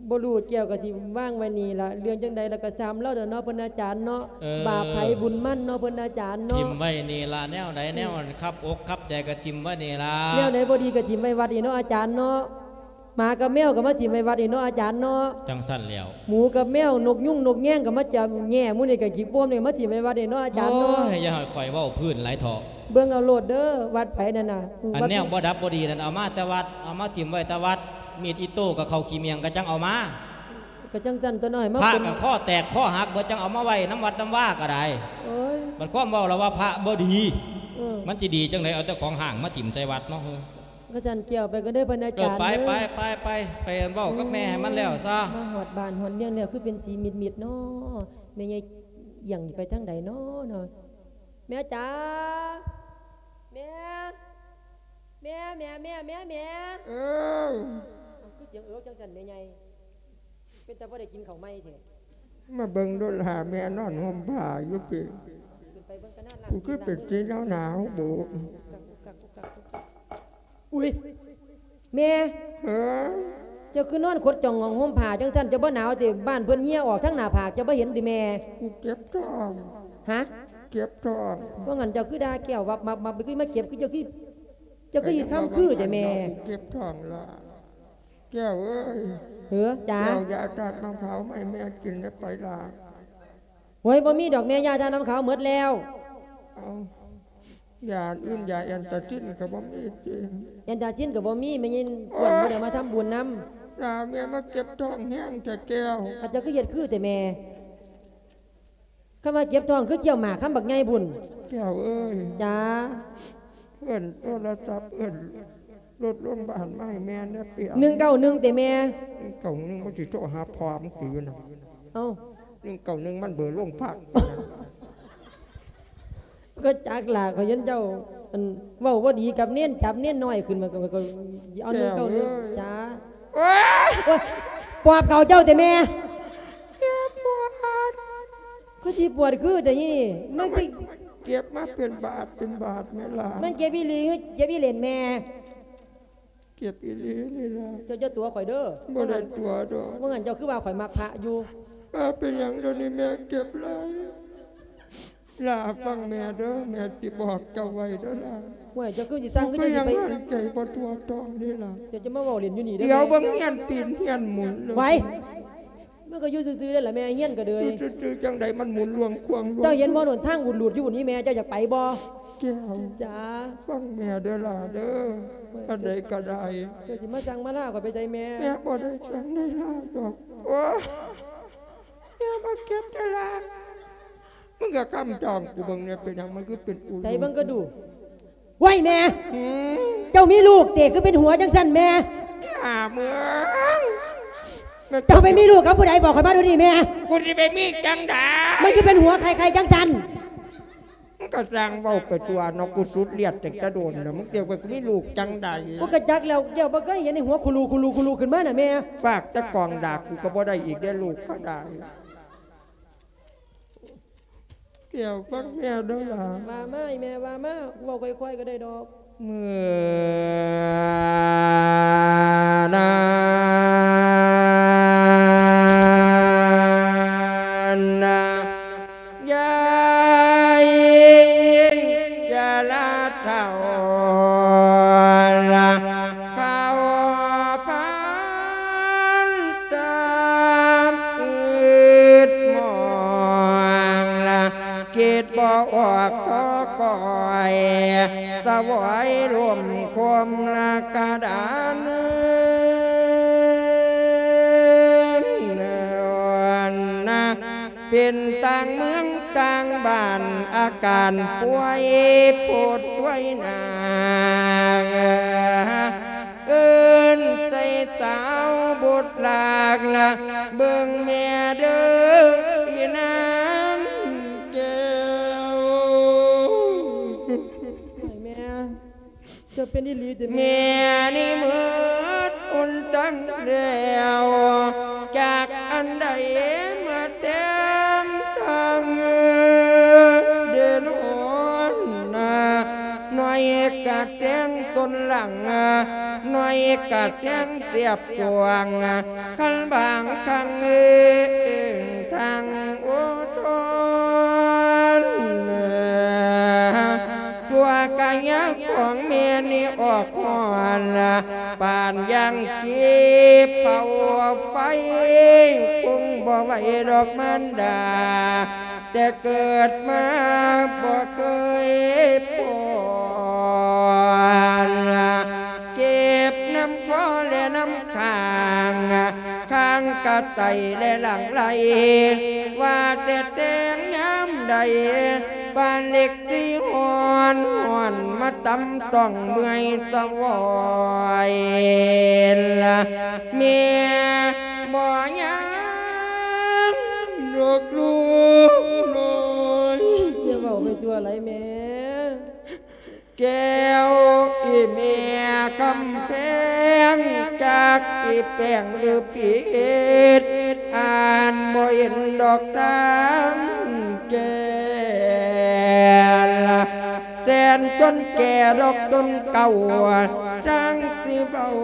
ບໍ່ຮູ້ແກ້ວກໍຊິວາງໄວ້ນີ້ລະ ເລື່ອງຈັ່ງໃດລະກໍຊ່າງລາວເນາະ ເພິ່ນອາຈານເນາະ. ເອີ ບາບໃຜບຸນມັນເນາະ ເພິ່ນອາຈານເນາະ. ຖິ້ມໄວ້ນີ້ລະ ແນວໃດ ອືມ ແນວຄັບອົກຄັບໃຈກໍຖິ້ມໄວ້ນີ້ລະ. ແນວໃດບໍ່ດີກໍຖິ້ມໄວ້ວັດນີ້ເນາະອາຈານເນາະ. ໝາກັບແມວກໍມາຖິ້ມໄວ້ວັດນີ້ເນາະອາຈານເນາະ. ຈັ່ງຊັ້ນແລ້ວ ໝູກັບແມວ ນົກຍຸງນົກແຍງກໍມາຈັບແຫຍ່ໝູນີ້ ກໍຂີ້ໂປ່ມນີ້ມາຖິ້ມໄວ້ວັດນີ້ເນາະອາຈານເນາະ. ໂອ້ຍ ຢ່າໃຫ້ຂ້ອຍເວົ້າພື້ນຫຼາຍເຖາະ. ເບິ່ງເອົາໂລດເດີ ວັດໃຜນັ້ນນະ. ອັນແນວບໍ່ດັບບໍ່ດີນັ້ນ ເອົາມາແຕ່ວັດ ເອົາມາຖິ້ມໄວ້ແຕ່ວັດ. ມີດອິໂຕ້ກັບເຂົ້າຂີ້ໝ້ຽງກໍຈັ່ງເອົາມາ. ກໍຈັ່ງຊັ້ນຕົວະເນາະ ໃຫ້ມາ ພະກໍຄໍແຕກຄໍຫັກເບິດ ຈັ່ງເອົາມາໄວ້ນຳວັດນຳວາກໍໄດ້. ໂອ້ຍ ບັດຄວາມເວົ້າລະວ່າພະບໍ່ດີ. ເອີ ມັນຊິດີຈັ່ງໃດ ເອົາແຕ່ຂອງຮ້າງມາຖິ້ມໃສ່ວັດເນາະ. ກະຊັ້ນແກ້ວໄປກໍເດີເພິ່ນອາຈານ. ເອີ ໄປ ໄປ ໄປ ໄປເວົ້າກັບແມ່ໃຫ້ມັນແລ້ວຊະ. ມາຮອດບ້ານຮອດເມືອງແລ້ວ ຄືເປັນສີມິດໆເນາະ. ແມ່ໃຫຍ່ອຽງໄປທາງໃດເນາະເນາະ? ແມ່ຈ໋າ ແມ່ ແມ່ ແມ່ ແມ່ ແມ່ ແມ່. ເອີ ເອົ້າ ຄືສຽງເອີຈັງຊັ້ນແມ່ໃຫຍ່? ເປັນຕາບໍ່ໄດ້ກິນເຂົ້າໃໝ່ແທ້. ມາເບິ່ງດູຫຼ້າ ແມ່ນອນຫົ່ມຜ້າຢູ່ພີ້. ຂຶ້ນໄປເບິ່ງກັນນະ. ກູຄືເປັນສີໜາວໆບຸ. ອຸ້ຍ ແມ່. ເອີ ເຈົ້າຄືນອນຂົດຈ່ອງຫົ່ມຜ້າຈັ່ງຊັ້ນ? ເຈົ້າບໍ່ໜາວຕິ? ບ້ານເພິ່ນເຫື່ອອອກທາງໜ້າຜາກ ເຈົ້າບໍ່ເຫັນຕິແມ່? ກູເຈັບທ້ອງ. ຫະ? ເຈັບທ້ອງ. ວ່າຊັ້ນເຈົ້າຄືດ່າແກ້ວວັບໆ ຄືມາເຈັບ ຄືເຈົ້າຄື ເຈົ້າຄືຊິຄຳຄືແທ້ແມ່? ກູເຈັບທ້ອງລະ. ແກ້ວເອີຍ. ເອີ ຈ້າ. ແກ້ວ ຢາທາດນ້ຳຂາວມາໃຫ້ແມ່ກິນແດ່ໄປລະ. ໂອ້ຍ ບໍ່ມີດອກແມ່ ຢາທາດນ້ຳຂາວໝົດແລ້ວ. ເອົ້າ ຢາອື່ນ ຢາແອນຕາຊິນກໍບໍ່ມີຕິ? ແອນຕາຊິນກໍບໍ່ມີ ແມ່ຍິນ ໂອ້ຍ ບໍ່ໄດ້ມາທຳບຸນນຳ. ລາ ແມ່ມາເຈັບທ້ອງແຮງແທ້ແກ້ວ. ຂ້າເຈົ້າຄືເຮັດຄືແທ້ແມ່? ຄຳວ່າເຈັບທ້ອງຄືຄ້ຽວໝາກຄຳບັກໃຫຍ່ພຸ້ນ. ແກ້ວເອີຍ. ຈ້າ. ເອີ້ນໂທລະສັບ ເອີ້ນລົດໂຮງບານມາໃຫ້ແມ່ແດ່ເປຍ. ໜຶ່ງເກົ້າໜຶ່ງ ຕິແມ່? ໜຶ່ງເກົ້າໜຶ່ງ ມັນຊິໂທຫາພໍ່ມຶງຕິຢູ່ນັ້ນ. ເອົ້າ ໜຶ່ງເກົ້າໜຶ່ງ ມັນເບີໂຮງພັກ. ກໍຈັກລະ ຂ້ອຍເຫັນເຈົ້າ ອັນ ເວົ້າບໍ່ດີກັບເນນ ຈັບເນນນ້ອຍຂຶ້ນມາ ກໍ ກໍ ກໍເອົາ ໜຶ່ງເກົ້າໜຶ່ງ. ແກ້ວເອີຍ. ຈ້າ. ໂອ້ຍ ໂອ້ຍ ປອບເຂົ້າເຈົ້າຕິແມ່? ແມ່ປວດ. ຄືຊິປວດຄືແຕ່ນີ້ ມັນ ມັນເຈັບມາເປັນບາດເປັນບາດແມ່ຫຼ້າ. ມັນເຈັບອີ່ຫຼີ ເຈັບອີ່ເຫຼັ້ນແມ່? ເຈັບອີ່ຫຼີນີ້ລະ. ເຈົ້າຢ່າຕົວະຂ້ອຍເດີ. ບໍ່ໄດ້ຕົວະດອກ. ວ່າຊັ້ນເຈົ້າຄືວ່າຂ້ອຍມັກພະຢູ່? ເອີ ເປັນຫຍັງດຽວນີ້ແມ່ເຈັບຫຼາຍ? ຫຼ້າຟັງແມ່ເດີ ແມ່ຊິບອກເຈົ້າໄວ້ເດີຫຼ້າ. ໂອ້ຍ ເຈົ້າຄືຊິສັ່ງ ຄື ຄື ຄື ຍັງ ຊິໄປ ຫາຍໃຈບໍ່ທົ່ວທ້ອງເດ້ຫຼ້າ. ເຈົ້າຈະມາເວົ້າຫຼິ້ນຢູ່ນີ້ເດີ. ດຽວເບິ່ງຮຽນຕີນຮຽນໝູນເລີຍ. ໄວ ມັນກໍຢູ່ຊື່ໆເດ້ລະແມ່ ຮຽນກໍເດີຍ. ຢູ່ຊື່ໆ ຈັ່ງໃດມັນໝູນລວງຄວາງລວງ. ເຈົ້າເຫັນບໍ່ໂນ່ນ ທາງອູດລູດຢູ່ພຸ້ນນີ້ແມ່ ເຈົ້າຢາກໄປບໍ່? ແກ້ວ. ຈ້າ. ຟັງແມ່ເດີຫຼ້າເດີ. ອັນໃດກໍໄດ້. ເຈົ້າຊິມາສັ່ງມາລາຂ້ອຍໄປໃສແມ່? ແມ່ບໍ່ໄດ້ສັ່ງໄດ້ລາດອກ. ໂອ້ຍ ແມ່ມາເກັບເດີຫຼ້າ. ມຶງກໍຄຳຈອງກູເບິ່ງແດ່ ເປັນຫຍັງມັນຄືເປັນອູ ໃສ່ເບິ່ງກໍດູ. ໂອ້ຍແມ່ ຫືມ ເຈົ້າມີລູກເຕ ຄືເປັນຫົວຈັ່ງຊັ້ນແມ່? ຫາເມືອງ ເຈົ້າໄປມີລູກກັບຜູ້ໃດ? ບອກຂ້ອຍມາດຽວນີ້ແມ່. ກູຊິໄປມີຈັ່ງໃດ? ມັນຄືເປັນຫົວໄຂ່ໆຈັ່ງຊັ້ນ? ມຶງກໍຊ່າງເວົ້າໄປທົ່ວເນາະ ກູສຸດລຽດຕັ້ງແຕ່ດົນແລ້ວ ມຶງຈະໄປມີລູກຈັ່ງໃດ? ກູກໍຈັກແລ້ວ ດຽວບໍ່ເຄີຍເຫັນໃນຫົວຄູລູ ຄູລູ ຄູລູຂຶ້ນມານະແມ່. ຝາກແຕ່ກອງດາກ ກູກໍບໍ່ໄດ້ອີກເດ້ ລູກກໍໄດ້. ແກ້ວ ຟັງແມ່ເດີ້ຫຼ້າ. ວ່າມາ ອີ່ແມ່ ວ່າມາ ເວົ້າຄ່ອຍໆກໍໄດ້ດອກ. ເມື່ອນັ້ນນະ ຍາຍຊະລາເຖົ້າລະ ເຂົ້າພັນຕາມອຶດມອງລະ ຄິດບໍ່ອອກກໍກອຍ ສະຫວາຍລົມຄົມລະກະດານ ເປັນຕ່າງເມືອງຕ່າງບ້ານ ອາການປ່ວຍໂພດປ່ວຍໜາກ ເອີ້ນໃສ່ສາວບຸດຫຼາກລະ ເບິ່ງແມ່ເດີ້ອີນາງແກ້ວ. ໂອ້ຍ ແມ່ ເຈົ້າເປັນອີ່ຫຼີຕິແມ່? ແມ່ນີ້ໝົດຫົນທາງແລ້ວ ຈັກອັນໃດມາແທນທາງເດີນຫົນນາ ໜ້ອຍກະແທງຕົ້ນຫຼັງ ໜ້ອຍກະແທງສຽບສວງ ຄັນບາງຄັ້ງເອີງທາງໂອທົນ ຕົວກາຍະຂອງແມ່ນີ້ອອກຮ້ອນ ປານຢ່າງກີບເຜົາໄຟ ຄົງບໍ່ໄຫວດອກມານດາ ແຕ່ເກີດມາບໍ່ເຄີຍພໍນ ເຈັບນຳຄໍແລະນຳຂ້າງ ຂ້າງກະໄຕແລະຫຼັງໄຫຼ ວ່າແຕ່ແຕ່ງຍາມໃດ ປານເຫຼັກທີ່ຮ້ອນ ຮ້ອນມາຕຳຕ້ອງເມື່ອຍສະຫວອຍ ແມ່ບໍ່ຍັງດອກລູກນ້ອຍ. ຢ່າເວົ້າໄປທົ່ວໄຫຼແມ່. ແກ້ວອີ່ແມ່ຄຳແພງ ຈັກຊິແປງຫຼືຜິດ ອ່ານບໍ່ເຫັນດອກທາງແກ້ ແສນຈົນແກ່ດອກຈົນເກົ່າ ທາງຊິເວົ້າ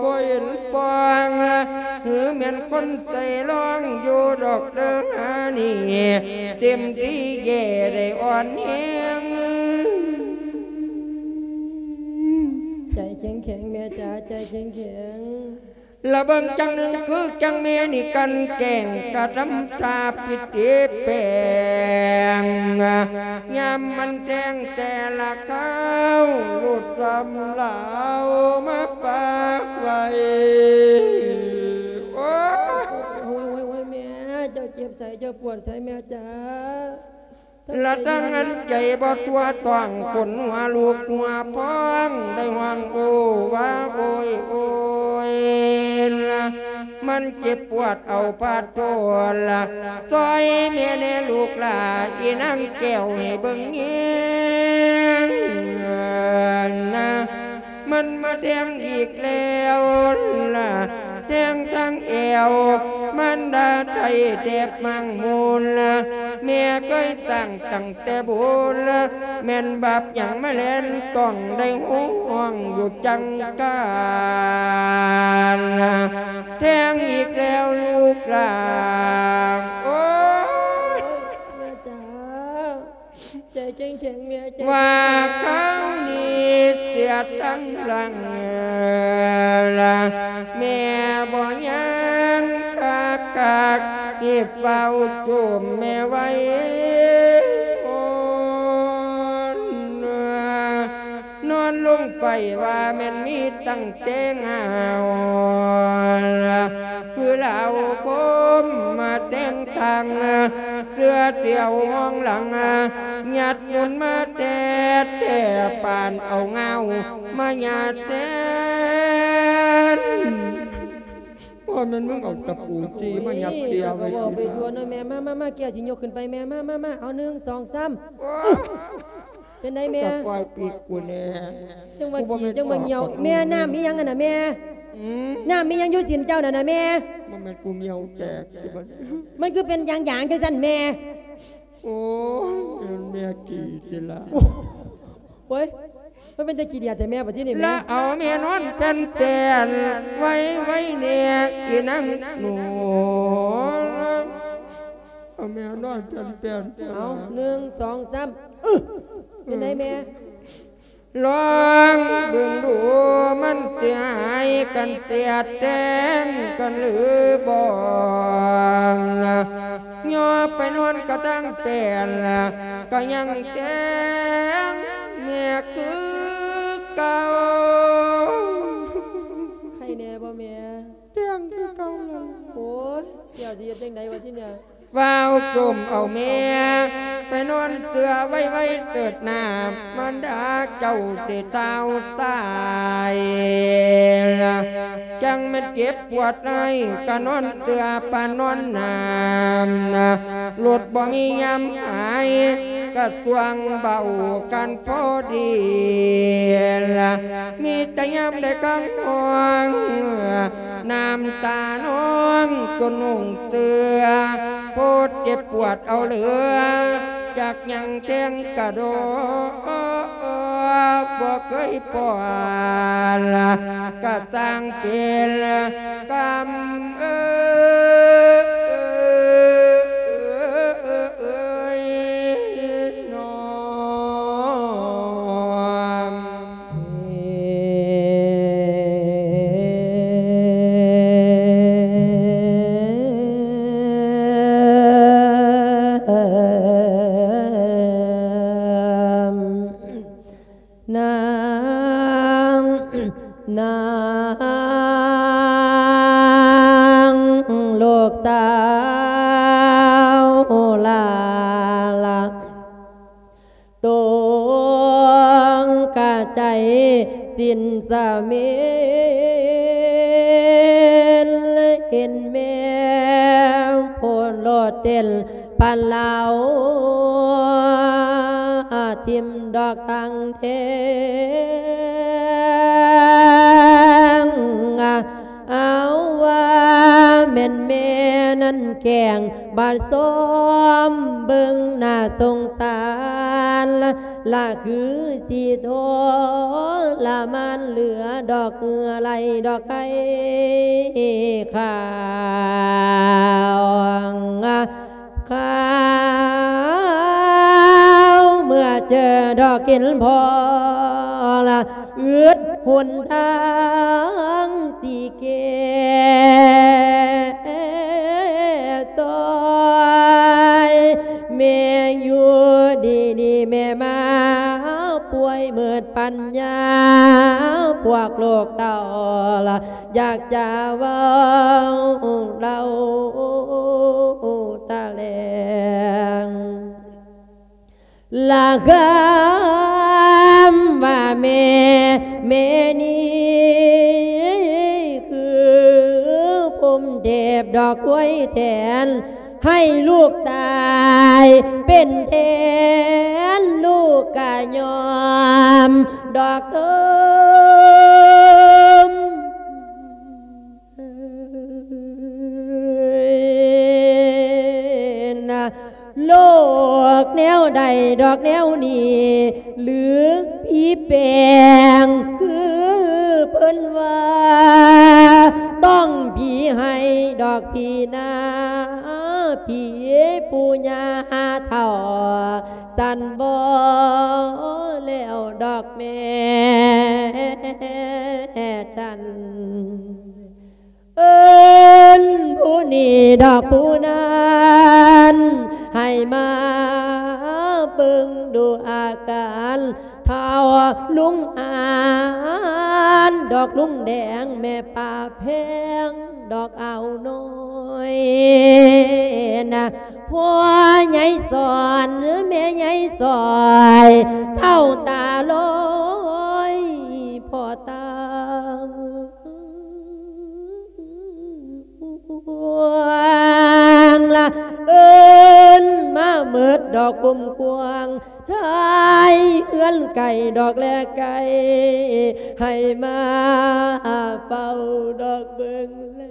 ບໍ່ເຫັນຟອງ ຫຼືແມ່ນຄົນໃຈຮ້ອນຢູ່ດອກເດີຫານີ້ ເຕັມທີ່ແຍ່ໄດ້ອ່ອນແຮງ. ໃຈເຂັ້ມແຂງແມ່ຈ໋າ ໃຈເຂັ້ມແຂງ. ລະເບິ່ງຈັ່ງໜຶ່ງຄືຈັ່ງແມ່ນີ້ກັ່ນແກ້ງ ກະທຳທ່າຜິດຕິແປງ ຍາມມັນແທງແຕ່ລະຄາວ ຫຼຸດຊຳລາວມາປາກໄວ້. ໂອ້ຍ ໂອ້ຍ ໂອ້ຍ ໂອ້ຍ ແມ່ ເຈົ້າເຈັບໃສ ເຈົ້າປວດໃສແມ່ຈ໋າ? ລະທັງອັນໃຈບໍ່ທົ່ວຕ້ອງ ຂົນຫົວລຸກຫົວພອງ ໄດ້ຮ້ອງໂອວາໂອຍໂອຍ ມັນເຈັບປວດເອົາພາດໂທນລະ ຊ່ອຍແມ່ແດ່ລູກຫຼ້າ ອີນາງແກ້ວໃຫ້ເບິ່ງແຍງນະ. ມັນມາແທງອີກແລ້ວລະ ແທງທາງແອວ ມານດາໄທແທບມັງມູນລະ ແມ່ເຄີຍສ້າງຕັ້ງແຕ່ບູນລະ ແມ່ນບາບຫຍັງມາແລ່ນຕ້ອງໄດ້ຮ້ອງຢູ່ຈັງການລະ ແທງອີກແລ້ວລູກຫຼ້າ ໂອ້ຍ ແມ່ຈ໋າ. ໃຈເຂັ້ມແຂງແມ່ ໃຈ ວ່າຄາວນີ້ເສຍທັງຫຼັງລະ ແມ່ບໍ່ຍັງຄັກໆ ຮີບເຝົ້າຈູມແມ່ໄວ້ ນອນລົງໄປວ່າແມ່ນມີຕັ້ງແຕ່ງາວ ຄືລາວຄົມມາແຕ່ງທາງ ເສື້ອຕຽວຫ້ອງຫຼັງ ຍັດຍົນມາແທ້ໆ ປານເອົາງາວມາຍາດແທນ. ບໍ່ແມ່ນມຶງເອົາຕະປູຈີ່ມາຍັດເສຍໄວ້ ເວົ້າໄປທົ່ວເນາະແມ່. ມາ ມາ ມາ ແກ້ວຊິຍົກຂຶ້ນໄປແມ່. ມາ ມາ ມາ ເອົາ ໜຶ່ງ ສອງ ສາມ. ໂອ້ຍ ເປັນໃດແມ່? ກະປ່ອຍປີກກູແດ່. ຈັ່ງວ່າຂີ້ ຈັ່ງວ່າຫ່ຽວ. ແມ່ ນ້ຳອີ່ຫຍັງຫັ້ນນະແມ່? ອືມ ນ້ຳອີ່ຫຍັງຢູ່ຕີນເຈົ້ານັ້ນນະແມ່? ບໍ່ແມ່ນກູຫ່ຽວແຕກຕິບັດ? ມັນຄືເປັນຢາງໆ ຈັ່ງຊັ້ນແມ່? ໂອ້ຍ ແມ່ນແມ່ຂີ້ຕິລະ. ໂອ້ຍ ມັນເປັນຕາຂີ້ດຽດແທ້ແມ່ ບັດທີນີ້ແມ່. ລະເອົາແມ່ນອນແປ້ນໆ ໄວ້ ໄວ້ແດ່ ອີນາງໜູ. ເອົາແມ່ນອນແປ້ນໆ ເອົາ ໜຶ່ງ ສອງ ສາມ ອຶ ເປັນໃດແມ່? ລອງເບິ່ງດູ ມັນຊິຫາຍກັນ ສຽດແຕ່ງກັນຫຼືບໍ່? ຍໍໄປນອນກະຕັງແປ້ນ ກະຍັງແຕ່ງແມ່ຄືເກົ່າ. ໄຄແດ່ບໍ່ແມ່? ແຕ່ງຄືເກົ່າແລ້ວ. ໂອ້ຍ ດຽວຊິເຮັດຈັ່ງໃດວະທີເນີ້ຍ? ຟ້າວໂຈມເອົາແມ່ໄປນອນເກືອໄວໆ ເຕີດໜ້າມານດາເຈົ້າຊິທ້າວຕາຍ. ຈັ່ງແມ່ນເຈັບປວດໄອ ກະນອນເກືອປານນອນໜ້າມ ລົດບໍ່ມີຍາມຫາຍ ກະຊ່ວງເບົາກັນພໍດີ. ມີແຕ່ຍາມໄດ້ກາງຫ້ອງ ນ້ຳຕານອງຈົນນຸ່ງເສື້ອ ໂພດເຈັບປວດເອົາເຫຼືອ ຈັກຍັງແທງກະໂດ ບໍ່ເຄີຍປ້ອນ ກະຊ່າງເປັນກຳເອີຍ ນ້ອງ. ນາງ ນາງລູກສາວຫຼ້າລະ ຕົງກະໃຈສິ້ນສະເໝນ ເຫັນແມ່ໂພດໂລດເຕັ້ນປານລາວ ຖິ້ມດອກຕັງແທງ ເອົາວ່າແມ່ນແມ່ນັ້ນແກ້ງ ບາດຊອມເບິ່ງໜ້າສົງສານ ລະຄືຊິທໍລະມານ ເຫຼືອດອກເຫື່ອໄຫຼດອກໄຄຂາວ ຂາວ ເມື່ອເຈີດອກເຫັນພໍ່ລະ ອຶດຫົນທາງຊິແກ້ຊອຍ ແມ່ຢູ່ດີໆ ແມ່ມາປ່ວຍໝົດປັນຍາ ພວກລູກເຕົ້າລະ ຢາກຈະເວົ້າເລົ່າຕະແຫຼງ ລະຄຳວ່າແມ່ແມ່ນີ້ ຄືພົມເທບດອກຄວາຍແທນ ໃຫ້ລູກຕາຍເປັນແທນ ລູກກະຍອມດອກເອີມ. ໂລກແນວໃດດອກແນວນີ້ ຫຼືຜີແປງຄືເພິ່ນວ່າ ຕ້ອງຜີໃຫ້ດອກຜີນາ ຜີປູ່ຍ່າເຖົ້າ ສັນບໍ່ແລ້ວດອກແມ່ ແມ່ຈັນ ເອີ້ນຜູ້ນີ້ດອກຜູ້ນັ້ນ ໃຫ້ມາເບິ່ງດູອາການ ທ້າວລຸງອານ ດອກລຸງແດງ ແມ່ປ້າແພງ ດອກອາວນ້ອຍນະ ພໍ່ໃຫຍ່ສອນ ແມ່ໃຫຍ່ສອຍ ເຖົ້າຕາລອຍ ພໍ່ຕາ ລະເອີ້ນມາເໝິດດອກຄຸ້ມຄວາງ ທ້າຍເຮືອນໄກ່ດອກແລໄກ່ ໃຫ້ມາເຝົ້າດອກເບິ່ງແລ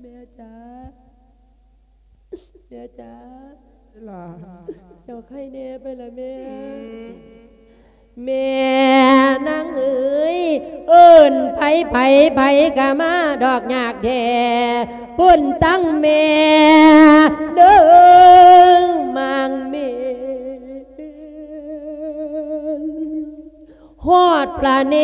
ແມ່ຈ໋າ. ແມ່ຈ໋າ ຫຼ້າ ເຈົ້າໄຄແດ່ໄປລະແມ່. ອືມ ແມ່ນາງເອີຍ ເອີ້ນໃຜ ໃຜ ໃຜກະມາດອກຍາກແທ້ ພຸ້ນທັງແມ່ເດີ ມາງເມນ ຮອດພະເນ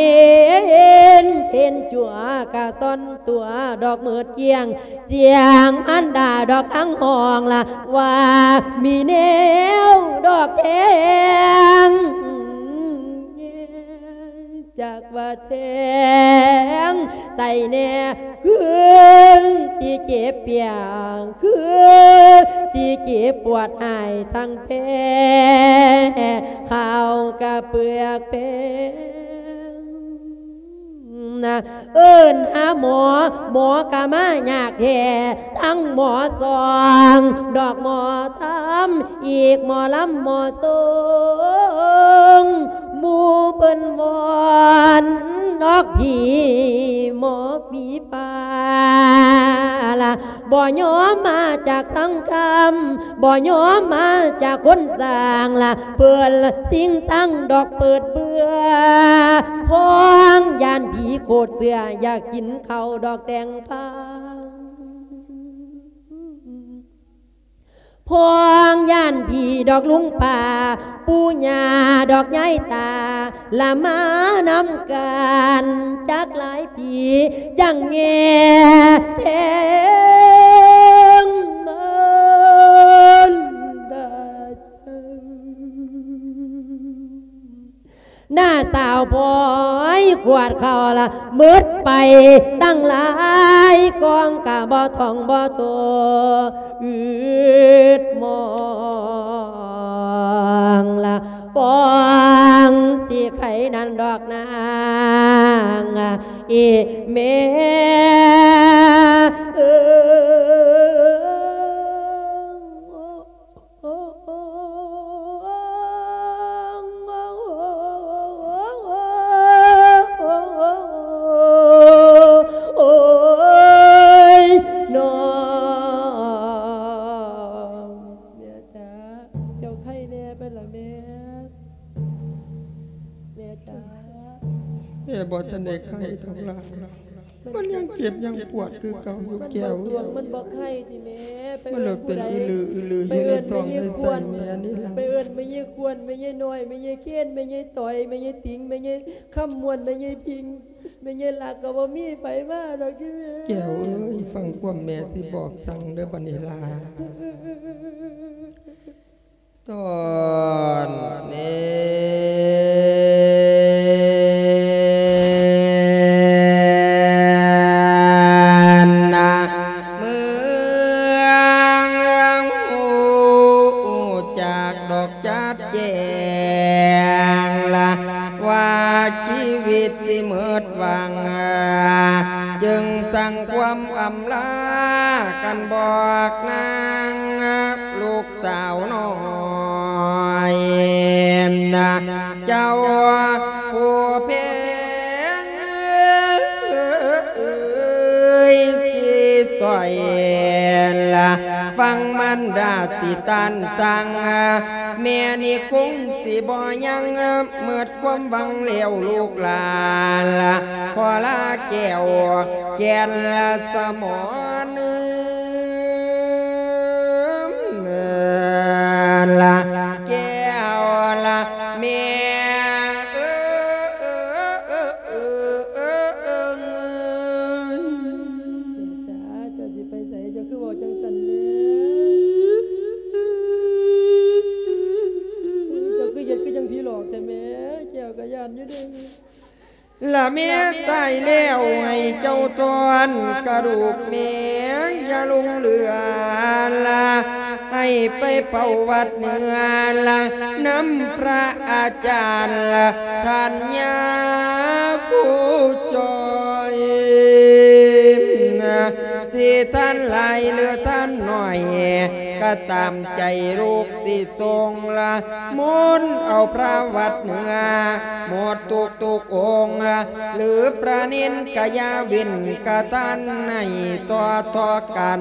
ນເທັນຈົວກະຊ່ອນຕົວດອກມືດກ້ຽງ ສຽງອັນດາດອກຄັງຮ້ອງລະວ່າມີແນວດອກແທງ ຈັກວ່າແທງໃສ່ແນ່ ຄືຊິເຈັບປຽງ ຄືຊິເຈັບປວດຫາຍທັງແພ້ ເຂົ້າກະເປືອກແປງນະ ເອີ້ນຫາໝໍ ໝໍກະມາຍາກແທ້ ທັງໝໍສອງ ດອກໝໍທຳ ອີກໝໍລຳໝໍຊົງ ໝູ່ເພິ່ນວອນອອກຜີ ໝໍຜີປ່າລະ ບໍ່ຍອມມາຈາກສັງຄຳ ບໍ່ຍອມມາຈາກຄົນສ້າງລະ ເພິ່ນຊິງສັງດອກເປີດເບືອ ພອງຢ້ານຜີໂຄດເຊື່ອ ຢາກກິນເຂົ້າດອກແຕງພາ ພອງຢ້ານຜີດອກລຸງປ້າ ປູ່ຍ່າດອກຍາຍຕາ ລະມານຳກັນຈັກຫຼາຍປີ ຈັ່ງແງ່ແພງເມີນດາ ນ້າສາວພອຍຂວດເຂົ້າລະ ໝົດໄປຕັ້ງຫຼາຍກອງ ກະບໍ່ທ່ອງບໍ່ໂຕ ອືດມອງລະ ປອງຊິໄຂນັ້ນດອກນາງ ອີແມ່ເອີຍ. ໂອ້ຍ ນ້ອງ ແມ່ຈ໋າ ເຈົ້າໄຄແດ່ໄປລະແມ່? ແມ່ຈ໋າ ແມ່ບໍ່ທັນໄດ້ໄຄດອກຫຼ້າ. ມັນຍັງເຈັບຍັງປວດຄືເກົ່າຢູ່ແກ້ວ. ມັນບໍ່ໄຄຕິແມ່? ມັນເລີຍເປັນອືລືໆຢູ່ໃນທ້ອງໃນໄສ້ແມ່ນີ້ລະ. ໄປເອີ້ນແມ່ຍາຍຄວນ ແມ່ຍາຍນ້ອຍ ແມ່ຍາຍເຄນ ແມ່ຍາຍຕ້ອຍ ແມ່ຍາຍຕິງ ແມ່ຍາຍຄຳມ່ວນ ແມ່ຍາຍພິງ ແມ່ຍາຍລັກ ກໍບໍ່ມີໃຜມາດອກຕິແມ່. ແກ້ວເອີຍ ຟັງຄວາມແມ່ຊິບອກສັ່ງເດີບັດນີ້ລະ. ຕອນນີ້ນະ ເມືອງຮູ້ຈັກດອກຈັດແຈ້ງລະ ວ່າຊີວິດຊິໝົດຫວັງ ຈຶ່ງສັ່ງຄວາມອຳລາກັນບອກນາງ ລູກ ສາວນ້ອຍນະ ເຈົ້າຜູ້ແພງເອີຍ ຊິຊ່ອຍລະຟັງມານດາຊິຕ້ານສັ່ງ ແມ່ນີ້ຄົງຊິບໍ່ຍັງ ໝົດຄວາມຫວັງແລ້ວລູກຫຼານລະ ຂໍລາແກ້ວແກ່ນລະສະໝອນ ລະແກ້ວລະແມ່ເອີຍ. ແມ່ຈ໋າ ເຈົ້າຊິໄປໃສ? ເຈົ້າຄືເວົ້າຈັ່ງຊັ້ນແມ່? ເຈົ້າຄືເຮັດຄືຈັ່ງຜີຫຼອກແທ້ແມ່? ແກ້ວກໍຢ້ານຢູ່ເດ້. ລະແມ່ຕາຍແລ້ວໃຫ້ເຈົ້າຖອນກະດູກແມ່ ຢ່າຫຼົງເຫຼືອລະ ໃຫ້ໄປເຝົ້າວັດເໜືອລະ ນຳພະອາຈານລະ ທ່ານຍາຄູຈ່ອຍ ຊິທ່ານຫຼາຍຫຼືທ່ານໜ້ອຍ ຕາມໃຈລູກຊິສົ່ງລະມົນເອົາພະວັດເໜືອໝົດທຸກໆອົງ ຫຼືພະເນນກະຢ່າເວັ້ນກະທັນໃຫ້ຕໍ່ໆກັນ.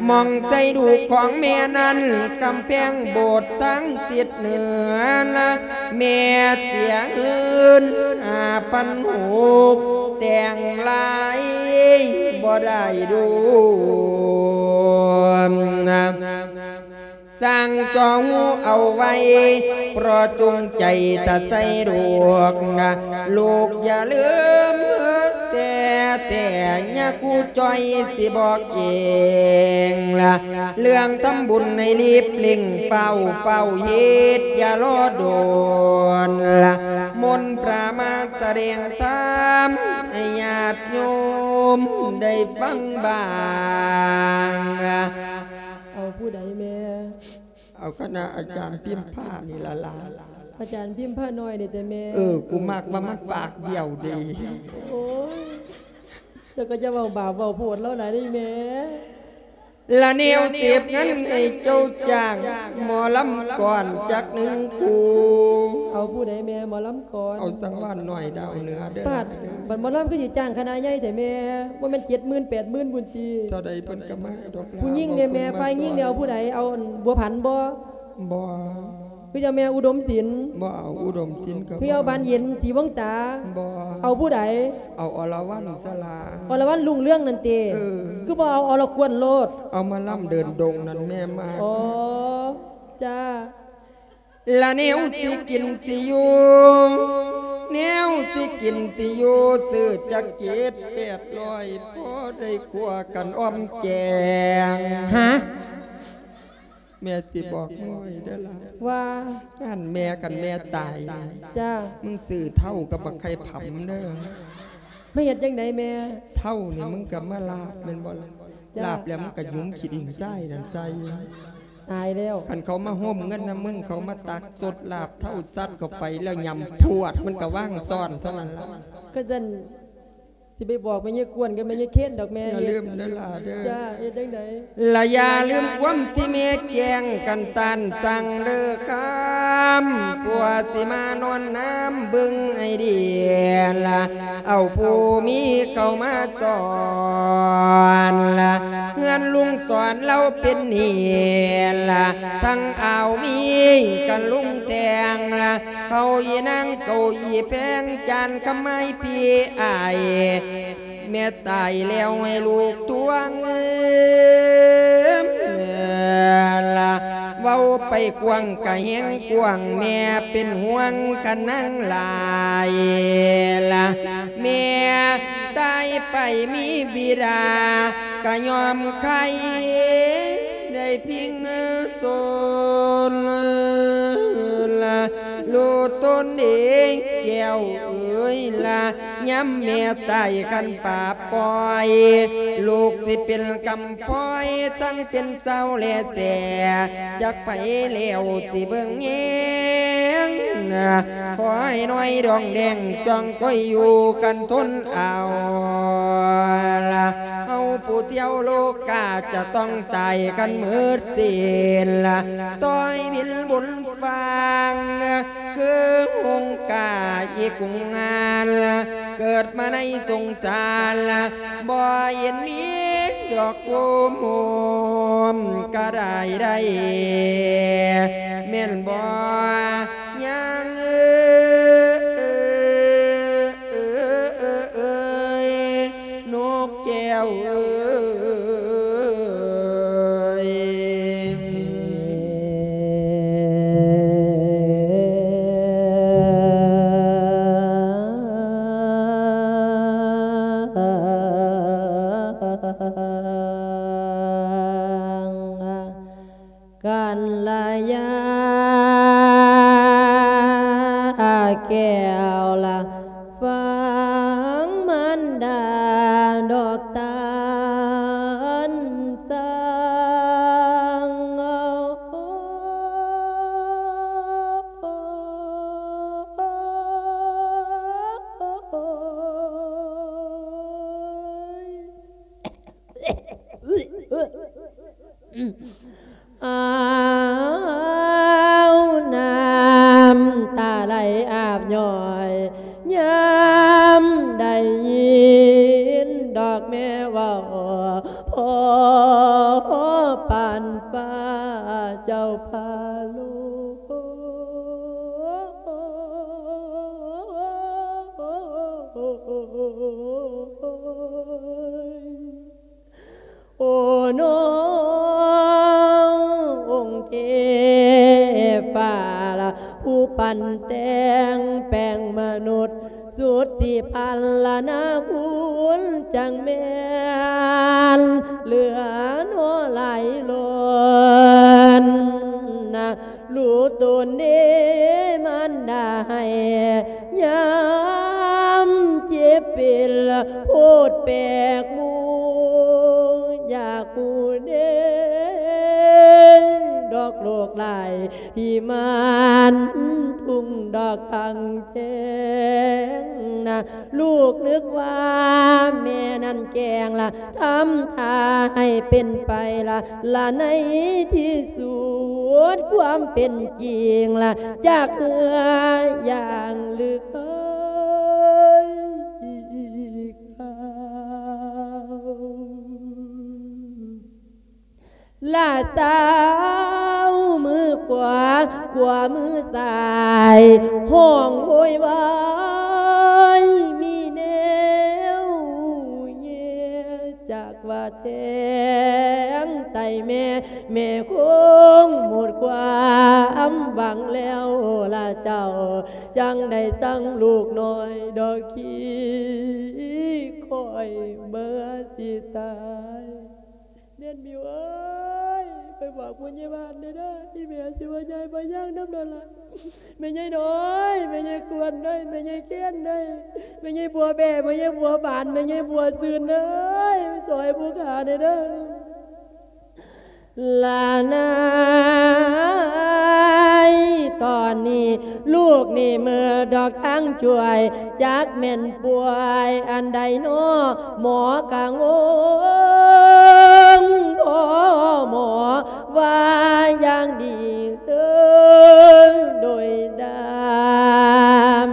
ມອງໃສ່ລູກຂອງແມ່ນັ້ນ ກຳແພງໂບດທາງທິດເໜືອລະ ແມ່ເສຍເງິນຫ້າພັນຫົກ ແຕ່ງຫຼາຍບໍ່ໄດ້ລູກ ສ້າງຈ່ອງເອົາໄວ້ ເພາະຈົງໃຈຕາໃສ່ລູກນະ ລູກຢ່າລືມແຕ່ ແຕ່ຍາຄູຈ່ອຍຊິບອກເອງລະ ເລື່ອງທຳບຸນໃຫ້ລີບເລັ່ງ ຟ້າວ ຟ້າວເຮັດ ຢ່າລໍດົນລະ ມົນພະມາສະແດງທຳໃຫ້ຍາດໂຍມໄດ້ຟັງບ້າງ. ເອົາຜູ້ໃດແມ່? ເອົາຄະນະອາຈານພິມພານີ້ລະຫຼານ. ອາຈານພິມພານ້ອຍນີ້ຕິແມ່? ເອີ ກູມັກວ່າມັນປາກບ້ຽວດີ. ໂອ້ຍ ເຈົ້າກໍຢ່າເວົ້າບາບເວົ້າໂພດລາວຫຼາຍເດ້ແມ່. ລະແນວເສບເງິນໃຫ້ເຈົ້າຈ້າງໝໍລຳກ່ອນຈັກໜຶ່ງຄູ່. ເອົາຜູ້ໃດແມ່ ໝໍລຳກ່ອນ? ເອົາສັງວານນ້ອຍດາວເໜືອເດີ. ປາດ ບັດໝໍລຳຄືຊິຈ້າງຄະນະໃຫຍ່ແທ້ແມ່? ບໍ່ແມ່ນເຈັດໝື່ນແປດໝື່ນພຸ້ນຕິ? ເທົ່າໃດເພິ່ນກໍມາດອກລາ. ຜູ້ຍິງເດ້ແມ່? ຝ່າຍຍິງເດ້ ເອົາຜູ້ໃດ? ເອົາອັນບົວພັນບໍ່? ບໍ່. ຄືເຈົ້າແມ່ອຸດົມສິນ? ບໍ່ເອົາອຸດົມສິນກໍບໍ່. ຄືເອົາບານເຢັນ ສີວົງສາ? ບໍ່. ເອົາຜູ້ໃດ? ເອົາອລະວັນສະຫຼາ. ອລະວັນລຸງເຮືອງນັ້ນຕິ? ເອີ. ຄືບໍ່ເອົາອລະກວນໂລດ? ເອົາໝໍລຳເດີນດົງນັ້ນແມ່ມາ. ອໍ ຈ້າ. ລະແນວຊິກິນຊິຢູ່ ແນວຊິກິນຊິຢູ່ ຊື້ຈັກເຈັດແປດຮ້ອຍ ພໍໄດ້ຂົ້ວກັນອອມແກງ. ຫາ? ແມ່ຊິບອກມຶງໄວ້ເດີລະ ວ່າ ອັນແມ່ ຄັນແມ່ຕາຍ ຈ້າ ມຶງຊື້ເທົາກັບບັກໄຂ່ຜຳເດີ. ມາເຮັດຈັ່ງໃດແມ່? ເທົານີ້ມຶງກໍມາລາບແມ່ນບໍ່ລະ? ຈ້າ ລາບແລ້ວມຶງກໍຫຍຸມຂີ້ດິນຊາຍນັ້ນໃສ່. ຕາຍແລ້ວ ຄັນເຂົາມາໂຮມເງິນນຳມຶງ ເຂົາມາຕັກສົດລາບເທົາສັດເຂົ້າໄປແລ້ວ ຫຍ້ຳພວດ ມັນກໍວາງຊ້ອນເທົ່ານັ້ນລະ. ກໍຊັ້ນ ຊິໄປບອກແມ່ຍາຍກວນກັບແມ່ຍາຍເຄນດອກແມ່. ຢ່າລືມເດີຫຼ້າເດີ. ຈ້າ ເຮັດຈັ່ງໃດ? ລະຢ່າລືມຄວາມທີ່ແມ່ແຈ້ງກັນ ຕ້ານສັ່ງເດີຄຳ ຜົວຊິມານອນນຳເບິ່ງໃຫ້ດີລະ ເອົາຜູ້ມີເຂົ້າມາສອນລະ ເຮືອນລຸງສອນລາວເປັນເຫດລະ ທັງອາວມີກັນລຸງແທງລະ ເຂົ້າອີນາງເຂົ້າອີແພງ ຈານຄຳໄມ້ພີ່ອ້າຍ ແມ່ຕາຍແລ້ວໃຫ້ລູກທວງລະ ເວົ້າໄປກວ້າງກະແຮງກວ້າງ ແມ່ເປັນຫ່ວງຂະນາງຫຼາຍລະ ແມ່ຕາຍໄປມີບິດາກະຍອມໄຄ ໄດ້ພິງສົນລະ ລູກຕົນເອງແກ້ວເອີຍລະ ຍາມແມ່ຕາຍຄັນປ່າປ່ອຍ ລູກຊິເປັນກຳ ພອຍທັງເປັນເສົາແລແຕ່ ຈັກໃຜແລ້ວຊິເບິ່ງແຍງ ຂໍໃຫ້ນ້ອຍດອງແດງ ຈ້ອງຄອຍຢູ່ກັນທົນເອົາລະ ເຮົາຜູ້ທ່ຽວໂລກາຈະຕ້ອງຕາຍກັນໝົດສິ້ນລະ ຕ້ອຍບິນບຸນຟາງ ຄືຫົງກາອີກກຸງງານ ເກີດມາໃນສົງສານ ບໍ່ເຫັນມີດອກໂກມໂຮມກະດາຍໄດ້ ແມ່ນບໍ່ຍາງເອີຍ ນົກແກ້ວເອີຍ? ກັນລະຍາແກ້ວລະ ຟັງມານດາດອກຕານສັງ. ໂອ້ຍ. ຟ້າລະ ຜູ້ປັ້ນແຕ່ງແປງມະນຸດ ສຸດທີ່ພັນລະນາຄຸນ ຈັ່ງແມ່ນເຫຼືອໜໍ່ຫຼາຍລົ້ນນະ ລູກຕົນເດມານດາໃຫ້ ຍາມເຈັບເປັນໂພດແປກໝູ່ ຢາກຮູ້ເດ້ດອກໂລກຫຼາຍ ທີ່ມັນທຸ່ງດອກຄັງແຈ້ງນະ ລູກນຶກວ່າແມ່ນັ້ນແກ້ງລະ ທຳທ່າໃຫ້ເປັນໄປລະ ລະໃນທີ່ສຸດຄວາມເປັນຈິງລະ ຈາກເຮືອຢ່າງລຶກເອີຍອີກຄາວ ລະຊາວມືຂວາ ຂວາມືຊ້າຍ ຮ້ອງໂວຍວາຍ ມີແນວເຍ ຈັກວ່າແທງໃສ່ແມ່ ແມ່ຄົງໝົດຄວາມຫວັງແລ້ວລະເຈົ້າ ຈັ່ງໄດ້ສັ່ງລູກນ້ອຍດອກຂີ້ ຂ້ອຍເມື່ອຊິຕາຍ ແນນມິວເອີຍ ໄປບອກຜູ້ໃຫຍ່ບ້ານແດ່ເດີ ອີແມ່ຊິວ່າຍາຍມາຍ່າງນຳນັ້ນລະ ແມ່ໃຫຍ່ນ້ອຍ ແມ່ໃຫຍ່ຄວນເອີຍ ແມ່ໃຫຍ່ແຄນເອີຍ ແມ່ໃຫຍ່ບົວແບ້ ແມ່ໃຫຍ່ບົວບານ ແມ່ໃຫຍ່ບົວຊື່ນເອີຍ ຊ່ອຍຜູ້ຂ້າແດ່ເດີ. ລະນາຍ ຕອນນີ້ລູກນີ້ເມີດອກທາງຊ່ວຍ ຈັກແມ່ນປ່ວຍອັນໃດນໍ ໝໍກະງົງ ພໍ່ໝໍວ່າຢ່າງດີເດີ ໂດຍດຳ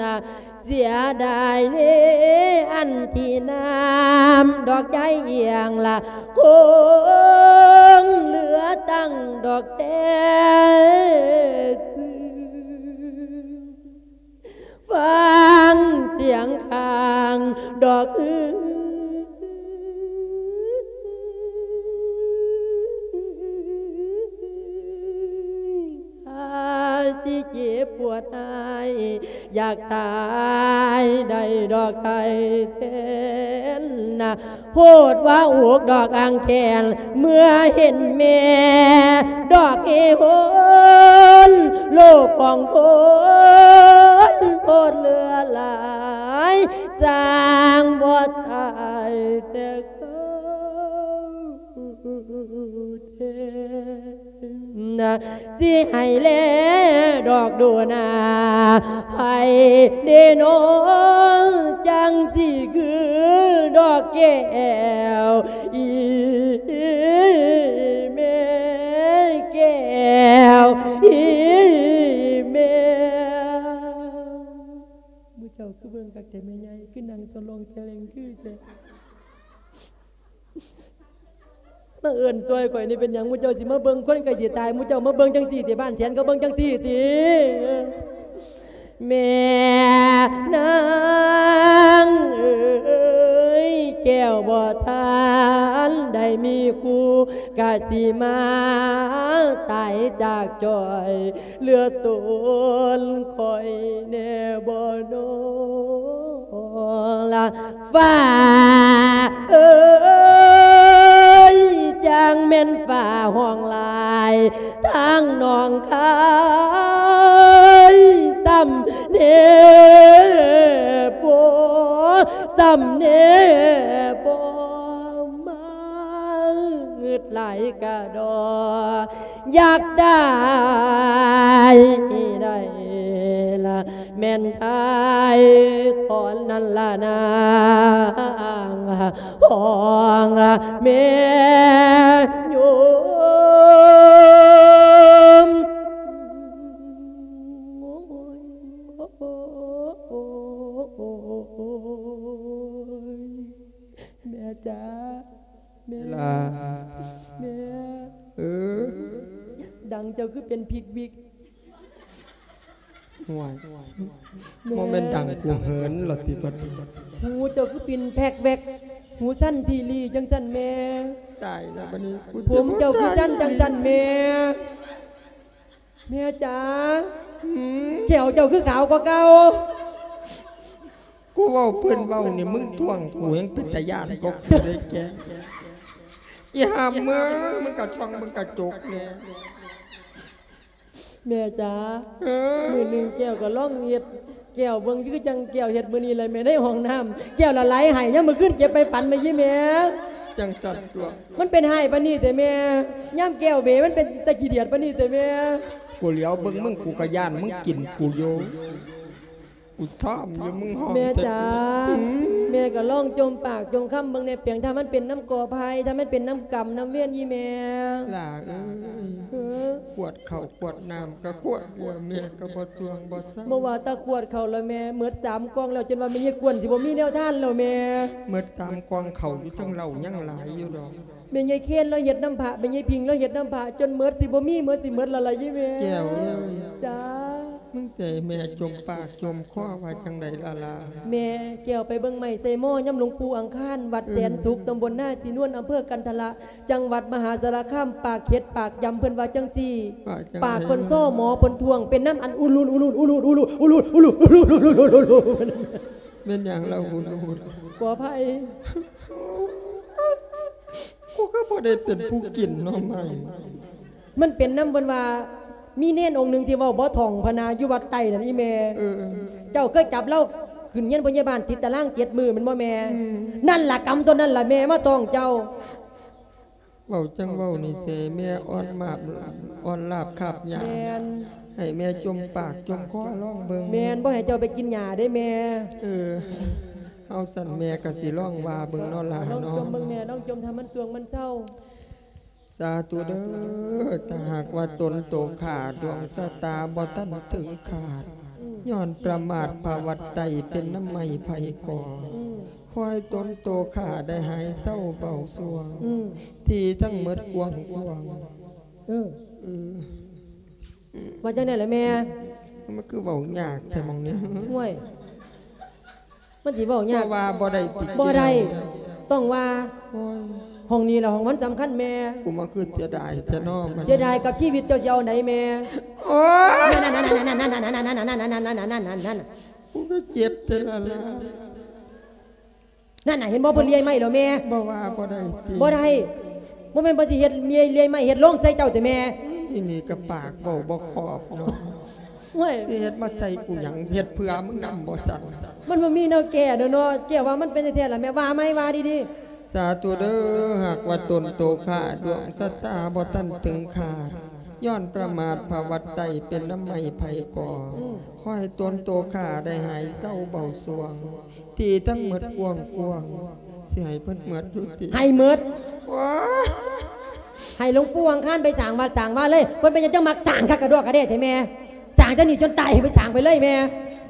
ນະ ເສຍດາຍເດ້ ອັນທີ່ນ້ຳດອກໃຈອຽງລະ ຄົງເຫຼືອຕັ້ງດອກແຕ່ຊື່ ຟັງສຽງຂ້າງດອກ ຖ້າຊິເຈັບປວດຮ້າຍ ຢາກຕາຍໄດ້ດອກໄຂ້ແທນນະ ໂພດວ່າອົກດອກອ່າງແຂນ ເມື່ອເຫັນແມ່ດອກເຮໂຮນ ໂລກຂອງຄົນໂພດເຫຼືອຫຼາຍ ສ້າງບໍ່ຕາຍແຕ່ເກົ່າ ແທ້ ນະ ຊິໃຫ້ແລດອກດູໜ້າ ໃຜເດນໍ ຈັ່ງຊິຄືດອກແກ້ວ ອີແມ່ແກ້ວ ອີແມ່. ໝູ່ເຈົ້າຄືເບິ່ງຄັກແທ້ແມ່ໃຫຍ່ ຄືນັ່ງສະຫຼອງສະແຫຼງຄືແທ້. ມາເອີ້ນຊ່ອຍຂ້ອຍນີ້ເປັນຫຍັງ? ໝູ່ເຈົ້າຊິມາເບິ່ງຄົນໃກ້ຊິຕາຍ ໝູ່ເຈົ້າມາເບິ່ງຈັ່ງຊີ້ຕິ? ບ້ານແສນເຂົາເບິ່ງຈັ່ງຊີ້ຕິ? ແມ່ນາງເອີຍ ແກ້ວບໍ່ທັນໄດ້ມີຄູ່ ກະຊິມາຕາຍຈາກຈ້ອຍ ເຫຼືອຕົນຂ້ອຍແນ່ບໍ່ນໍ ລະ ຟ້າເອີຍ ຈັ່ງແມ່ນຟ້າຮ້ອງຫຼາຍ ທາງໜອງຄາຍ ສ່ຳແນ່ບໍ່ ສ່ຳແນ່ບໍ່ ມາງຶດຫຼາຍກະດໍ ຢາກຕາຍໃຫ້ໄດ້ລະ ແມ່ນຖ່າຍຖອນນັ້ນລະນາງ ຂອງແມ່ໂຍມ. ແມ່ຈ້າ ແມ່ ເວລາ ແມ່ ເອີ ດັງເຈົ້າຄືເປັນພິກວິກ? ຫ້ວຍ ແມ່ ບໍ່ແມ່ນດັງກູເຫີນລະຕິບັດນີ້? ຫູເຈົ້າຄືປິ່ນແພກແວກ ຫູສັ່ນທີລີຈັ່ງຊັ້ນແມ່? ຕາຍລະບັດນີ້ ຜົມເຈົ້າຄືສັ້ນຈັ່ງຊັ້ນແມ່? ແມ່ຈ໋າ ຫືມ ແກ້ວເຈົ້າຄືຂາວກວ່າເກົ່າ. ກູເວົ້າເພິ່ນເວົ້ານີ້ ມຶງທ້ວງກູແຮ່ງເປັນຕາຢ້ານກວ່າກູເດ້ແກ້ວ. ອີຫ່າເມືອ ມຶງກໍສ່ອງເບິ່ງກະຈົກແດ່. ແມ່ຈ໋າ ເອີ ມື້ໜຶ່ງແກ້ວກໍລອງເຮັດແກ້ວເບິ່ງ ຄືຈັ່ງແກ້ວເຮັດມື້ນີ້ແຫຼະແມ່ ໃນຫ້ອງນ້ຳ ແກ້ວລະໄຫຼໄຫ້. ຍາມມື້ຄືນເຈັບໄປຝັນແມ່ ຍາຍແມ່. ຈັ່ງຊັ້ນຕົວະ. ມັນເປັນຮ້າຍປານນີ້ແທ້ແມ່ ຍາມແກ້ວເບມັນເປັນຕາຂີ້ດຽດປານນີ້ແທ້ແມ່. ກູຫຼຽວເບິ່ງມຶງ ກູກໍຢ້ານມຶງກິນກູຢູ່. ກູຖາມຢູ່ ມຶງຮ້ອງແທ້. ແມ່ຈ໋າ ຫືມ ແມ່ກໍລອງຈົ່ມປາກຈົ່ມຄຳເບິ່ງແດ່ແປງ ຖ້າມັນເປັນນຳກໍໄຜ່ ຖ້າມັນເປັນນຳກຳນຳເວນອີ່ແມ່. ຫຼ້າເອີຍ ເອີ ຂວດເຂົ້າຂວດນ້ຳກໍຂວດດຽວ ແມ່ກໍບໍ່ສ່ວງບໍ່ເຊົາ. ບໍ່ວ່າແຕ່ຂວດເຂົ້າລະແມ່ ໝົດສາມກ່ອງແລ້ວ ຈົນວ່າແມ່ຍາຍກວນຊິບໍ່ມີແນວທານແລ້ວແມ່. ໝົດສາມກ່ອງເຂົ້າຢູ່ ທັງເຫຼົ້າຍັງຫຼາຍຢູ່ດອກ. ແມ່ຍາຍເຄນລາວເຮັດນຳພະ ແມ່ຍາຍພິງລາວເຮັດນຳພະ ຈົນໝົດ ຊິບໍ່ມີ ໝົດ ຊິໝົດແລ້ວລະຍາຍແມ່. ແກ້ວເອີຍ ຈ້າ ມຶງຊິໃຫ້ແມ່ຈົ່ມປາກຈົ່ມຄໍວ່າຈັ່ງໃດລະລະ? ແມ່ແກ້ວໄປເບິ່ງໄມ້ໃສ່ໝໍ້ຍາມຫຼວງປູ່ອັງຄານ ວັດແສນສຸກ ເອີ ຕຳບົນນາສີນວນ ອຳເພີກັນທະລະ ຈັງຫວັດມະຫາສາລະຄາມ ປາກເຂັດປາກຢຳ ເພິ່ນວ່າຈັ່ງຊີ້. ວ່າຈັ່ງໃດ? ປາກເພິ່ນສໍ້ ໝໍເພິ່ນທ້ວງ ເປັນນຳອັນອຸລຸດອຸລຸດອຸລຸດອຸລຸດ. ແມ່ນຫຍັງລະອຸລຸດ? ຂໍອະໄພ. ກູກໍບໍ່ໄດ້ເປັນຜູ້ກິນໜໍ່ໄມ້. ມັນເປັນນຳເພິ່ນວ່າ ມີເນນອົງໜຶ່ງທີ່ເວົ້າບໍ່ທ່ອງພະນາ ຢູ່ວັດໃຕ້ນັ້ນອີ່ແມ່. ເອີ ເຈົ້າເຄີຍຈັບລາວຂຶ້ນຮຽນພະຍາບານ ຕິດຕາລາງເຈັດມື້ແມ່ນບໍ່ແມ່? ອືມ ນັ້ນລະ ກຳຕົວນັ້ນລະແມ່ມາຕ້ອງເຈົ້າ. ເວົ້າຈັ່ງເວົ້ານີ້ເສ ແມ່ອ່ອນມາບ ອ່ອນລາບຄາບຫຍ້າ. ແມ່ນ ໃຫ້ແມ່ຈົ່ມປາກຈົ່ມຄໍລອງເບິ່ງ. ແມ່ນ ບໍ່ໃຫ້ເຈົ້າໄປກິນຫຍ້າເດ້ແມ່. ເອີ ເອົາຊັ້ນແມ່ກໍຊິລອງວ່າເບິ່ງເນາະຫຼານເນາະ. ລອງຈົ່ມເບິ່ງແມ່ ລອງຈົ່ມ ຖ້າມັນສ່ວງມັນເຊົາ. ສາທຸເດີ້ ຖ້າຫາກວ່າຕົນໂຕຂ້າດວງຊະຕາບໍ່ທັນເຖິງຄາດ ອືມ ຍ້ອນປະໝາດພະວັດໄຕເປັນນຳໄມ້ໄຜ່ກໍ ອືມ ຂໍໃຫ້ຕົນໂຕຂ້າໄດ້ຫາຍເຊົາເບົາສ່ວງ ອືມ ທີ່ທັງໝົດກວ້າງໆ. ເອີ ເອີ ວ່າຈັ່ງໃດລະແມ່? ມັນຄືເວົ້າຍາກແທ້ໝ່ອງນີ້. ໂອ້ຍ ມັນຊິເວົ້າຍາກ. ບໍ່ວ່າບໍ່ໄດ້ຕິ ບໍ່ໄດ້ ແກ້ວ? ຕ້ອງວ່າ. ໂອ້ຍ ຫ້ອງນີ້ລະຫ້ອງມັນສຳຄັນແມ່. ກູມາຄືເສຍດາຍແທ້ເນາະ. ເສຍດາຍກັບຊີວິດ ເຈົ້າຊິເອົາໃດແມ່? ໂອ້ຍ ນັ້ນໆ ກູກໍເຈັບແທ້ລະລະ. ນັ້ນນະ ເຫັນບໍ່ ເພິ່ນເລື່ອຍໄມ້ແລ້ວແມ່. ບໍ່ວ່າບໍ່ໄດ້ຕິ? ບໍ່ໄດ້ ບໍ່ແມ່ນເພິ່ນຊິເຮັດເລື່ອຍ ເລື່ອຍໄມ້ເຮັດໂລງໃສ່ເຈົ້າຕິແມ່? ອີ່ນີ້ກໍປາກເວົ້າບໍ່ຂອບເນາະ. ໂອ້ຍ ຊິເຮັດມາໃສ່ກູຫຍັງ? ເຮັດເພື່ອມຶງນຳບໍ່ຊັ້ນ? ມັນບໍ່ມີແນວແກ້ດອກເນາະ. ແກ້ວ່າມັນເປັນແທ້ໆລະແມ່ ວ່າໃໝ່ ວ່າດີໆ. ສາທຸເດີ້ ຫາກວ່າຕົນໂຕຂ້າດວງຊະຕາບໍ່ທັນເຖິງຄາດ ຍ້ອນປະໝາດພະວັດໄຕເປັນນຳໄມ້ໄຜ່ກໍ ອືມ ຂໍໃຫ້ຕົນໂຕຂ້າໄດ້ຫາຍເຊົາເບົາສ່ວງ ທີ່ທັງໝົດກວ້າງໆ ຊິໃຫ້ເພິ່ນໝົດຢູ່ຕິ? ໃຫ້ໝົດ. ວ້າ ໃຫ້ຫຼວງປູ່ອັງຄານໄປສ້າງວັດສ້າງວາເລີຍ. ເພິ່ນເປັນຫຍັງຈັ່ງມັກສ້າງຄັກກະດອກກະແດ່ແທ້ແມ່? ສ້າງຈັ່ງນີ້ຈົນຕາຍ ໃຫ້ໄປສ້າງໄປເລີຍແມ່.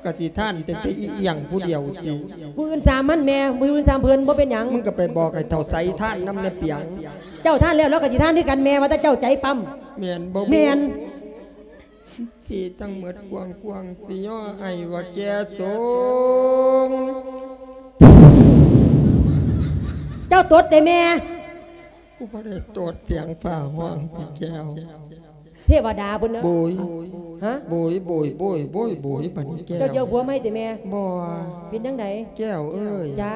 ກະຊິທານແຕ່ ແຕ່ອີ່ຫຍັງຜູ້ດຽວຕິ? ຜູ້ອື່ນສາມມັນແມ່ ຜູ້ອື່ນສາມເພິ່ນ ບໍ່ເປັນຫຍັງ. ມຶງກໍໄປບອກໃຫ້ເຖົ້າໃສທານນຳແດ່ປຽງ. ເຈົ້າທານແລ້ວ ລາວກໍຊິທານຄືກັນແມ່ ວ່າແຕ່ເຈົ້າໃຈປ້ຳ. ແມ່ນບໍ່? ແມ່ນ. ທີ່ທັງໝົດກວ້າງໆ ຊິຍໍອ້າຍວ່າແກ່ສົງ. ເຈົ້າຕົດເດ້ແມ່. ກູບໍ່ໄດ້ຕົດ ສຽງຟ້າຮ້ອງຕິແກ້ວ. ເທວະດາພຸ້ນເນາະ. ໂບຍ ຮະ? ໂບຍ ໂບຍ ໂບຍ ໂບຍ ໂບຍ ບັດນີ້ແກ້ວ. ເຈົ້າຊິເອົາຜົວໃໝ່ຕິແມ່? ບໍ່. ເປັນຈັ່ງໃດ? ແກ້ວເອີຍ. ຈ້າ.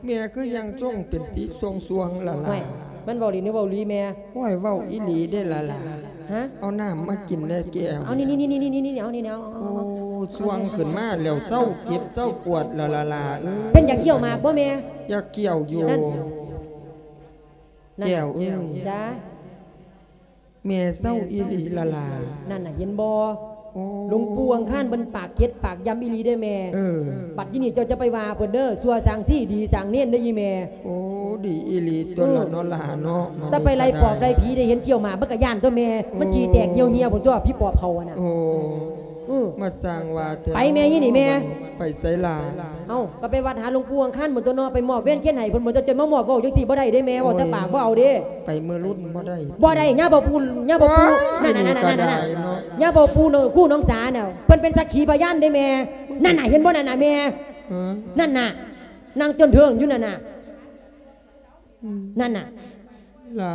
ແມ່ຄືຍັງຊົງເປັນສີຊ່ວງໆລະລະ. ໂອ້ຍ ມັນເວົ້າຫຼິ້ນຫຼືເວົ້າອີຫຼີແມ່? ໂອ້ຍ ເວົ້າອີຫຼີເດ້ລະລະ. ຮະ? ເອົານ້ຳມາກິນແດ່ແກ້ວ. ເອົານີ້ໆໆໆ ເອົານີ້ແນ່ ເອົາ ເອົາ ໂອ້ ຊ່ວງຂຶ້ນມາແລ້ວ ເຊົາເຈັບເຊົາປວດລະລະລາເອີຍ. ເປັນຢາກກ້ຽວໝາກບໍ່ແມ່? ຢາກກ້ຽວຢູ່. ນັ້ນ ແກ້ວເອີຍ. ຈ້າ. ແມ່ເຊົາອີຫຼີລະລາ. ນັ້ນນະ ເຫັນບໍ່? ໂອ້ ຫຼວງປູ່ອັງຄານເພິ່ນປາກເຈັດປາກຢຳອີຫຼີເດ້ແມ່. ເອີ ບັດທີນີ້ເຈົ້າຈະໄປວ່າເພິ່ນເດີ ຊົ່ວສ້າງຊີດີສ້າງເນນເດີອີ່ແມ່. ໂອ້ ດີອີຫຼີຕົວລະເນາະຫຼາເນາະ. ແຕ່ໄປໄລ່ປອບໄລ່ຜີໄດ້ເຫັນຄ້ຽວໝາກ ມັນກະຢ້ານຕົວແມ່. ໂອ້ ມັນຂີ້ແຕກຫ່ຽວເຫື່ອຍພຸ້ນຕົວ ຜີປອບເຂົາຫັ້ນນະ. ໂອ້ ອື ມາສ້າງວ່າແທ້. ໄປແມ່ ອີ່ນີ້ແມ່. ໄປໃສລະ? ເອົ້າ ກໍໄປວັດຫາຫຼວງປູ່ອັງຄານພຸ້ນຕົວເນາະ ໄປມອບເວນຄຽນໃຫ້ເພິ່ນພຸ້ນຕົວ. ເຈົ້າຈະມາມອບເວົ້າຈັ່ງຊີ້ບໍ່ໄດ້ເດ້ແມ່. ໂອ້ຍ ເວົ້າແຕ່ປາກ ບໍ່ເອົາເດ້. ໄປມື້ລຸນບໍ່ໄດ້ ບໍ່ໄດ້. ຍາພໍ່ປູ່ ຍາພໍ່ປູ່. ໂອ້ຍ ນັ້ນໆໆໆ ນີ້ກໍໄດ້ເນາະ. ຍາພໍ່ປູ່ ຄູໜອງສານະ ເພິ່ນເປັນສັກຂີພະຍານເດ້ແມ່. ນັ້ນນະ ເຫັນບໍ່ນັ້ນນະແມ່? ຮະ? ນັ້ນນະ ນັ່ງຈົນເທິງຢູ່ນັ້ນນະ. ອືມ ນັ້ນນະ ຫຼາ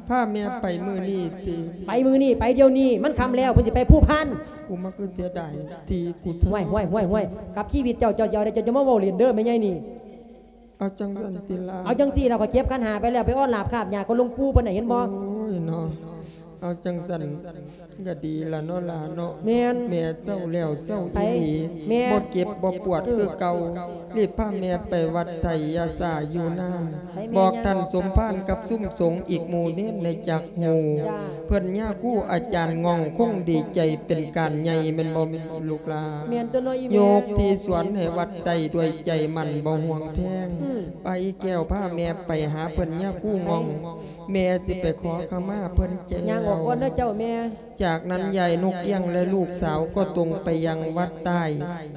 ພາແມ່ໄປມື້ນີ້ຕິ? ໄປມື້ນີ້ ໄປດຽວນີ້ ມັນຄ່ຳແລ້ວ ເພິ່ນຊິໄປພູພານ. ກູມາຄືເສຍດາຍທີ່ກູ ຫ້ວຍ ຫ້ວຍ ຫ້ວຍ ຫ້ວຍ ກັບຊີວິດເຈົ້າ ເຈົ້າຊິເອົາໄດ໋ ເຈົ້າຈະມາເວົ້າຫຼິ້ນເດີ ແມ່ໃຫຍ່ນີ້. ເອົາຈັ່ງຊັ້ນຕິລະ? ເອົາຈັ່ງຊີ້ລະ ຂ້ອຍເກັບຂັນຫ້າໄປແລ້ວ ໄປອອນລາບຄາບຫຍ້າກັບຫຼວງປູ່ເພິ່ນນະ ເຫັນບໍ່? ໂອ້ຍເນາະ ເອົາຈັ່ງຊັ້ນກະດີລະເນາະຫຼາເນາະ. ແມ່ນ ແມ່ເຊົາແລ້ວເຊົາອີ່ຫຼີ ແມ່ ບໍ່ເຈັບບໍ່ປວດຄືເກົ່າ. ເອີ ຣີບພາແມ່ໄປວັດໄຕຢາສາຢູ່ນາ ໄປແມ່ ບອກທ່ານສົມພານກັບຊຸມສົງອີກໝູ່ເນນໃຫ້ຈັກຮູ້. ເພິ່ນຍາຄູອາຈານງ່ອງຄົງດີໃຈເປັນການໃຫຍ່ແມ່ນບໍ່ລູກຫຼາ? ແມ່ນຕົວະເນາະອີ່ແມ່. ຍົກທີ່ສວນໃຫ້ວັດໄຕດ້ວຍໃຈໝັ້ນບໍ່ຫ່ວງແພງ. ອືມ ໄປແກ້ວ ພາແມ່ໄປຫາເພິ່ນຍາຄູງ່ອງ ໄປ ແມ່ຊິໄປຂໍຂະມາເພິ່ນແກ້ວ. ຍ່າງອອກກ່ອນເດີເຈົ້າແມ່. ຈາກນັ້ນຍາຍນົກອຽງ ແລະ ລູກສາວກໍຕົງໄປຍັງວັດໃຕ້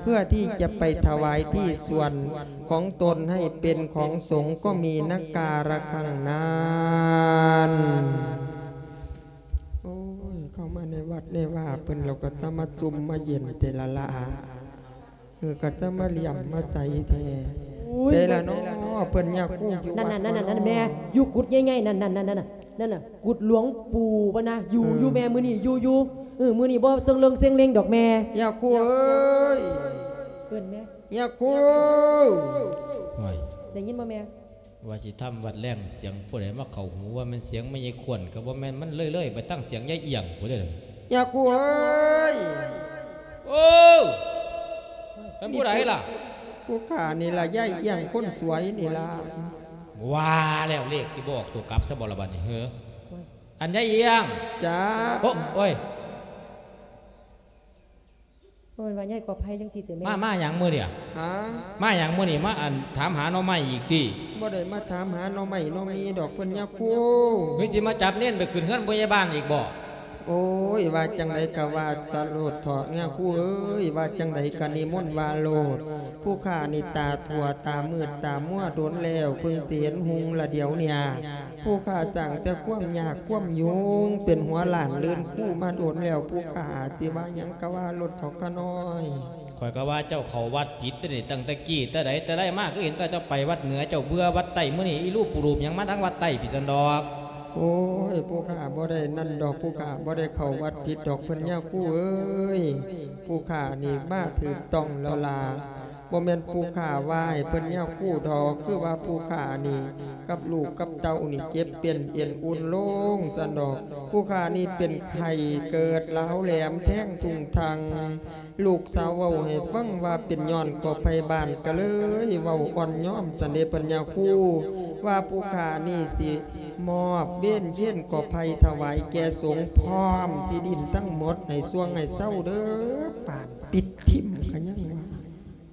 ເພື່ອທີ່ຈະໄປຖວາຍທີ່ສວນຂອງຕົນໃຫ້ເປັນຂອງສົງ ກໍມີນະກາລະຄັງນັ້ນ. ໂອ້ຍ ເຂົ້າມາໃນວັດໃນວາເພິ່ນ ລາວກໍສາມາດຊຸ່ມມາເຢັນແຕ່ລະລະອາ. ເອີ ກໍຈະມາຫຼຽມມາໃສແທ້. ໂອ້ຍ ໃສລະເນາະ ເພິ່ນຍາຄູຢູ່ວັດ ນັ້ນໆໆໆ ແມ່ ຢູ່ກຸດໃຫຍ່ໆ ນັ້ນໆໆໆ ນັ້ນນະ ກຸດຫຼວງປູ່ເພິ່ນນະ ຢູ່ ເອີ ຢູ່ແມ່ ມື້ນີ້ຢູ່ ຢູ່ ເອີ ມື້ນີ້ບໍ່ເຊິ່ງເລິງເຊັງເລັງດອກແມ່. ຍາຄູເອີຍ ເອີ້ນແມ່ ຍາຄູ. ໂອ້ຍ ໄດ້ຍິນບໍ່ແມ່? ວ່າຊິທຳວັດແລງ ສຽງຜູ້ໃດມາເຂົ້າຫູ ວ່າແມ່ນສຽງແມ່ໃຫຍ່ຂວັນ ກໍບໍ່ແມ່ນ ມັນເລີຍໆໄປທາງສຽງຍາຍອຽງພຸ້ນເດ້. ຍາຄູເອີຍ! ໂອ້! ແມ່ນຜູ້ໃດລະ? ຜູ້ຂ້ານີ້ລະ ຍາຍອຽງຄົນສວຍນີ້ລະ. ວ່າແລ້ວ ເລກຊິບໍ່ອອກຕົວກັບຊະບໍ່ລະບັດນີ້ເຮີ? ອັນຍາຍອຽງ. ຈ້າ. ໂອ້ ໂອ້ຍ! ບໍ່ແມ່ນວ່າຍາຍກອບໄພຈັ່ງຊີ້ຕິແມ່? ມາ ມາຫຍັງມື້ນີ້? ຫາ? ມາຫຍັງມື້ນີ້? ມາ ອັນ ຖາມຫາໜໍ່ໄມ້ອີກຕິ? ບໍ່ໄດ້ມາຖາມຫາໜໍ່ໄມ້ໜໍ່ມີດອກເພິ່ນຍາຄູ. ຄືຊິມາຈັບເນນໄປຂຶ້ນເຮືອນຜູ້ໃຫຍ່ບ້ານອີກບໍ? ໂອ້ຍ ວ່າຈັ່ງໃດກະວ່າສະໂລດເຖາະຍາຄູເອີຍ, ວ່າຈັ່ງໃດກະນິມົນວ່າໂລດ. ຜູ້ຂ້ານີ້ຕາຖົ່ວຕາມືດຕາມົວດົນແລ້ວ, ເພິ່ງຊິເຫັນຮຸ່ງລະດຽວນີ້. ຜູ້ຂ້າສ້າງແຕ່ຄວາມຍາກຄວາມຍຸງ ເປັນຫົວລ້ານລື່ນຄູມາດົນແລ້ວ, ຜູ້ຂ້າອາດຊິວ່າຫຍັງກະວ່າໂລດເຖາະຂ້ານ້ອຍ. ຂ້ອຍກະວ່າເຈົ້າເຂົ້າວັດຜິດເດ້ນີ້, ຕັ້ງແຕ່ກີ້ແຕ່ໃດແຕ່ໃດມາ ຄືເຫັນແຕ່ເຈົ້າໄປວັດເໜືອ, ເຈົ້າເບື່ອວັດໃຕ້, ມື້ນີ້ອີລູບປູລູບຫຍັງມາທາງວັດໃຕ້ພີ້ຊັ້ນດອກ. ໂອ້ຍ ຜູ້ຂ້າບໍ່ໄດ້ນັ້ນດອກ, ຜູ້ຂ້າບໍ່ໄດ້ເຂົ້າວັດຜິດດອກເພິ່ນຍາຄູເອີຍ, ຜູ້ຂ້ານີ້ມາຖືກຕ້ອງແລ້ວລະ. ບໍ່ແມ່ນຜູ້ຂ້າວ່າໃຫ້ເພິ່ນຍາຄູດອກ, ຄືວ່າຜູ້ຂ້ານີ້ກັບລູກກັບເຕົ້ານີ້ເຈັບເປັນເອັນອຸ່ນລົງຊັ້ນດອກ. ຜູ້ຂ້ານີ້ເປັນໄຂ້ເກີດລາວແຫຼມແທງທຸ່ງທັງ. ລູກສາວເວົ້າໃຫ້ຟັງວ່າເປັນຍ້ອນກໍໄພບ້ານ ກະເລີຍເວົ້າອ່ອນຍອມຊັ້ນເດເພິ່ນຍາຄູ, ວ່າຜູ້ຂ້ານີ້ຊິມອບເວນເຄນກໍໄພຖວາຍແກ່ສົງ ພ້ອມທີ່ດິນທັງໝົດໃຫ້ຊ່ວງໃຫ້ເຊົາເດີ. ປານປິດຖິ້ມກະຍັງວ່າ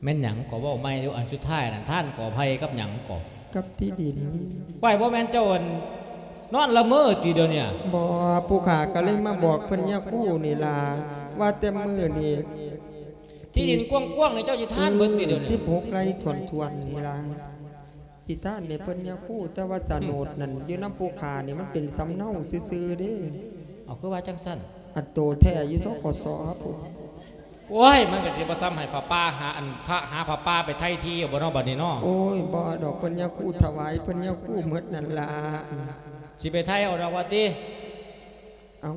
ແມ່ນຫຍັງກໍເວົ້າໃໝ່ດູ ອັນສຸດທ້າຍນັ້ນ ທ່ານກໍໄພກັບຫຍັງກໍ? ກັບທີ່ດິນ. ໄວ້ ບໍ່ແມ່ນເຈົ້າ ອັນ ນອນລະເມີຕິດຽວນີ້? ບໍ່, ຜູ້ຂ້າກະເລີຍມາບອກເພິ່ນຍາຄູນີ້ລະ ວ່າແຕ່ມື້ນີ້ ທີ່ດິນກວ້າງໆນີ້ເຈົ້າຊິທານເບິດຕິດຽວນີ້? ສິບຫົກໄຮ່ຖ້ວນໆນີ້ລະ ຊິທານໃຫ້ເພິ່ນຍາຄູ, ແຕ່ວ່າສະໂໜດນັ້ນ ຢູ່ນຳຜູ້ຂ້ານີ້ມັນເປັນສຳເນົາຊື່ໆເດ້. ເອົາ ຄືວ່າຈັ່ງຊັ້ນ? ອັນໂຕແທ້ຢູ່ ທກສ ພຸ້ນ. ໂອ້ຍ ມັນກະຊິບໍ່ສ່ຳໃຫ້ພະປ່າຫາ ອັນ ພະ ຫາພະປ່າໄປໄຖ່ທີ່ເອົາບໍ່ເນາະ ບັດນີ້ເນາະ? ໂອ້ຍ ບໍ່ດອກ, ເພິ່ນຍາຄູຖວາຍເພິ່ນຍາຄູໝົດນັ້ນລະ. ຊິໄປໄຖ່ເອົາດອກວ່າຕິ? ເອົາ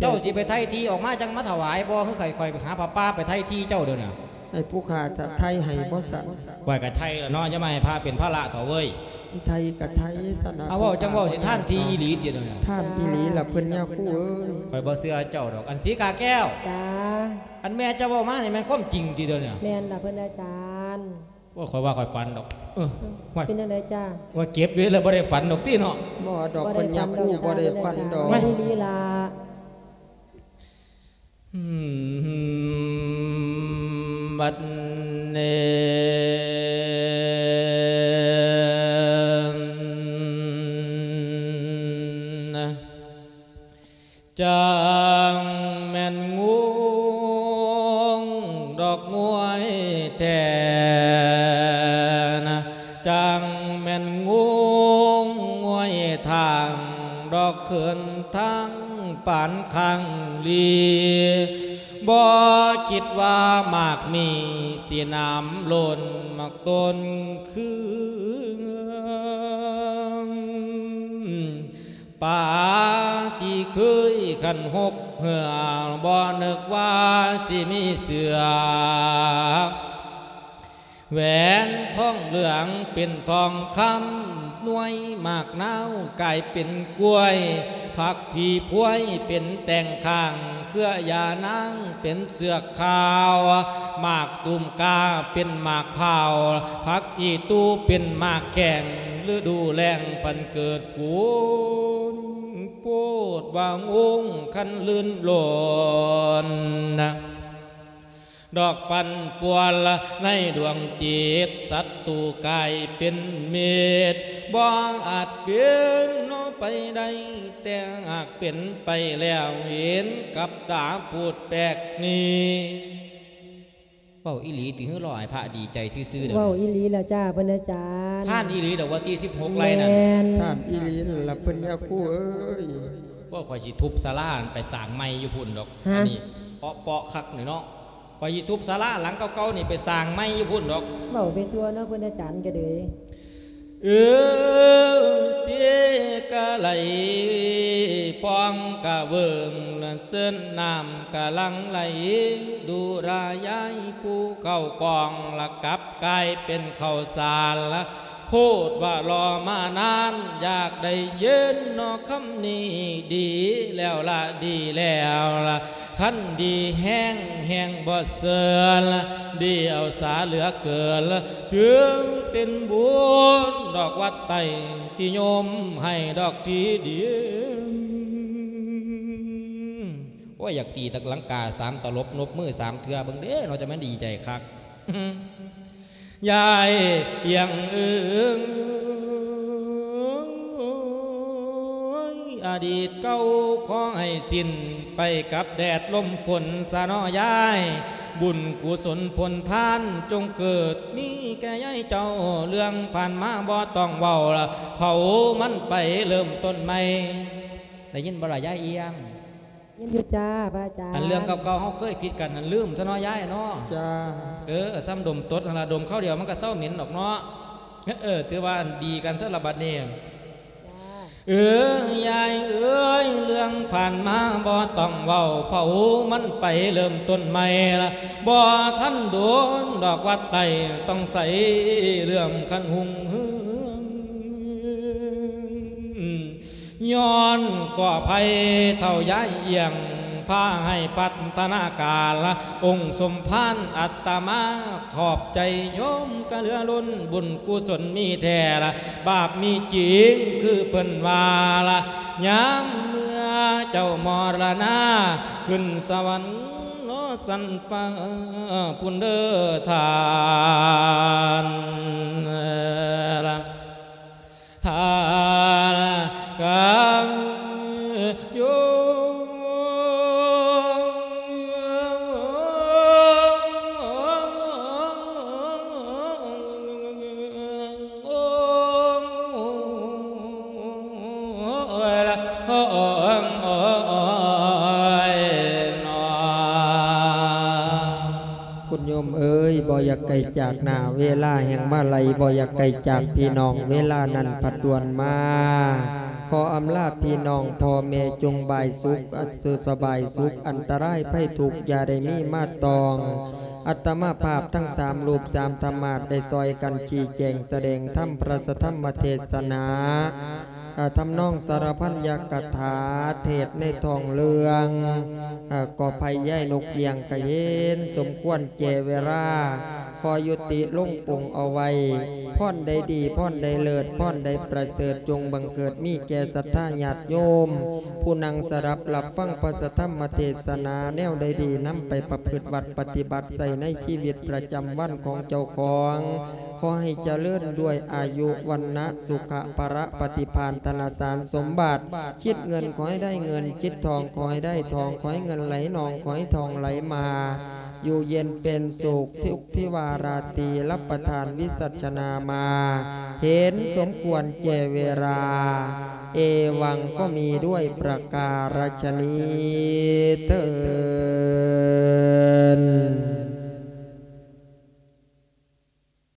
ເຈົ້າຊິໄປໄຖ່ທີ່ອອກມາຈັ່ງມາຖວາຍບໍ່? ຄືຂ້ອຍ ຂ້ອຍໄປຫາພະປ່າໄປໄຖ່ທີ່ເຈົ້າດຽວນີ້? ໃຫ້ຜູ້ຂ້າໄຖ່ໃຫ້ບໍ່ຊັ້ນ? ຂ້ອຍກະໄຖ່ລະເນາະ, ຢ່າມາໃຫ້ພະເປັນພາລະເຖາະເວີຍ. ໄຖ່ກະໄຖ່ຊັ້ນນະ. ເອົາ ເວົ້າຈັ່ງເວົ້າ ຊິທານທີ່ອີ່ຫຼີຕິດຽວນີ້? ທານອີ່ຫຼີລະເພິ່ນຍາຄູເອີຍ. ຂ້ອຍບໍ່ເຊື່ອເຈົ້າດອກ. ອັນສີກາແກ້ວ. ຈ້າ. ອັນແມ່ເຈົ້າເວົ້າມານີ້ແມ່ນຄວາມຈິງຕິດຽວນີ້? ແມ່ນລະເພິ່ນອາຈານ. ໂອ້ຍ ຂ້ອຍວ່າຂ້ອຍຝັນດອກ. ເອີ ເອີ ຫ້ວຍ ເປັນຈັ່ງໃດຈ້າ? ວ່າເຈັບເວລາບໍ່ໄດ້ຝັນດອກຕິເນາະ. ບໍ່ດອກ ເພິ່ນຍາຄູບໍ່ໄດ້ຝັນດອກ. ແມ່ນອີ່ຫຼີລະ. ອືມ ບັດນີ້ ຈັ່ງແມ່ນງວງດອກງວຍແທ້ນະ, ຈັ່ງແມ່ນງວງງວຍທາງດອກເຂີນທາງປານຄັງລີ, ບໍ່ຄິດວ່າໝາກມີຊິນ້ຳລົ້ນໝາກຕົ້ນຄື ປາທີ່ເຄີຍຂັນຫົກເຫື່ອ ບໍ່ນຶກວ່າຊິມີເສືອ ແຫວນທອງເຫຼືອງເປັນທອງຄຳ ໜ່ວຍໝາກນາວກາຍເປັນກ້ວຍ ຜັກພີພວຍເປັນແຕ່ງຂ້າງ ເຄືອຢານາງເປັນເຊືອກຂາວ ໝາກຕູມກາເປັນໝາກພ້າວ ຜັກອີຕູເປັນໝາກແຂ້ງ ລະດູແລ້ງປັນເກີດຝົນ ໂພດວ່າງົງຄັນລື່ນລົນ ດອກປັ່ນປ່ວນລະໃນດວງຈິດ ສັດຕູກາຍເປັນມິດ ບໍ່ອາດເປັນເນາະໄປໄດ້ ແຕ່ຫາກເປັນໄປແລ້ວ ເຫັນກັບຕາພູດແປກນີ້ ເວົ້າອີ່ຫຼີຕິ ຫຼືລໍໃຫ້ພະດີໃຈຊື່ໆເດີ? ເວົ້າອີ່ຫຼີລະຈ້າ ເພິ່ນອາຈານ. ທ່ານອີ່ຫຼີດອກ ວັນທີສິບຫົກໄລ່ນັ້ນ ແມ່ນ ທ່ານອີ່ຫຼີລະເພິ່ນຍາຄູເອີຍ. ໂອ້ຍ ຂ້ອຍຊິທຸບສາລາໄປສ້າງໃໝ່ຢູ່ພຸ້ນດອກ. ຮະ? ອັນນີ້ເປາະໆຄັກນີ້ເນາະ. ຂ້ອຍຊິທຸບສາລາຫຼັງເກົ່າໆນີ້ໄປສ້າງໃໝ່ຢູ່ພຸ້ນດອກ. ເວົ້າໄປທົ່ວເນາະ ເພິ່ນອາຈານກະເດີຍ. ເອີ ເຊກະໄຫຼ ປ່ອງກະເວີງ ເຊີນນ້ຳກະຫຼັ່ງໄຫຼ ດູລາຍາຍພູເຂົ້າກອງ ລະກັບກາຍເປັນເຂົ້າສານ ລະໂພດວ່າລໍມານານ ຢາກໄດ້ເຢັນເນາະຄຳນີ້ ດີແລ້ວລະ ດີແລ້ວລະ. ຄັນດີແຮງ ແຮງບໍ່ເຊີນ ດີເອົາສາເຫຼືອເກີນ ຖືເປັນບຸນດອກວັດໄຕ ທີ່ໂຍມໃຫ້ດອກທີ່ດີ. ໂອ້ຍ ຢາກຕີຕະລັງກາສາມຕະຫຼົບ ນົບມືສາມເທື່ອເບິ່ງເດ້ເນາະ ຈະແມ່ນດີໃຈຄັກ. ຍາຍອຽງເອີຍ ອະດີດເກົ່າຂໍໃຫ້ສິ້ນໄປກັບແດດລົມຝົນຊະເນາະຍາຍ. ບຸນກຸສົນຜົນທານຈົ່ງເກີດມີແກ່ຍາຍເຈົ້າ ເລື່ອງຜ່ານມາບໍ່ຕ້ອງເວົ້າລະ ເຜົາມັນໄປເລີ່ມຕົ້ນໃໝ່. ໄດ້ຍິນບໍ່ລະຍາຍອຽງ? ຍິນຢູ່ຈ້າ ພະອາຈານ. ອັນເລື່ອງເກົ່າໆ ເຮົາເຄີຍຜິດກັນຫັ້ນລືມຊະເນາະຍາຍເນາະ. ຈ້າ. ເອີ ສ່ຳດົມຕົດຫັ້ນລະ ດົມຄາວດຽວມັນກະເຊົາເໝັນດອກເນາະ. ເອີ ຖືວ່າອັນດີກັນເທື່ອລະບັດນີ້. ຈ້າ. ເອີ ຍາຍເອີຍ ເລື່ອງຜ່ານມາບໍ່ຕ້ອງເວົ້າ ເຜົາມັນໄປເລີ່ມຕົ້ນໃໝ່ລະ ບໍ່ທັນດົນດອກວັດໄຕ ຕ້ອງໃສ່ເລື່ອມຄັນຮຸ່ງເຮືອງ. ຍ້ອນກໍໄພເຖົ້າຍາຍອຽງ ພາໃຫ້ພັດທະນາການລະ ອົງສົມພານອັດຕະມາ ຂອບໃຈໂຍມກະເຫຼືອລົ້ນ ບຸນກຸສົນມີແທ້ລະ ບາບມີຈິງຄືເພິ່ນວ່າລະ ຍາມເມື່ອເຈົ້າມໍລະນາ ຂຶ້ນສະຫວັນເນາະຊັ້ນຟ້າພຸ້ນເດີທ່ານ. ທ່ານກະໂຍ ໂອ້ຍລະ ໂອ້ຍ ໂອ້ຍ ໂອ້ຍ ໂອ້ຍ ເນາະ. ຄຸນໂຍມເອີຍ ບໍ່ຢາກໄກຈາກໜ້າເວລາ ແຮ່ງມາໄລ ບໍ່ຢາກໄກຈາກພີ່ນ້ອງ ເວລານັ້ນພັດດ່ວນມາ. ຂໍອຳລາພີ່ນ້ອງ ພໍ່ແມ່ຈົ່ງບາຍສຸກ ອາ ສຸຂະບາຍສຸກ ອັນຕະລາຍໄພທຸກຢ່າໄດ້ມີມາຕ້ອງ. ອາດຕະມາພາບທັງສາມຮູບສາມທຳມາດ ໄດ້ຊ່ອຍກັນຊີ້ແຈງສະແດງທຳ ພະລະສະທຳມະເທດສະໜາ ອາ ທຳນອງສາລະພັນຍະກະຖາ ເທດໃນທ້ອງເລື່ອງ ອາ ກໍໄພຍາຍນົກອຽງກະເຫັນສົມຄວນແກ່ເວລາ ຂໍຍຸຕິລົງປົງເອົາໄວ້ ພອນໃດດີ ພອນໃດເລີດ ພອນໃດປະເສີດ ຈົ່ງບັງເກີດມີແກ່ສັດທາຍາດໂຍມ ຜູ້ນັ່ງສະດັບຮັບຟັງພະສະທຳມະເທດສະໜາ ແນວໃດດີນຳໄປປະພຶດວັດປະຕິບັດໃຊ້ໃນຊີວິດປະຈຳວັນຂອງເຈົ້າຂອງ ຂໍໃຫ້ຈະເລີນດ້ວຍອາຍຸ ວັນນະ ສຸຂະ ພະລະ ປະຕິພານ ທະນະສານສົມບັດ ຄິດເງິນຂໍໃຫ້ໄດ້ເງິນ ຄິດທອງຂໍໃຫ້ໄດ້ທອງ ຂໍໃຫ້ເງິນໄຫຼນອງ ຂໍໃຫ້ທອງໄຫຼມາ ຢູ່ເຢັນເປັນສຸກ ທຸກທິວາລາຕີ ຮັບປະທານວິສັດຊະນາມາ ເຫັນສົມຄວນແກ່ເວລາ ເອວັງ ກໍມີດ້ວຍປະກາລະຊະນີເທີ້ນ.